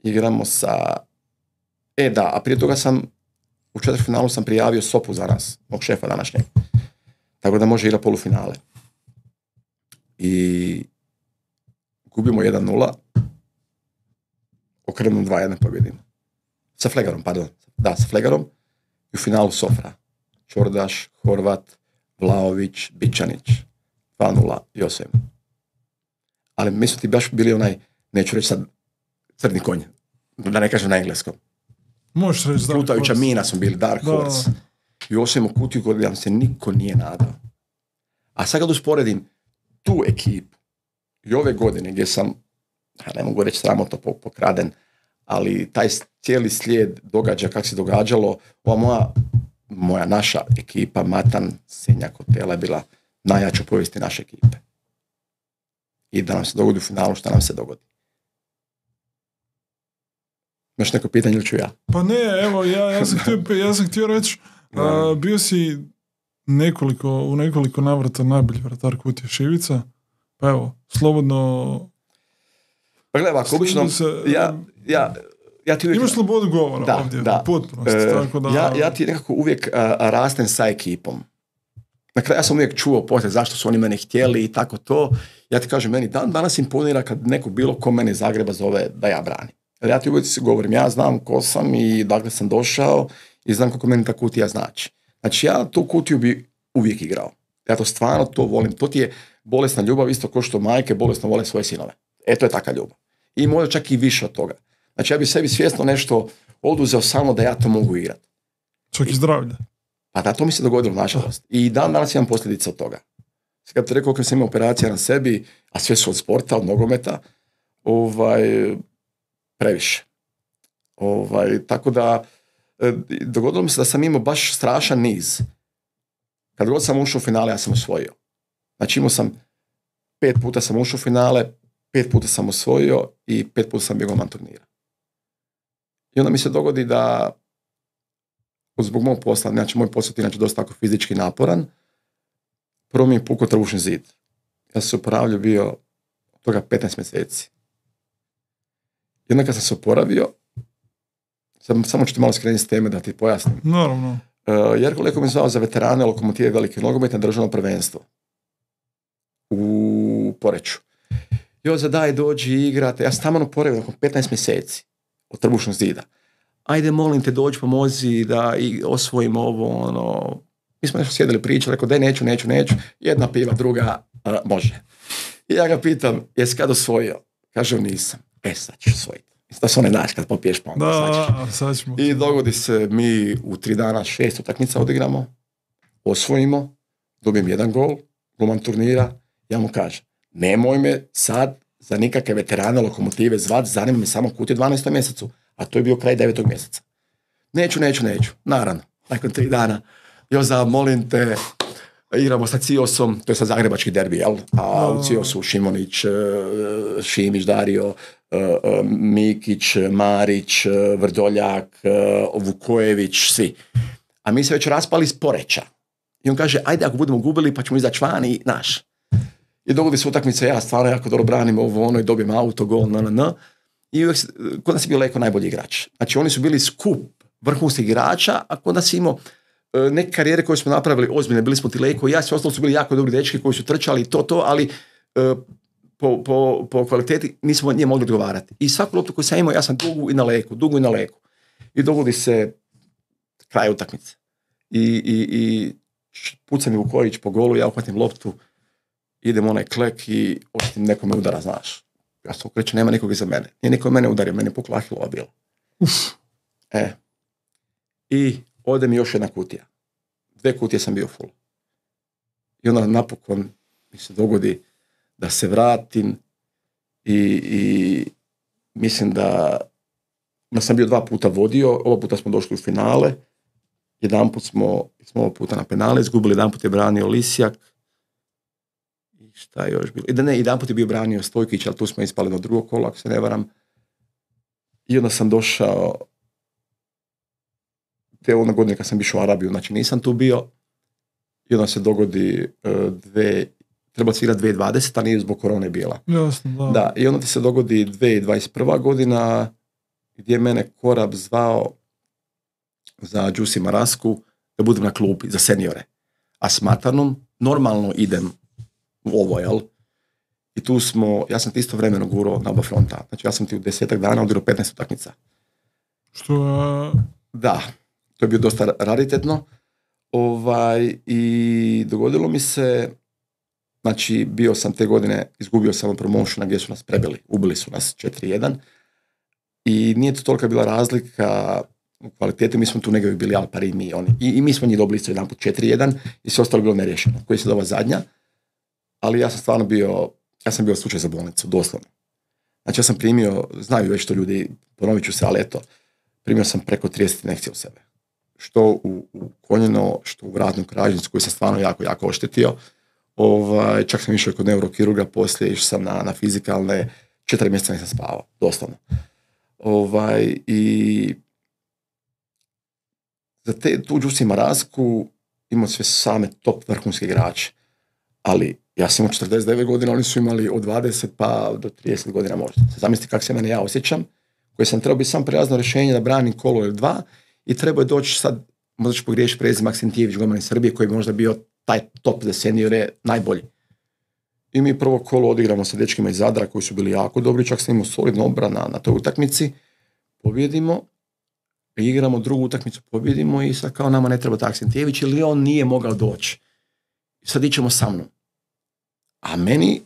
Igramo sa... E da, a prije toga sam u četvrtfinalu sam prijavio Sopu za nas, mog šefa današnjeg. Tako da može igrati polufinale. I gubimo jedan nula. Okrenemo dva jedan pobjedimo. Sa Flegarom, pardon. Da, sa Flegarom. I u finalu Sofra. Čordaš, Horvat, Vlaović, Bičanić. dva nula i osam. Ali mi su ti baš bili onaj, neću reći sad, crni konj, da ne kažem na engleskom. Možeš reći Dark Plutajuća Horse. mina smo bili, Dark Da. Horse. I osvojimo kutiju koju nam se niko nije nadao. A sad kad usporedim tu ekipu i ove godine gdje sam, ne mogu reći sramotno pokraden, ali taj cijeli slijed događa kako se događalo, ova moja, moja naša ekipa, Matan, Senjak, Hotela je bila najjača u povijesti naše ekipe. I da nam se dogodi u finalu, šta nam se dogodi. Imaš neko pitanje ili ću ja? Pa ne, evo, ja, ja, sam, htio, ja sam htio reći, uh, bio si nekoliko, u nekoliko navrata najbolji vratar Kutije Šivica, pa evo, slobodno... Pa gledaj, ovako, obično, se, ja, ja, ja ti uvijek... Imaš slobodu govora da, ovdje, da. u potpunosti, E, tako da... Ja, ja ti nekako uvijek a, a, rastem sa ekipom. Na kraju ja sam uvijek čuo poslije zašto su oni mene htjeli i tako to. Ja ti kažem, meni dan danas imponira kad neko bilo ko mene iz Zagreba zove da ja branim. Jer ja ti uvijek govorim, ja znam ko sam i dakle sam došao i znam kako meni ta kutija znači. Znači ja tu kutiju bi uvijek igrao. Ja to stvarno to volim. To ti je bolesna ljubav, isto kao što majke bolesno vole svoje sinove. E, to je taka ljubav. I možda čak i više od toga. Znači ja bi sebi svjesno nešto oduzeo samo da ja to mogu igrati. Čak i zdravlje. Pa da, to mi se dogodilo, nažalost. I dan danas imam posljedice od toga. Kad ti rekao, kad sam imao operacija na sebi, a sve su od sporta, od nogometa, ovaj, previše. Ovaj, tako da, dogodilo mi se da sam imao baš strašan niz. Kad god sam ušao u finale, ja sam osvojio. Znači imao sam, pet puta sam ušao u finale, pet puta sam osvojio i pet puta sam bio golman turnira. I onda mi se dogodi da zbog mog posla, znači moj posao je inače dosta tako fizički naporan, prvo mi je pukao trbušni zid. Ja sam se oporavljao bio toga petnaest mjeseci. I onda kad sam se oporavio, sam, samo ću ti malo skrenuti s teme da ti pojasnim. Naravno. Uh, Jerko Leko mi zvao za veterane Lokomotive velike nogometne državno prvenstvo u Poreču. Joza, daj, dođi, igrate. Ja sam tamo oporavio nakon petnaest mjeseci od trbušnog zida. Ajde, molim te, dođi, pomozi da i osvojimo ovo, ono. Mi smo nešto sjedili pričali, rekao, daj, neću, neću, neću. Jedna piva, druga, a, može. I ja ga pitam, jesi kad osvojio? Kaže, nisam. E, sad ćeš osvojiti. Da se one naš kad popiješ, pa onda da, sad ćemo. I dogodi se, mi u tri dana šest utakmica odigramo, osvojimo, dobijem jedan gol, golman turnira, ja mu kažem, nemoj me sad za nikakve veterane Lokomotive zvat, zanima me samo Kutija u dvanaestom mjesecu, a to je bio kraj devetog mjeseca. Neću, neću, neću. Naravno, nakon tri dana, Joza, molim te, igramo sa Ciosom, to je sad zagrebački derbi, jel? A u Ciosu Šimonić, Šimić, Dario, Mikić, Marić, Vrdoljak, Vukojević, svi. A mi se već raspali iz Poreča. I on kaže, ajde ako budemo gubili pa ćemo izaći van i naš. I dogodi se utakmica, ja stvarno jako dobro branim ovo, ono, i dobijem auto, gol, na, na, na. I uvijek, kod nas je bio Leko najbolji igrač. Znači oni su bili skup vrhunskih igrača, a kod nas imamo neke karijere koje smo napravili ozbiljne, bili smo ti Leko i ja, svi ostalo su bili jako dobri dečki koji su trčali to, to, ali po, po, po kvaliteti nismo nije mogli odgovarati. I svaku loptu koju sam imao, ja sam dugu i na Leku, dugu i na Leku. I dogodi se kraj utakmice. I, i, i pucam je Vukojić po golu, ja uhvatim loptu, idem onaj klek i osjetim nekome udara, znaš. Ja sam okrećen, nema nikog iza mene. Nije niko mene udario, meni je pukla Ahilova bila. Uf. E. I ode mi još jedna kutija. Dve kutije sam bio full. I onda napokon mi se dogodi da se vratim i, i mislim da, da sam bio dva puta vodio, ova puta smo došli u finale, jedan put smo, smo ovog puta na penale izgubili, jedan put je branio Lisjak i šta je još bilo, i da ne, jedan put je bio branio Stojkić, ali tu smo ispali do drugog kola, ako se ne varam. I onda sam došao, te ona godine kad sam išao u Arabiju, znači nisam tu bio, i onda se dogodi uh, dve, treba se igrati dvije tisuće dvadeseta, a nije zbog korone bila. Jasno, da. Da, i onda ti se dogodi dvije tisuće dvadeset prva godina, gdje je mene Korab zvao za Đusi Marasku da budem na klupi za seniore. A s Matanom normalno idem u ovo, jel? I tu smo, ja sam ti isto vremeno gurao na oba fronta. Znači ja sam ti u desetak dana odigrao petnaest utakmica. Što je... Da, to je bio dosta raritetno. Ovaj, i dogodilo mi se Znači, bio sam te godine, izgubio sam promotiona gdje su nas prebili, ubili su nas četiri jedan i nije to tolika bila razlika u kvaliteti, mi smo tu negdje bili al pari mi, oni. I, i mi smo njih dobili isto jedan put četiri jedan i sve ostalo bilo neriješeno, koji se dova zadnja, ali ja sam stvarno bio, ja sam bio slučaj za bolnicu, doslovno. Znači, ja sam primio, znaju već to ljudi, ponovit ću se, ali eto, primio sam preko trideset injekcija u sebe. Što u, u koljeno, što u vratnu kralježnicu koju sam stvarno jako, jako oštetio. Ovaj, čak sam išao kod neurokirurga, poslije išao sam na, na fizikalne, četiri mjeseca nisam spavao, doslovno. Ovaj, i za te, tu Đusi Marazku imao sve same top vrhunske igrače, ali ja sam imao četrdeset devet godina, oni su imali od dvadeset pa do trideset godina možda. Zamislite kako se mene ja osjećam, koji sam trebao biti sam prijazno rješenje da branim kolo ili dva i trebao je doći sad, možda ću pogriješiti prezim Maksentijević, golman iz Srbije, koji bi možda bio taj top za seniore najbolji. I mi prvo kolo odigramo sa dečkima iz Zadra koji su bili jako dobri, čak sam imao solidno obrana na toj utakmici, pobjedimo, igramo drugu utakmicu, pobjedimo i sad kao nama ne treba Maksentijević ili on nije mogao doći. I sad ićemo sa mnom. A meni,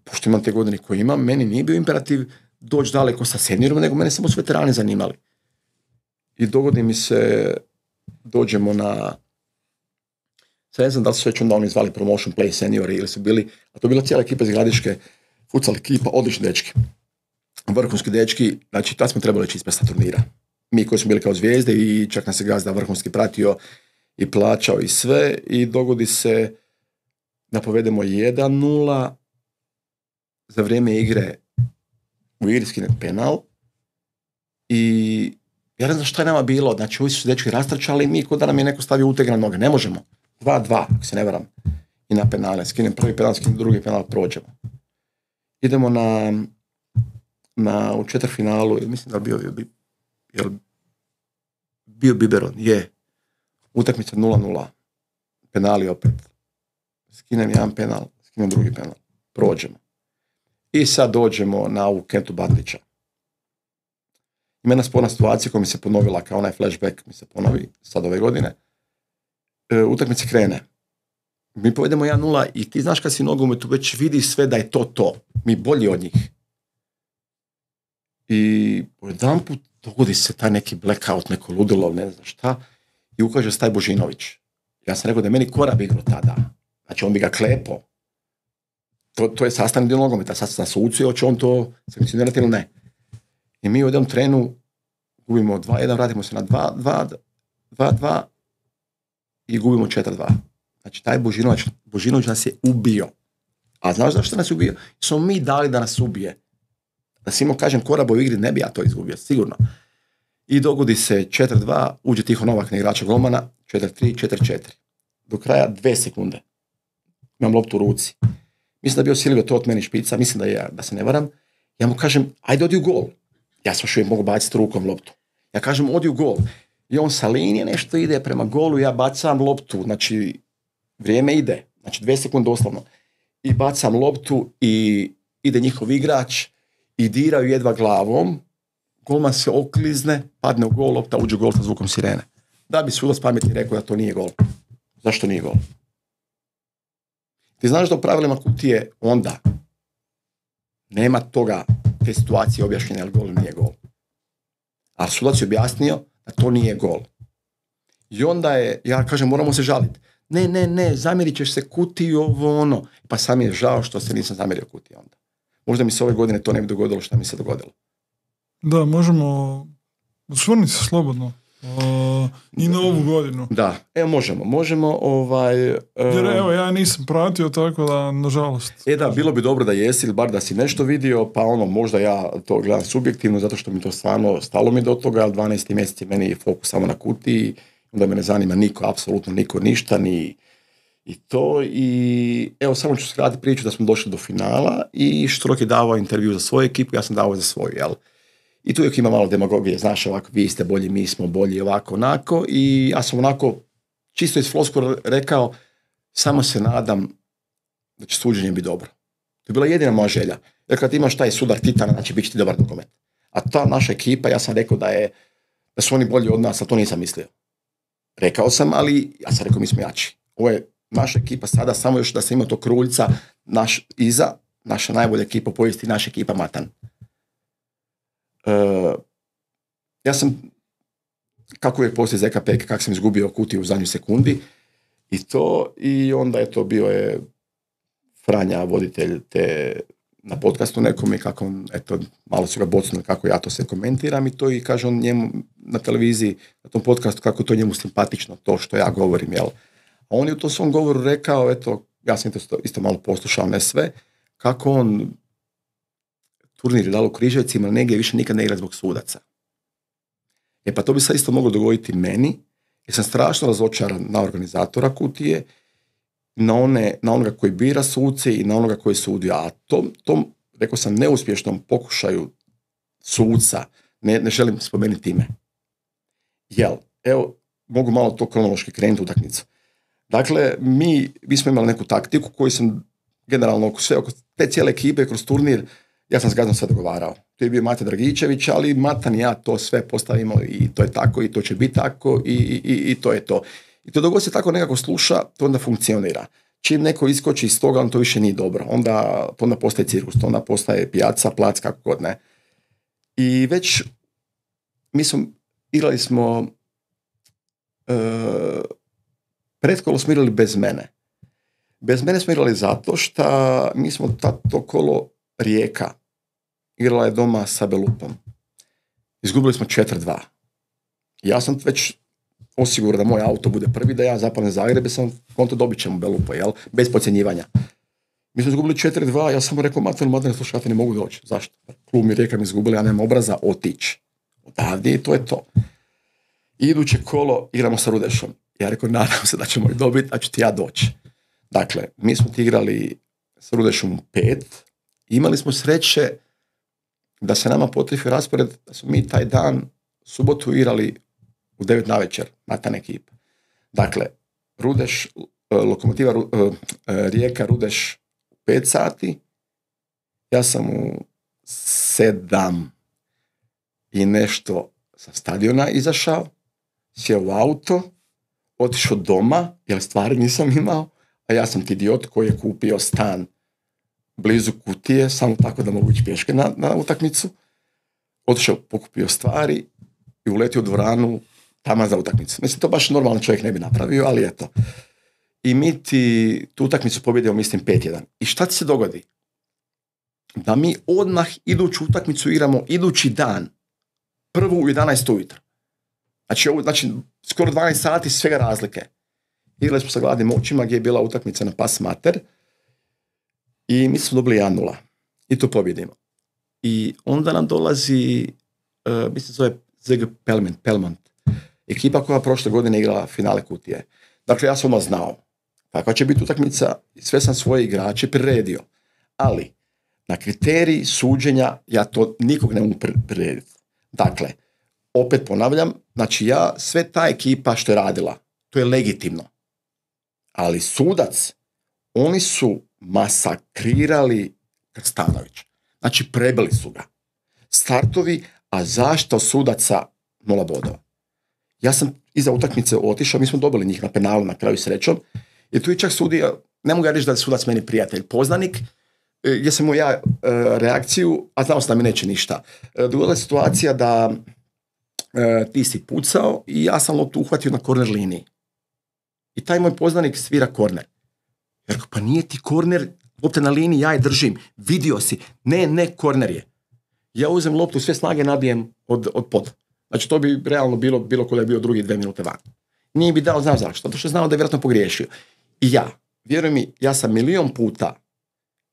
pošto imam te godine koje imam, meni nije bio imperativ doći daleko sa seniorom, nego mene samo su veterani zanimali. I dogodi mi se, dođemo na, sad ne znam da li su već onda oni zvali Promotion Play seniori ili su bili, a to je bila cijela ekipa iz Gradiške, futsal ekipa, odlični dečki. Vrhunski dečki, znači tad smo trebali ići ispred sa turnira. Mi koji smo bili kao zvijezde i čak nas je gazda vrhunski pratio i plaćao i sve i dogodi se da povedemo jedan nula, za vrijeme igre u igri skine penal i ja ne znam šta je nama bilo, znači ovi su dečki rastrčali, mi kod da nam je neko stavio uteg na noge, ne možemo, dva dva, ako se ne varam, i na penale, skinem prvi penal, skinem drugi penal, prođemo. Idemo na, na u četvrtfinalu, mislim da bio, jel bio biberon, je, utakmica nula nula, penali opet, skinem jedan penal, skinem drugi penal, prođemo. I sad dođemo na ovu Kentu Bandića. Ima jedna sporna situacija koja mi se ponovila kao onaj flashback, mi se ponovi sad ove godine. E, utakmica krene. Mi povedemo jedan nula i ti znaš kad si nogometu već vidi sve da je to to. Mi bolji od njih. I jedan put dogodi se taj neki blackout, neko ludilo, ne znam šta, i ukaže se taj Božinović. Ja sam rekao da je meni Korab igrao tada. Znači on bi ga klepo. To, to je sastavni dio nogometa. Sad na sucu, hoće on to sankcionirati ili ne. I mi u jednom trenu gubimo dva jedan, vratimo se na dva dva i gubimo četiri dva. Znači taj Božinović, Božinović nas je ubio. A znaš zašto nas je ubio? Smo mi dali da nas ubije. Da si imao, kažem, Korabo u igri, ne bi ja to izgubio, sigurno. I dogodi se četiri dva, uđe Tiho Novak na igrača golmana, četiri tri, četiri četiri. Do kraja dve sekunde. Imam loptu u ruci. Mislim da je bio Silvio to od meni špica, mislim da je, da se ne varam. Ja mu kažem, ajde odi u gol. Ja sam još uvijek mogu baciti rukom loptu. Ja kažem, odi u gol. I on sa linije nešto ide prema golu, ja bacam loptu, znači vrijeme ide, znači dve sekunde doslovno. I bacam loptu i ide njihov igrač i diraju jedva glavom, golman se oklizne, padne u gol, lopta uđe u gol sa zvukom sirene. Da bi sudac pametni rekao da to nije gol. Zašto nije gol? Ti znaš da u pravilima kutije onda nema toga, te situacije objašnjene, ali gol nije gol. A sudac je objasnio da to nije gol. I onda je, ja kažem, moramo se žaliti. Ne, ne, ne, zamjerit ćeš se kutiji ovo ono. Pa sam je žao što se nisam zamjerio kutiji onda. Možda mi se ove godine to ne bi dogodilo što mi se dogodilo. Da, možemo osvrniti se slobodno. Uh, I na ovu godinu. Da, evo možemo, možemo ovaj... Uh, Jer evo, ja nisam pratio, tako da, nažalost. E da, bilo bi dobro da jesi, ili bar da si nešto vidio, pa ono, možda ja to gledam subjektivno, zato što mi to stvarno stalo mi do toga, ali dvanaesti mjeseci meni je fokus samo na kutiji, onda me ne zanima niko, apsolutno niko, ništa, ni i to. I evo, samo ću skratiti priču da smo došli do finala i Štrok je davao intervju za svoju ekipu, ja sam davao za svoju, jel? I tu uvijek ima malo demagogije, znaš, ovako, vi ste bolji, mi smo bolji, ovako, onako. I ja sam onako, čisto iz floskula rekao, samo se nadam da će suđenje biti dobro. To je bila jedina moja želja. Jer kad imaš taj sudar titana, znači bit će ti dobar nogomet. A ta naša ekipa, ja sam rekao da je, da su oni bolji od nas, a to nisam mislio. Rekao sam, ali ja sam rekao, mi smo jači. Ovo je naša ekipa sada, samo još da se ima to Kruljca, naš iza, naša najbolja ekipa u povijesti, naša ekipa Matan. Uh, ja sam, kako uvijek poslije Z K P, kako sam izgubio kutiju u zadnjoj sekundi, i to, i onda je to bio je Franja, voditelj te na podcastu nekom i kako on, eto, malo su ga bocnuli kako ja to sve komentiram i to i kaže on njemu na televiziji, na tom podcastu, kako to njemu simpatično, to što ja govorim, jel? A on je u tom svom govoru rekao, eto, ja sam isto, isto malo poslušao, ne sve, kako on turnir je dalo u Križevcima, negdje više nikad ne igra zbog sudaca. E pa to bi se isto moglo dogoditi meni, jer sam strašno razočaran na organizatora kutije, na, one, na onoga koji bira suce i na onoga koji sudi. A tom, tom, rekao sam, neuspješnom pokušaju suca, ne, ne želim spomenuti ime. Jel, evo, mogu malo to kronološki krenuti u utakmicu. Dakle, mi, mi smo imali neku taktiku koju sam generalno oko sve, oko te cijele ekipe kroz turnir, ja sam s Gazdom sve dogovarao. To je bio Mate Dragičević, ali Matan i ja to sve postavimo i to je tako i to će biti tako i, i, i to je to. I to dok se tako nekako sluša, to onda funkcionira. Čim neko iskoči iz toga, on to više nije dobro. Onda, to onda postaje cirkus, to onda postaje pijaca, plac, kako god ne. I već, mi smo, igrali smo, e, pretkolo smo igrali bez mene. Bez mene smo igrali zato što mi smo to kolo Rijeka igrala je doma sa Belupom. Izgubili smo četiri dva. Ja sam već osigurao da moj auto bude prvi, da ja zapadnem Zagreb, sam konto dobit ćemo Belupa, jel? Bez podcjenjivanja. Mi smo izgubili četiri dva, ja sam rekao, Matanu, Matanu, slušajte, ne mogu doći. Zašto? Klub mi Rijeka mi izgubili, ja nemam obraza, otići. Odavdje i to je to. I iduće kolo igramo sa Rudešom. Ja rekao, nadam se da ćemo ih dobiti, da ću ti ja doći. Dakle, mi smo ti igrali sa Rudešom u pet, imali smo sreće da se nama potrefi raspored, da smo mi taj dan subotu igrali u devet navečer, Matan ekipa. Dakle, Rudeš, Lokomotiva Rijeka, Rudeš u pet sati, ja sam u sedam i nešto sa stadiona izašao, sjeo u auto, otišao doma, jer stvari nisam imao, a ja sam ti idiot koji je kupio stan blizu Kutije, samo tako da mogu ići pješke na, na utakmicu. Otišao, pokupio stvari i uletio u dvoranu tamo za utakmicu. Mislim, to baš normalno čovjek ne bi napravio, ali eto. I mi ti tu utakmicu pobjedimo, mislim, pet jedan. I šta ti se dogodi? Da mi odmah iduću utakmicu igramo idući dan, prvu u jedanaest ujutro. Znači, ovo, znači, skoro dvanaest sati svega razlike. Igrali smo sa gladnim očima gdje je bila utakmica na Pas Mater i mi smo dobili jedan nula. I to pobjedimo. I onda nam dolazi, uh, mislim, zove Z G Pelmont, Pelmont. Ekipa koja prošle godine igrala finale Kutije. Dakle, ja sam ono znao kakva će biti utakmica i sve sam svoje igrače priredio. Ali, na kriteriji suđenja ja to nikog ne mogu prirediti. Dakle, opet ponavljam, znači ja, sve ta ekipa što je radila, to je legitimno. Ali sudac, oni su masakrirali Krstanović. Znači, prebili su ga. Startovi, a zašto sudaca nula bodova? Ja sam iza utakmice otišao, mi smo dobili njih na penalu na kraju srećom, i tu je čak sudio, ne mogu ja reći da je sudac meni prijatelj, poznanik, gdje sam mu ja e, reakciju, a znao sam da mi neće ništa. E, dogodila je situacija da e, ti si pucao i ja sam loptu uhvatio na korner liniji. I taj moj poznanik svira korner. Ja rekao, pa nije ti korner, lopta na liniji, ja je držim, vidio si, ne, ne, korner je. Ja uzem loptu, sve snage nabijem od, od poda. Znači, to bi realno bilo, bilo ko da je bio drugi dve minute van. Nije bi dao, znam zašto, zato što je znao da je vjerojatno pogriješio. I ja, vjeruj mi, ja sam milion puta,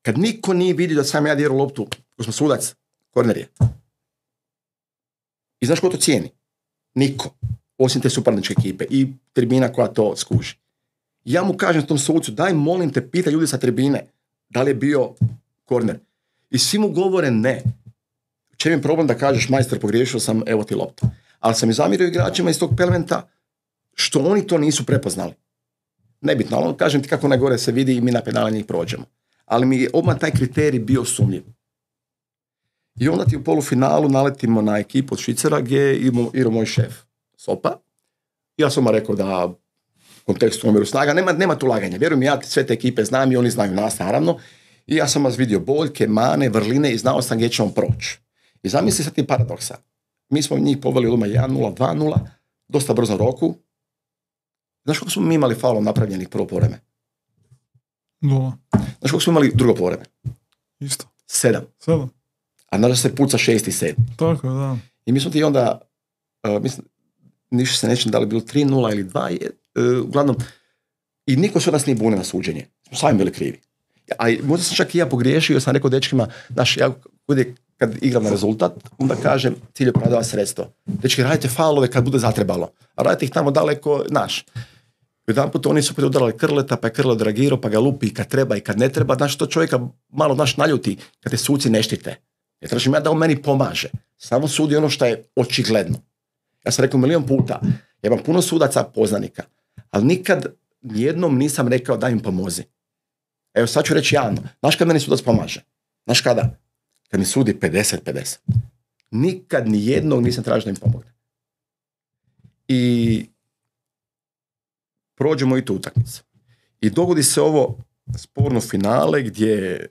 kad niko nije vidio da sam ja djeru loptu, ko smo sudac, korner je. I znaš ko to cijeni? Niko. Osim te suparničke ekipe i tribina koja to skuži. Ja mu kažem tom sucu, daj molim te, pita ljudi sa tribine, da li je bio korner. I svi mu govore ne. Čem je problem da kažeš, majstor, pogriješio sam, evo ti lopta. Ali sam i zamirio igračima iz tog Pelmenta što oni to nisu prepoznali. Nebitno, ali kažem ti kako najgore se vidi i mi na penale njih prođemo. Ali mi je odmah taj kriterij bio sumnjiv. I onda ti u polufinalu naletimo na ekipu od Švicera gdje je igrao moj šef Sopa. Ja sam mu rekao da kontekstu omjeru snaga, nema, nema tu laganja. Vjerujem, ja sve te ekipe znam i oni znaju nas, naravno. I ja sam vas vidio boljke, mane, vrline i znao sam gdje ćemo proći. I zamisli sad ti paradoksa. Mi smo njih poveli od jedan nula, dva nula, dosta brzo roku. Znaš koliko smo mi imali faulom napravljenih prvo povreme? Nula. Znaš koliko smo imali drugo povreme? Isto. Sedam. Sedam. A znaš se puca šest i sedam. Tako je, da. I mi smo ti onda, uh, mislim, ništa se nećem da li bilo tri nula ili dva, uh, uglavnom, i niko se od nas nije bunio na suđenje. Smo sami bili krivi. A možda sam čak i ja pogriješio, sam rekao dečkima, znaš, ja kad igram na rezultat, onda kažem, cilj je prodava sredstvo. Dečki, radite faulove kad bude zatrebalo, a radite ih tamo daleko, naš. Jedan put oni su opet udarali Krleta, pa je Krlo dragirao, pa ga lupi i kad treba i kad ne treba, znaš, to čovjeka malo, znaš, naljuti kad te suci ne štite. Ja tražim ja da on meni pomaže. Samo sudi ono što je očigledno. Ja sam rekao milion puta, ja imam puno sudaca poznanika, ali nikad nijednom nisam rekao da im pomozi. Evo sad ću reći javno, znaš kad meni sudac pomaže? Znaš kada? Kad mi sudi pedeset pedeset. Nikad nijednog nisam tražio da im pomogne. I prođemo i tu utakmicu. I dogodi se ovo sporno finale gdje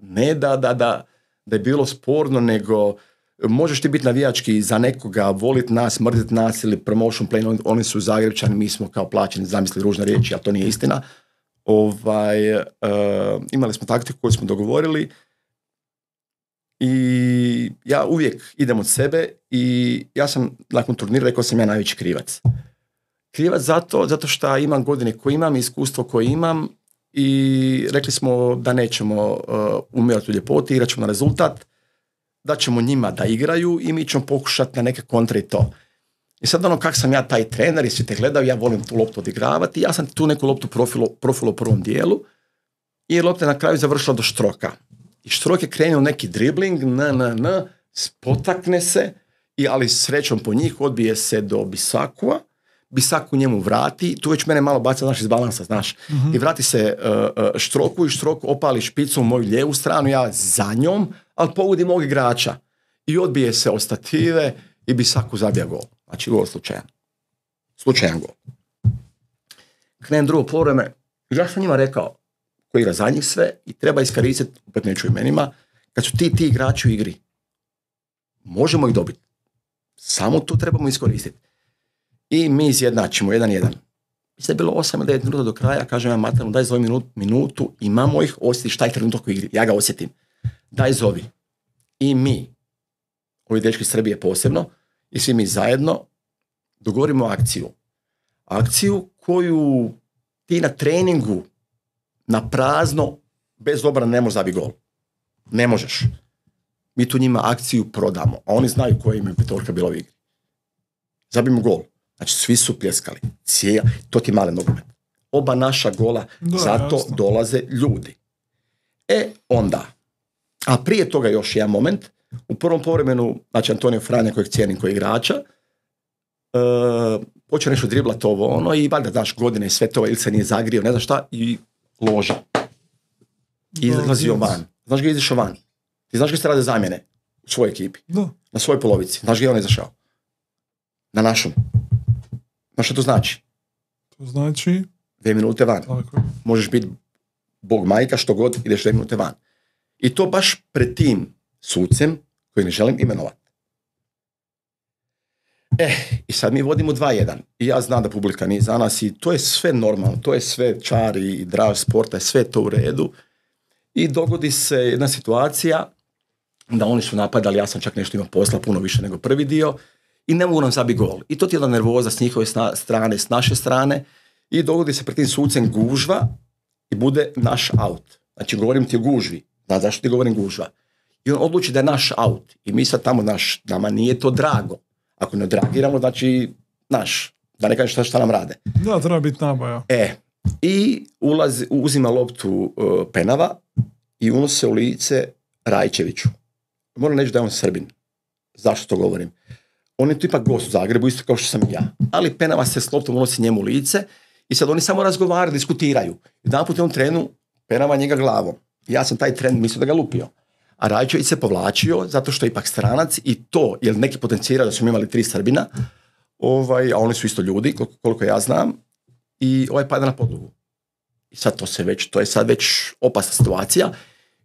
ne da, da, da, da je bilo sporno, nego možeš ti biti navijački za nekoga, voliti nas, mrziti nas ili promotion plan, oni su Zagrebčani, mi smo kao plaćeni, zamisli ružne riječi, ali to nije istina. Ovaj, uh, imali smo taktiku koju smo dogovorili i ja uvijek idem od sebe i ja sam nakon turnira rekao sam ja najveći krivac. Krivac zato, zato što imam godine koje imam, iskustvo koje imam i rekli smo da nećemo uh, umirati u ljepoti, igrat ćemo na rezultat, da ćemo njima da igraju i mi ćemo pokušati na neke kontre i to. I sad ono kak sam ja taj trener i svi te gledaju, ja volim tu loptu odigravati, ja sam tu neku loptu profilu, profilu u prvom dijelu i lopta je na kraju završila do Štroka. I Štrok je krenuo neki dribling, na, na, na, spotakne se, i, ali srećom po njih odbije se do Bisakua, Bisaku njemu vrati, tu već mene malo baca, znaš, iz balansa, znaš, mm-hmm. i vrati se uh, uh, Štroku i Štrok opali špicu u moju lijevu stranu, ja za njom, ali pogodi mog igrača. I odbije se od stative i Bisaku zabija gol. Znači, gol slučajan. Slučajan gol. Krenem drugo povreme. Ja sam njima rekao, koji igra za njih sve i treba iskoristiti, opet neću imenima, kad su ti ti igrači u igri. Možemo ih dobiti. Samo to trebamo iskoristiti. I mi izjednačimo jedan jedan. Mislim da je bilo osam ili devet minuta do kraja, kažem ja Matanu, daj zovi minut, minutu, imamo ih, osjetiš taj trenutak u igri. Ja ga osjetim. Daj zovi. I mi, ovi dečki Srbije posebno, i svi mi zajedno dogovorimo akciju. Akciju koju ti na treningu na prazno bez obrane ne možeš zabiti gol. Ne možeš. Mi tu njima akciju prodamo, a oni znaju koja im je petorka bila u igri. Zabijemo gol. Znači svi su pljeskali. Cijel, to ti male nogomet. Oba naša gola, da, zato jasno. Dolaze ljudi. E onda, a prije toga još jedan moment, u prvom povremenu, znači Antonio Franja kojeg cijenim koji igrača, uh, počeo nešto driblat ovo ono i valjda daš godine i sve to ili se nije zagrio, ne znam šta, i loža. I izlazio van. Znaš ga izašao van. Ti znaš ga se rade zamjene u svojoj ekipi. Da. Na svojoj polovici. Znaš ga je on izašao. Na našom. Znaš što to znači? To znači? Dve minute van. Tako. Možeš biti bog majka, što god, ideš dve minute van. I to baš pred tim sucem koji ne želim imenovati. E, i sad mi vodimo dva jedan. I ja znam da publika nije za nas i to je sve normalno. To je sve čar i draž sporta, je sve to u redu. I dogodi se jedna situacija da oni su napadali, ja sam čak nešto imao posla puno više nego prvi dio i ne mogu nam zabiti gol. I to ti je jedna nervoza s njihove strane, s naše strane i dogodi se pred tim sucem gužva i bude naš out. Znači govorim ti o gužvi. Znaš zašto ti govorim gužva? I on odluči da je naš out. I mi sad tamo, naš, nama nije to drago. Ako ne odreagiramo, znači, naš, da ne kažeš šta, šta nam rade. Da, treba biti nabaja. E, i ulazi, uzima loptu uh, Penava i unose u lice Rajčeviću. Moram reći da je on Srbin. Zašto to govorim? On je tu ipak gost u Zagrebu, isto kao što sam i ja. Ali Penava se s loptom unosi njemu u lice i sad oni samo razgovaraju, diskutiraju. Jedan put je on trenu, Penava njega glavom. Ja sam taj tren mislio da ga lupio. A Rajčević se povlačio zato što je ipak stranac i to, jer neki potencijira da su imali tri Srbina, ovaj, a oni su isto ljudi, koliko, koliko ja znam, i ovaj pada na podlogu. I sad to se već, to je sad već opasna situacija.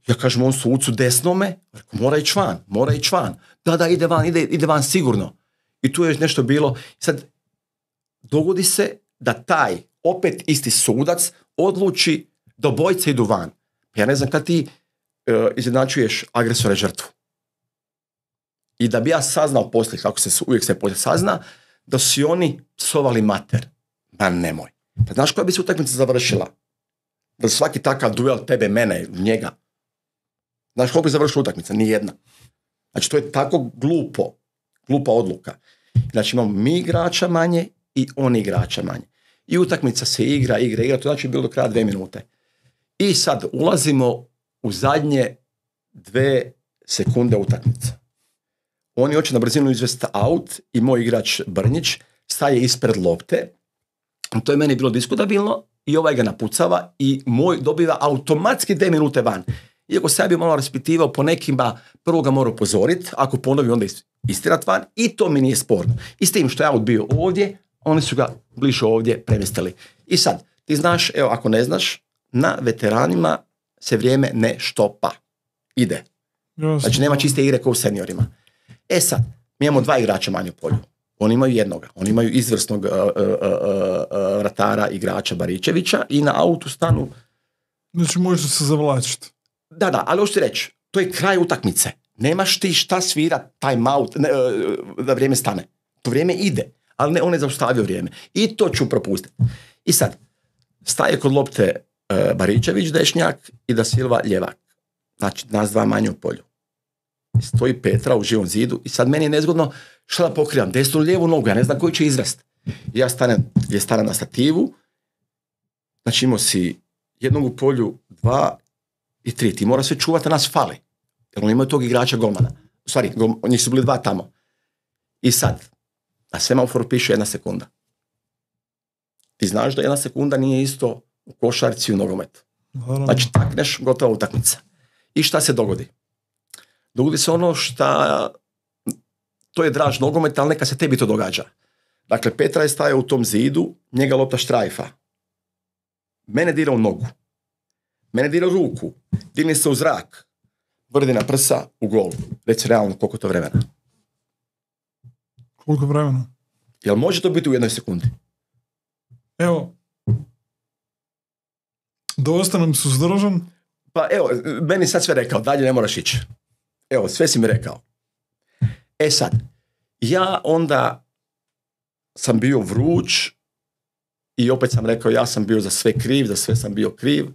Ja kažem on sucu desnome, mora ići van, mora ići van. Da, da, ide van, ide, ide van sigurno. I tu je nešto bilo. Sad, dogodi se da taj opet isti sudac odluči da obojice idu van. Ja ne znam kad ti uh, izjednačuješ agresora i žrtvu. I da bi ja saznao poslije, kako se uvijek se poslije sazna, da su oni psovali mater. Ma nemoj. Pa znaš koja bi se utakmica završila? Da svaki takav duel tebe, mene, njega. Znaš kako bi završila utakmica? Nijedna. Znači to je tako glupo. Glupa odluka. Znači imamo mi igrača manje i oni igrača manje. I utakmica se igra, igra, igra. To znači bilo do kraja dve minute. I sad ulazimo u zadnje dve sekunde utakmice. Oni hoće na brzinu izvesti out i moj igrač Brnjić staje ispred lopte. To je meni bilo diskutabilno i ovaj ga napucava i moj dobiva automatski dvije minute van. Iako se ja bi malo raspitivao po nekima, prvo ga mora upozoriti, ako ponovi onda istirat van i to mi nije sporno. I s tim što je out bio ovdje, oni su ga bliže ovdje premjestili. I sad, ti znaš, evo ako ne znaš, na veteranima se vrijeme ne štopa. Ide. Znači nema čiste igre kao u seniorima. E sad, mi imamo dva igrača manje u polju. Oni imaju jednoga. Oni imaju izvrsnog uh, uh, uh, uh, vratara, igrača Baričevića i na autu stanu. Znači može se zavlačiti. Da, da, ali hoću ti reći, to je kraj utakmice. Nemaš ti šta svira time out, ne, uh, da vrijeme stane. To vrijeme ide, ali ne, on je zaustavio vrijeme. I to ću propustiti. I sad, staje kod lopte uh, Baričević dešnjak i da Silva ljevak. Znači, nas dva manje u polju. Stoji Petra u Živom zidu i sad meni je nezgodno šta da pokrivam, desnu ili lijevu nogu, ja ne znam koji će izvest. Ja stanem, je stanem na stativu, znači imao si jednog u polju, dva i tri, ti mora sve čuvati, a nas fali. Jer oni imaju tog igrača golmana. U stvari, gol, njih su bili dva tamo. I sad, na semaforu piše jedna sekunda. Ti znaš da jedna sekunda nije isto u košarci i u nogometu. Znači, takneš, gotova utakmica. I šta se dogodi? Dogodi se ono šta, to je draž nogometa, ali neka se tebi to događa. Dakle, Petra je stajao u tom zidu, njega lopta štrajfa. Mene dira u nogu. Mene dira u ruku. Dirni se u zrak. Vrdi na prsa u gol. Reci realno koliko to vremena. Koliko vremena? Jel može to biti u jednoj sekundi? Evo. Da ostanem suzdržan? Pa evo, meni sad sve rekao, dalje ne moraš ići. Evo, sve si mi rekao. E sad, ja onda sam bio vruć i opet sam rekao, ja sam bio za sve kriv, za sve sam bio kriv.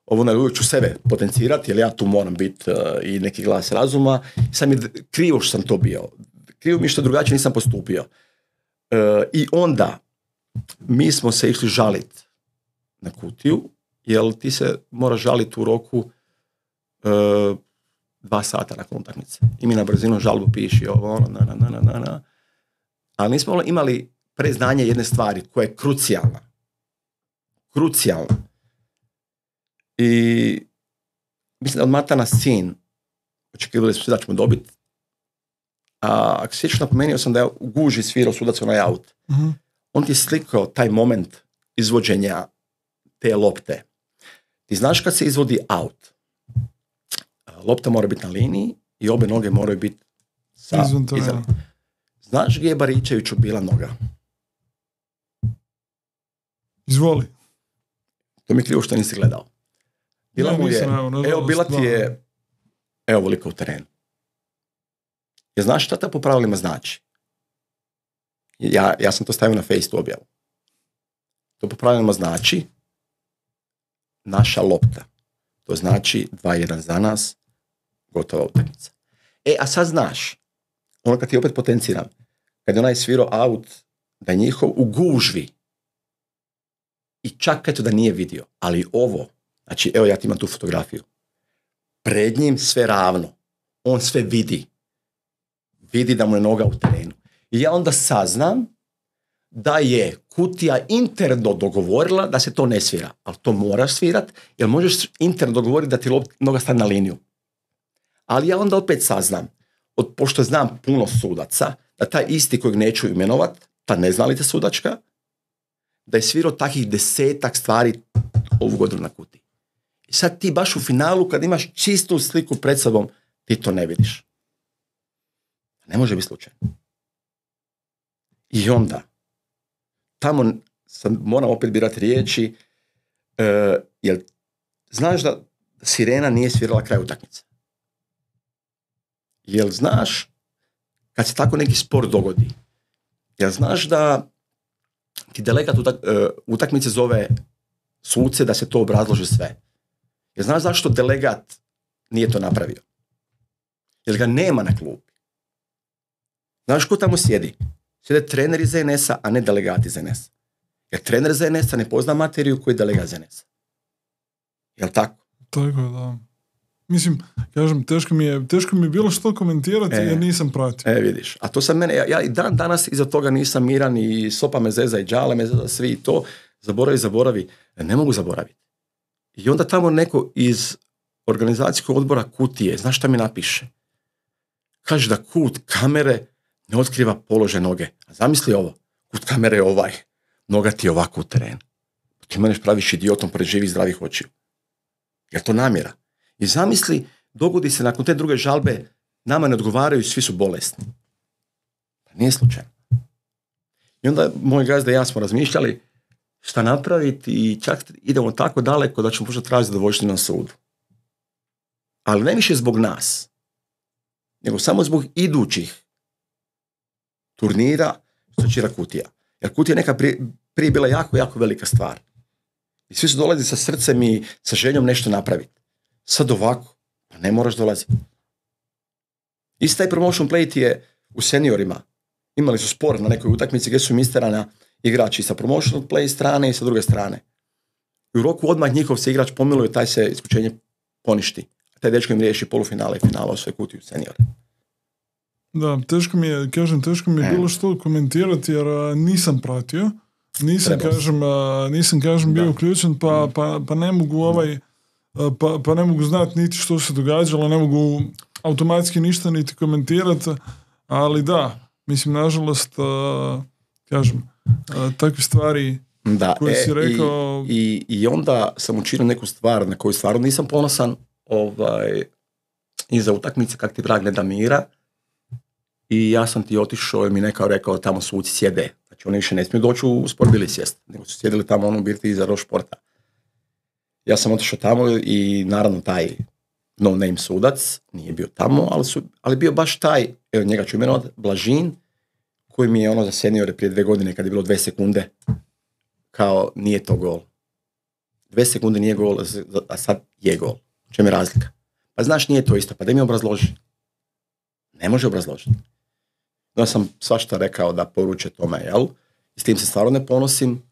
Ovo na uvijek ću sebe potencirati, jer ja tu moram biti uh, i neki glas razuma. Sam je krivo što sam to bio. Krivo mi što drugačije nisam postupio. Uh, I onda mi smo se išli žaliti na kutiju, jer ti se moraš žaliti u roku uh, dva sata nakon utakmice. I mi na brzinu žalbu piši ovo, ono, na, na, na, na, na. Ali nismo imali preznanje jedne stvari koja je krucijalna. Krucijalna. I mislim da od Matana sin očekivali smo da ćemo dobiti. A ako se sjećaš, napomenuo sam da je u guži svirao sudac onaj aut. Uh-huh. On ti je slikao taj moment izvođenja te lopte. Ti znaš kad se izvodi aut, lopta mora biti na liniji i obe noge moraju biti sa izvan. Znaš gdje je Baričeviću bila noga? Izvoli. To mi je krivo što nisi gledao. Bila ja, mu je, nisam, evo, evo bila ti je, evo veliko u terenu. Je znaš šta to po pravilima znači? Ja, ja sam to stavio na Face objavu. To po pravilima znači naša lopta. To znači dva jedan za nas, gotova utakmica. E, a sad znaš, ono kad ti opet potenciram, kad je onaj svirao aut, da je njihov u gužvi i čak eto da nije vidio, ali ovo, znači evo ja ti imam tu fotografiju, pred njim sve ravno, on sve vidi, vidi da mu je noga u terenu. I ja onda saznam da je kutija interno dogovorila da se to ne svira, ali to moraš svirat, jer možeš interno dogovoriti da ti noga stane na liniju. Ali ja onda opet saznam, od, pošto znam puno sudaca, da taj isti kojeg neću imenovat, ta neznalica sudačka, da je svirao takih desetak stvari ovu godinu na kutiji. I sad ti baš u finalu, kad imaš čistu sliku pred sobom, ti to ne vidiš. Ne može biti slučajno. I onda, tamo sam, moram opet birati riječi, uh, jer znaš da Sirena nije svirala kraj utakmice. Jel znaš, kad se tako neki spor dogodi, jel znaš da ti delegat utak, uh, utakmice zove suce da se to obrazloži sve? Jel znaš zašto delegat nije to napravio? Jer ga nema na klubi. Znaš ko tamo sjedi? Sjede trener iz en es a, a ne delegat iz en es a. Jer trener iz en es a ne pozna materiju koju je delegat iz en es a. Jel tako? Tako je, da. Mislim, kažem, teško mi je, teško mi je bilo što komentirati e, jer nisam pratio. E, vidiš. A to sam mene, ja, ja i dan danas iza toga nisam miran i sopa me zeza i džale me zeza, svi i to. Zaboravi, zaboravi. Ne mogu zaboraviti. I onda tamo neko iz organizacijskog odbora Kutije, znaš šta mi napiše? Kaže da kut kamere ne otkriva položaj noge. A zamisli ovo. Kut kamere je ovaj. Noga ti je ovako u terenu. Ti meneš praviš idiotom pored živih zdravih očiju. Je to namjera? I zamisli, dogodi se nakon te druge žalbe, nama ne odgovaraju, svi su bolesni. Nije slučajno. I onda moj gazda i ja smo razmišljali šta napraviti i čak idemo tako daleko da ćemo možda tražiti zadovoljštinu na sudu. Ali ne više zbog nas, nego samo zbog idućih turnira što će Kutija. Jer Kutija je neka prije, prije bila jako, jako velika stvar. I svi su dolazili sa srcem i sa željom nešto napraviti. Sad ovako, pa ne moraš dolaziti. Isti taj promotion play ti je u seniorima. Imali su spor na nekoj utakmici gdje su misterana igrači sa promotion play strane i sa druge strane. I u roku odmah njihov se igrač pomiluje, taj se isključenje poništi. A taj dečko im riješi polufinale i finale u svoj Kutiju seniore. Da, teško mi je, kažem, teško mi je e. bilo što komentirati jer a, nisam pratio. Nisam, Treba kažem, a, nisam, kažem, bio uključen, pa, pa, pa ne mogu ovaj, a, pa, pa ne mogu znati niti što se događalo, ne mogu automatski ništa niti komentirati, ali da, mislim, nažalost, a, kažem, a, takve stvari da, koje e, si rekao... I, i, I onda sam učinio neku stvar na koju stvarno nisam ponosan, ovaj, iza utakmice kak ti vrag ne da mira, i ja sam ti otišao i mi nekao rekao tamo suci sjede. Znači oni više ne smiju doći u sport bili sjest, nego su sjedili tamo ono birti iza roš športa. Ja sam otišao tamo i naravno taj no name sudac nije bio tamo, ali, su, ali bio baš taj, evo njega ću imenovati, Blažin, koji mi je ono za seniore prije dve godine kad je bilo dve sekunde, kao nije to gol. Dve sekunde nije gol, a sad je gol. U čem je razlika? Pa znaš, nije to isto, pa da mi obrazloži. Ne može obrazložiti. Ja sam svašta rekao da poruče tome, jel? I s tim se stvarno ne ponosim,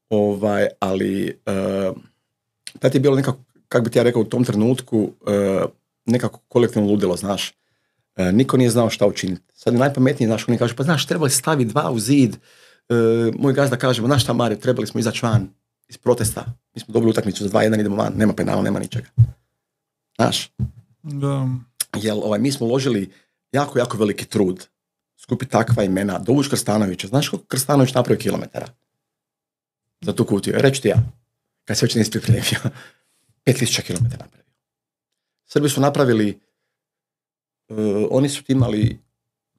ovaj, ali uh, tad je bilo nekako, kako bi ti ja rekao u tom trenutku, uh, nekako kolektivno ludilo, znaš. Uh, niko nije znao šta učiniti. Sad je najpametnije, znaš, oni kažu, pa znaš, trebali staviti dva u zid. Uh, moj gazda kaže, znaš šta, Mario, trebali smo izaći van iz protesta. Mi smo dobili utakmicu za dva jedan, idemo van, nema penala, nema ničega. Znaš? Da. Jel, ovaj, mi smo uložili jako, jako veliki trud skupi takva imena, dovuć Krstanovića. Znaš koliko Krstanović napravio kilometara za tu Kutiju? Reći ti ja, kad se već nisi pripremio, pet tisuća kilometara napravio. Srbi su napravili, uh, oni su imali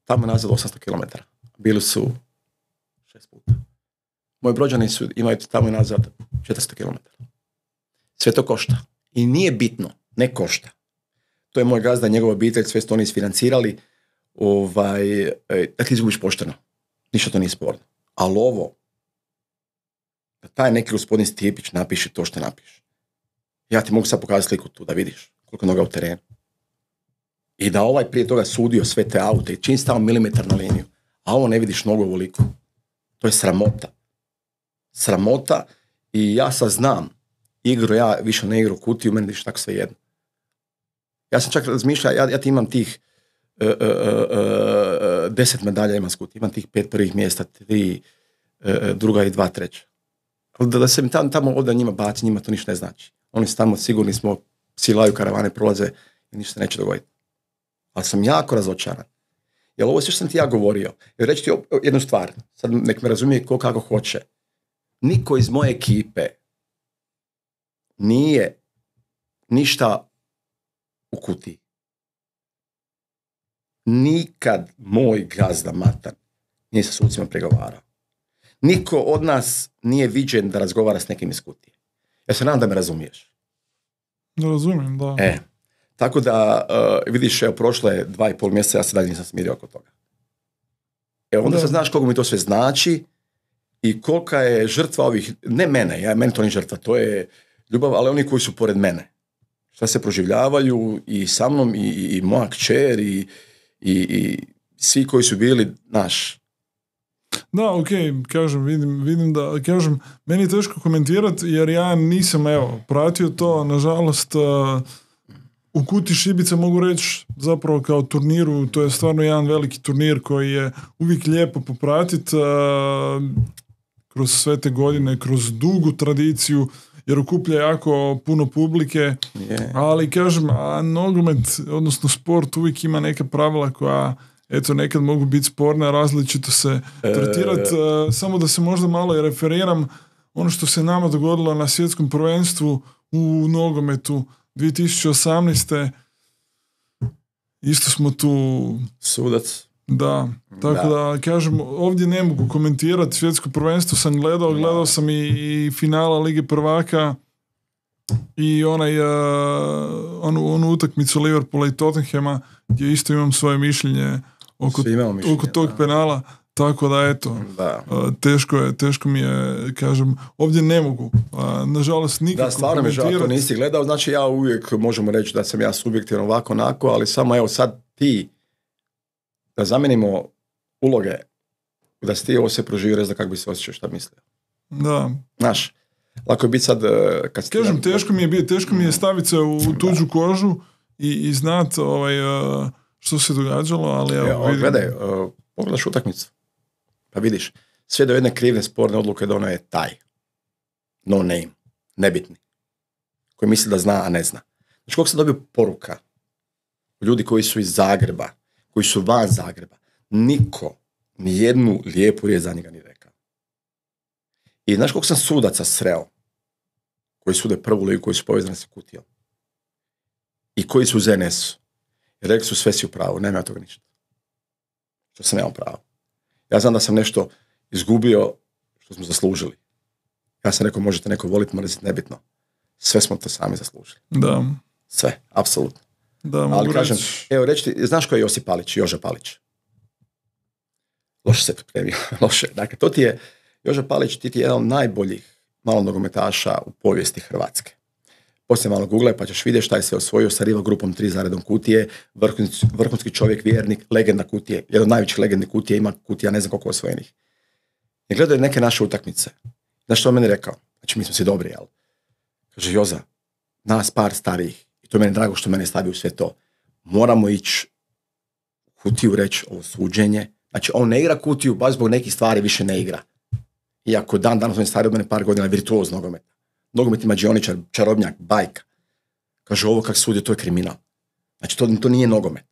tamo nazad osamsto kilometara. Bili su šest puta. Moji Brođani su imaju tamo nazad četiristo kilometara. Sve to košta. I nije bitno, ne košta. To je moj gazda, njegova obitelj, sve što oni isfinancirali, ovaj, da ti izgubiš pošteno. Ništa to nije sporno. Ali ovo, da taj neki gospodin Stijepić napiše to što napiše. Ja ti mogu sad pokazati sliku tu da vidiš koliko noga u terenu. I da ovaj prije toga sudio sve te aute i čim stao milimetar na liniju, a ovo ne vidiš nogu ovoliko. To je sramota. Sramota i ja sad znam, igru ja više ne igru Kutiju, meni viš tako sve jedno. Ja sam čak razmišljao, ja, ja ti imam tih uh, uh, uh, deset medalja imam s Kutije, imam tih pet prvih mjesta, tri uh, druga i dva treća. Ali da, da se mi tamo, tamo ovdje njima baci, njima to ništa ne znači. Oni su tamo sigurni smo, silaju karavane, prolaze i ništa neće dogoditi. Ali sam jako razočaran. Jer ovo sve što sam ti ja govorio, jer reći ti jednu stvar, sad nek me razumije ko kako hoće. niko iz moje ekipe nije ništa u kutiji. Nikad moj gazda Matan nije sa sucima pregovarao. Niko od nas nije viđen da razgovara s nekim iz kutije. Ja se nadam da me razumiješ. Ne razumijem, da. E, tako da, uh, vidiš, evo, prošlo je dva i pol mjeseca, ja se dalje nisam smirio oko toga. Evo, onda se znaš koliko mi to sve znači i kolika je žrtva ovih, ne mene, ja, meni to nije žrtva, to je ljubav, ali oni koji su pored mene. Šta se proživljavaju i sa mnom, i, i, i moja kćer, i, i, i svi koji su bili, naš. Da, ok, kažem, vidim, vidim da, kažem, meni je teško komentirati jer ja nisam, evo, pratio to, nažalost, uh, u Kuti Šibica mogu reći zapravo kao turniru, to je stvarno jedan veliki turnir koji je uvijek lijepo popratiti uh, kroz sve te godine, kroz dugu tradiciju, jer okuplja jako puno publike, Yeah. ali kažem, a nogomet, odnosno sport uvijek ima neka pravila koja, eto, nekad mogu biti sporne, različito se tretirati. E... Samo da se možda malo i referiram, ono što se nama dogodilo na svjetskom prvenstvu u nogometu dvije tisuće osamnaeste. Isto smo tu... Sudac. Da, tako da. da kažem, ovdje ne mogu komentirati, svjetsko prvenstvo sam gledao, gledao sam i, i finala Lige prvaka i onaj, uh, onu, onu utakmicu Liverpoola i Tottenhama gdje isto imam svoje mišljenje oko, mišljenje, oko tog da. penala, tako da eto, da. Uh, teško je, teško mi je, kažem, ovdje ne mogu, uh, nažalost nikako. Da, stvarno mi žao, to nisi gledao, znači ja uvijek možemo reći da sam ja subjektivno ovako onako, ali samo evo sad ti da zamijenimo uloge, da si ti ovo sve proživio, rez da kako bi se osjećao, šta mislio. Da. Znaš, lako je biti sad... Kad kažem, ti... teško mi je biti, teško mi je staviti se u tuđu kožu i, i znat ovaj, što se događalo, ali evo, evo vidim. Gledaj, uh, pogledaš utakmicu, pa vidiš, sve do jedne krive sporne odluke da ono je taj. No name, nebitni. Koji misli da zna, a ne zna. Znači, koliko sam dobio poruka, ljudi koji su iz Zagreba, koji su van Zagreba, niko ni jednu lijepu riječ za njega nije rekao. I znaš koliko sam sudaca sreo, koji sude prvu ligu, koji su povezani sa Kutijom, i koji su u Z N S-u, i rekli su sve si u pravu, nema ja toga ništa. Što sam nemao pravo. Ja znam da sam nešto izgubio što smo zaslužili. Ja sam rekao, možete neko voliti, mrziti, nebitno. Sve smo to sami zaslužili. Da. Sve, apsolutno. Da, ali kažem, reći. Evo reći ti, znaš ko je Josip Palić, Joža Palić? Loše se pripremio, loše. Dakle, to ti je, Joža Palić, ti ti je jedan od najboljih malo nogometaša u povijesti Hrvatske. Poslije malo google pa ćeš vidjeti šta je sve osvojio sa Riva grupom tri za redom Kutije, vrhunski, vrhunski čovjek, vjernik, legenda Kutije, jedan od najvećih legendi Kutije, ima Kutija ne znam koliko osvojenih. I gledao je neke naše utakmice. Znaš što on meni rekao? Znači, mi smo si dobri, jel? Kaže, Joza, nas par starijih, i to je meni drago što mene stavi u sve to, moramo ići u Kutiju reći ovo suđenje. Znači, on ne igra Kutiju, baš zbog nekih stvari više ne igra. Iako dan danas on je stariji od mene par godina, virtuoz nogometa. Nogomet ima džioničar, čarobnjak, bajka. Kaže, ovo kak sudi, to je kriminal. Znači, to, to nije nogomet.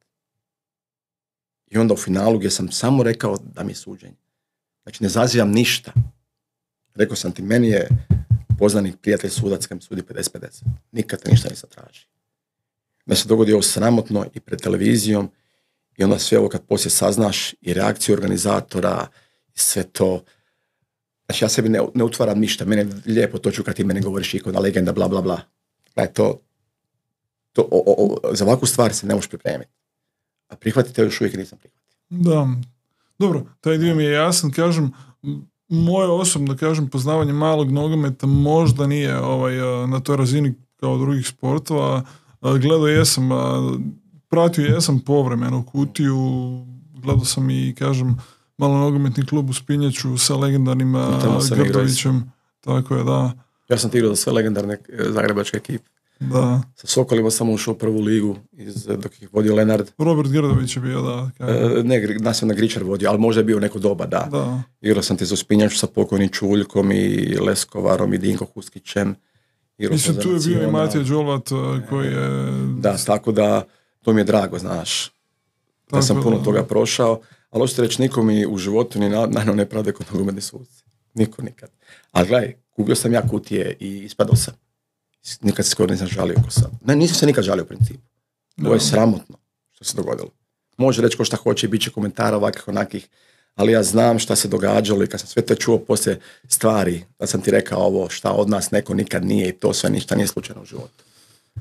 I onda u finalu gdje sam samo rekao da mi je suđenje. Znači, ne zazivam ništa. Rekao sam ti, meni je poznanik, prijatelj sudac kad mi sudi pedeset pedeset. Nikad ništa nisam traži. Da se dogodi ovo sramotno i pred televizijom i onda sve ovo kad poslije saznaš i reakciju organizatora i sve to. Znači, ja sebi ne, ne utvaram ništa. Mene je lijepo to ću kad ti mene govoriš ikona legenda, bla, bla, bla. Znači, to, to, o, o, o, za ovakvu stvar se ne možeš pripremiti. A prihvatite još uvijek nisam prihvatio. Da. Dobro, taj dio mi je jasan. Kažem, moje osobno, kažem, poznavanje malog nogometa možda nije ovaj, na toj razini kao drugih sportova. Gledao jesam, pratio jesam povremeno Kutiju, gledao sam i, kažem, malo nogometni klub u Spinjaču sa legendarnim Grdovićem. Tako je, da. Ja sam ti igrao za sve legendarne zagrebačke ekipe. Da. Sa Sokolima sam ušao u prvu ligu iz, dok ih vodio Lenard. Robert Grdović je bio, da. E, ne, nas je na Gričar vodio, ali možda je bio neko doba, da. da. Igrao sam ti za Spinjaču sa pokojnim Čuljkom i Leskovarom i Dinko Huskićem. Mislim, tu je bio i Matija Đolvat koji je... Da, tako da to mi je drago, znaš. Da tako, sam puno da. toga prošao, ali hoćete reći, nikom mi u životu ni najno nepravde kod nogometni suci. Niko nikad. Ali gledaj, kupio sam ja kutije i ispadao sam. Nikad se skoro nisam žalio ko sam. Ne, nisam se nikad žalio u principu. Ovo je sramotno što se dogodilo. Može reći ko šta hoće i bit će komentara ovakvih onakih, ali ja znam šta se događalo i kad sam sve to čuo poslije stvari, da sam ti rekao ovo šta od nas neko nikad nije i to sve ništa nije slučajno u životu.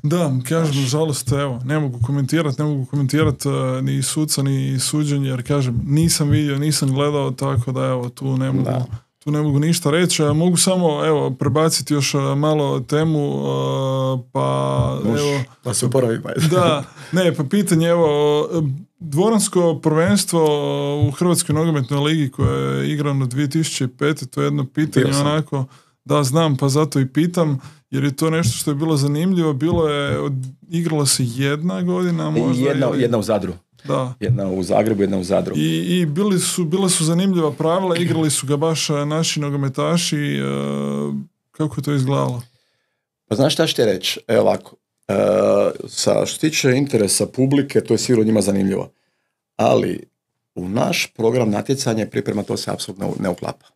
Da, kažem, nažalost, evo, ne mogu komentirati, ne mogu komentirati uh, ni suca, ni suđenje, jer kažem, nisam vidio, nisam gledao, tako da evo, tu ne mogu, Da. tu ne mogu ništa reći. A mogu samo, evo, prebaciti još uh, malo temu, uh, pa Može, evo... da se uporavim. Da, ne, pa pitanje, evo, dvoransko prvenstvo u Hrvatskoj nogometnoj ligi koje je igrano dvije tisuće pete. To je jedno pitanje Bio sam. onako, da znam, pa zato i pitam, jer je to nešto što je bilo zanimljivo. Bilo je, od, igrala se jedna godina možda. jedna, ili, jedna u Zadru. da. Jedna u Zagrebu, jedna u Zadru. I, i bili su, bila su zanimljiva pravila, igrali su ga baš a, naši nogometaši. E, kako je to izgledalo? Pa znaš šta ću ti reći? Evo ovako. E, sa što se tiče interesa publike, to je sigurno njima zanimljivo. Ali u naš program natjecanja i priprema to se apsolutno ne uklapa.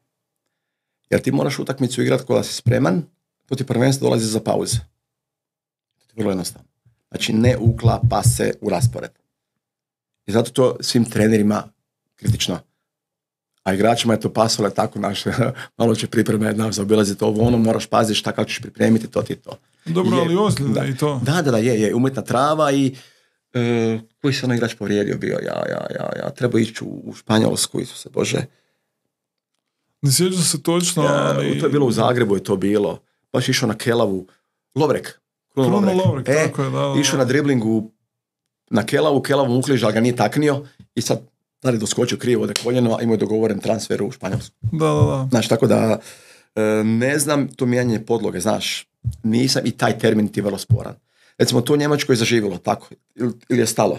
Jer ti moraš utakmicu igrati kada si spreman, to ti prvenstvo dolazi za pauze. To je vrlo jednostavno. Znači ne uklapa se u raspored. I zato to svim trenerima kritično. A igračima je to pasalo tako naše, malo će pripreme jedna zaobilaziti ovo, ono, moraš paziti šta kako ćeš pripremiti, to ti je to. Dobro, Je, ali ozljeda da. i to. Da, da, da, je, je, umjetna trava i e, koji se ono igrač povrijedio bio, ja, ja, ja, ja, treba ići u, u Španjolsku, Isuse Bože. Ne sjećam se točno, Ja, ali... to je bilo u Zagrebu, je to bilo, baš išao na Kelavu, Lovrek, Kruno Kruno Lovrek, Lovrek, e, tako je, da, da, išao na driblingu na Kelavu, Kelavu ukliž, ali ga nije taknio i sad da li doskočio krivo da koljeno, a imao je dogovoren transfer u Španjolsku. Da, da, da. Znaš, tako da e, ne znam to mijenjanje podloge, znaš, nisam i taj termin ti je vrlo sporan. Recimo, to u Njemačkoj je zaživjelo, tako, ili, ili je stalo.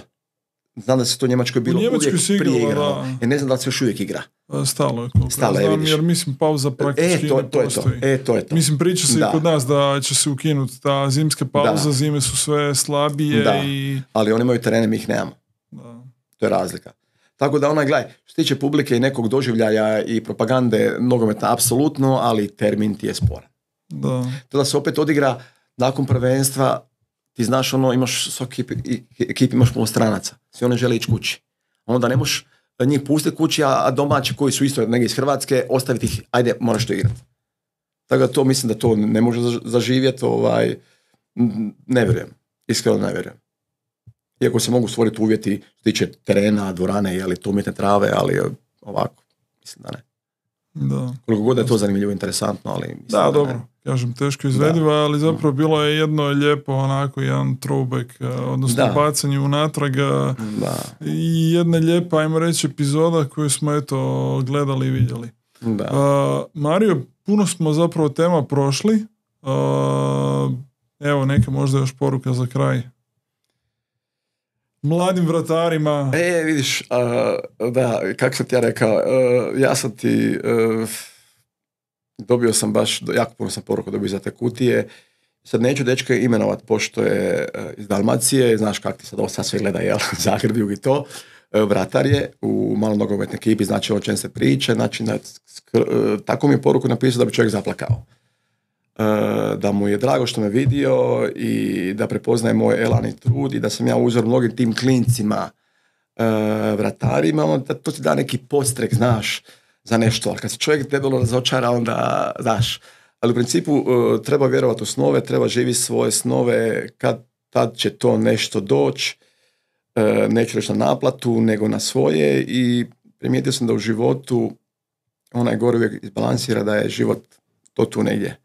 Znam da se to u Njemačkoj bilo U Njemačkoj uvijek se igralo, prije igralo. da. Ja ne znam da li se još uvijek igra. Stalo je, koliko Stalo je, ja znam, vidiš. jer mislim pauza praktički E, to, ne to je to. postoji. E, to je to. Mislim, priča se Da. i kod nas da će se ukinuti ta zimska pauza, Da. zime su sve slabije Da. i... Ali oni imaju terene, mi ih nemamo. Da. To je razlika. Tako da onaj, gledaj, što se tiče publike i nekog doživljaja i propagande nogometa, apsolutno, ali termin ti je sporan. Da. To da se opet odigra nakon prvenstva, ti znaš ono, imaš svaki ekip, ekip imaš puno stranaca. Svi oni žele ići kući. Onda ne možeš njih pustiti kući, a domaći koji su isto negdje iz Hrvatske, ostaviti ih, ajde, moraš to igrati. Tako da to mislim da to ne može zaživjeti, ovaj, ne vjerujem. Iskreno ne vjerujem. Iako se mogu stvoriti uvjeti što se tiče terena, dvorane, jeli to umjetne trave, ali ovako, mislim da ne. Da. Koliko god je to zanimljivo, interesantno, ali mislim Da, da, dobro. ne. Kažem, teško izvediva, ali zapravo bilo je jedno lijepo, onako, jedan throwback, eh, odnosno Da. bacanje unatrag eh, Da, i jedna lijepa, ajmo reći, epizoda koju smo eto gledali i vidjeli. da. Uh, Mario, puno smo zapravo tema prošli. Uh, evo, neka možda još poruka za kraj. Mladim vratarima. E, vidiš, uh, da, kako sam ti ja rekao, uh, ja sam ti, uh, dobio sam baš, jako puno sam poruka dobio za te kutije. Sad neću dečka imenovat, pošto je uh, iz Dalmacije, znaš kako ti sad ovo sad sve gleda, jel, Zagreb, jug i to. Uh, vratar je u malom nogometnoj ekipi, znači o čem se priča, znači da, skr- uh, tako mi je poruku napisao da bi čovjek zaplakao. Uh, da mu je drago što me vidio i da prepoznaje moj elan i trud i da sam ja uzor mnogim tim klincima uh, vratarima, onda to ti da neki podstrek, znaš, za nešto, ali kad se čovjek debelo razočara, onda daš. Ali u principu uh, treba vjerovati u snove, treba živjeti svoje snove, kad tad će to nešto doći, uh, neću reći na naplatu, nego na svoje i primijetio sam da u životu onaj gore uvijek izbalansira da je život to tu negdje.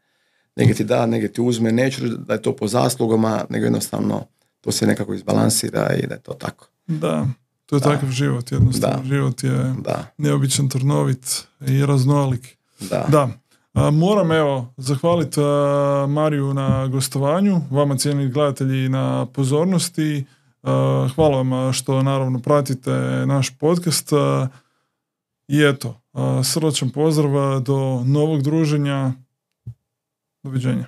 Negdje ti da, negdje ti uzme, neću da je to po zaslugama, nego jednostavno to se nekako izbalansira i da je to tako. Da, to je Da. takav život, jednostavno. Da. Život je Da, neobičan, trnovit i raznolik. da. Da. A, moram evo zahvaliti a, Mariju na gostovanju, vama cijenjeni gledatelji na pozornosti. A, hvala vam a, što naravno pratite naš podcast. A, I eto, a, srdačan pozdrav a, do novog druženja. Doviđenja.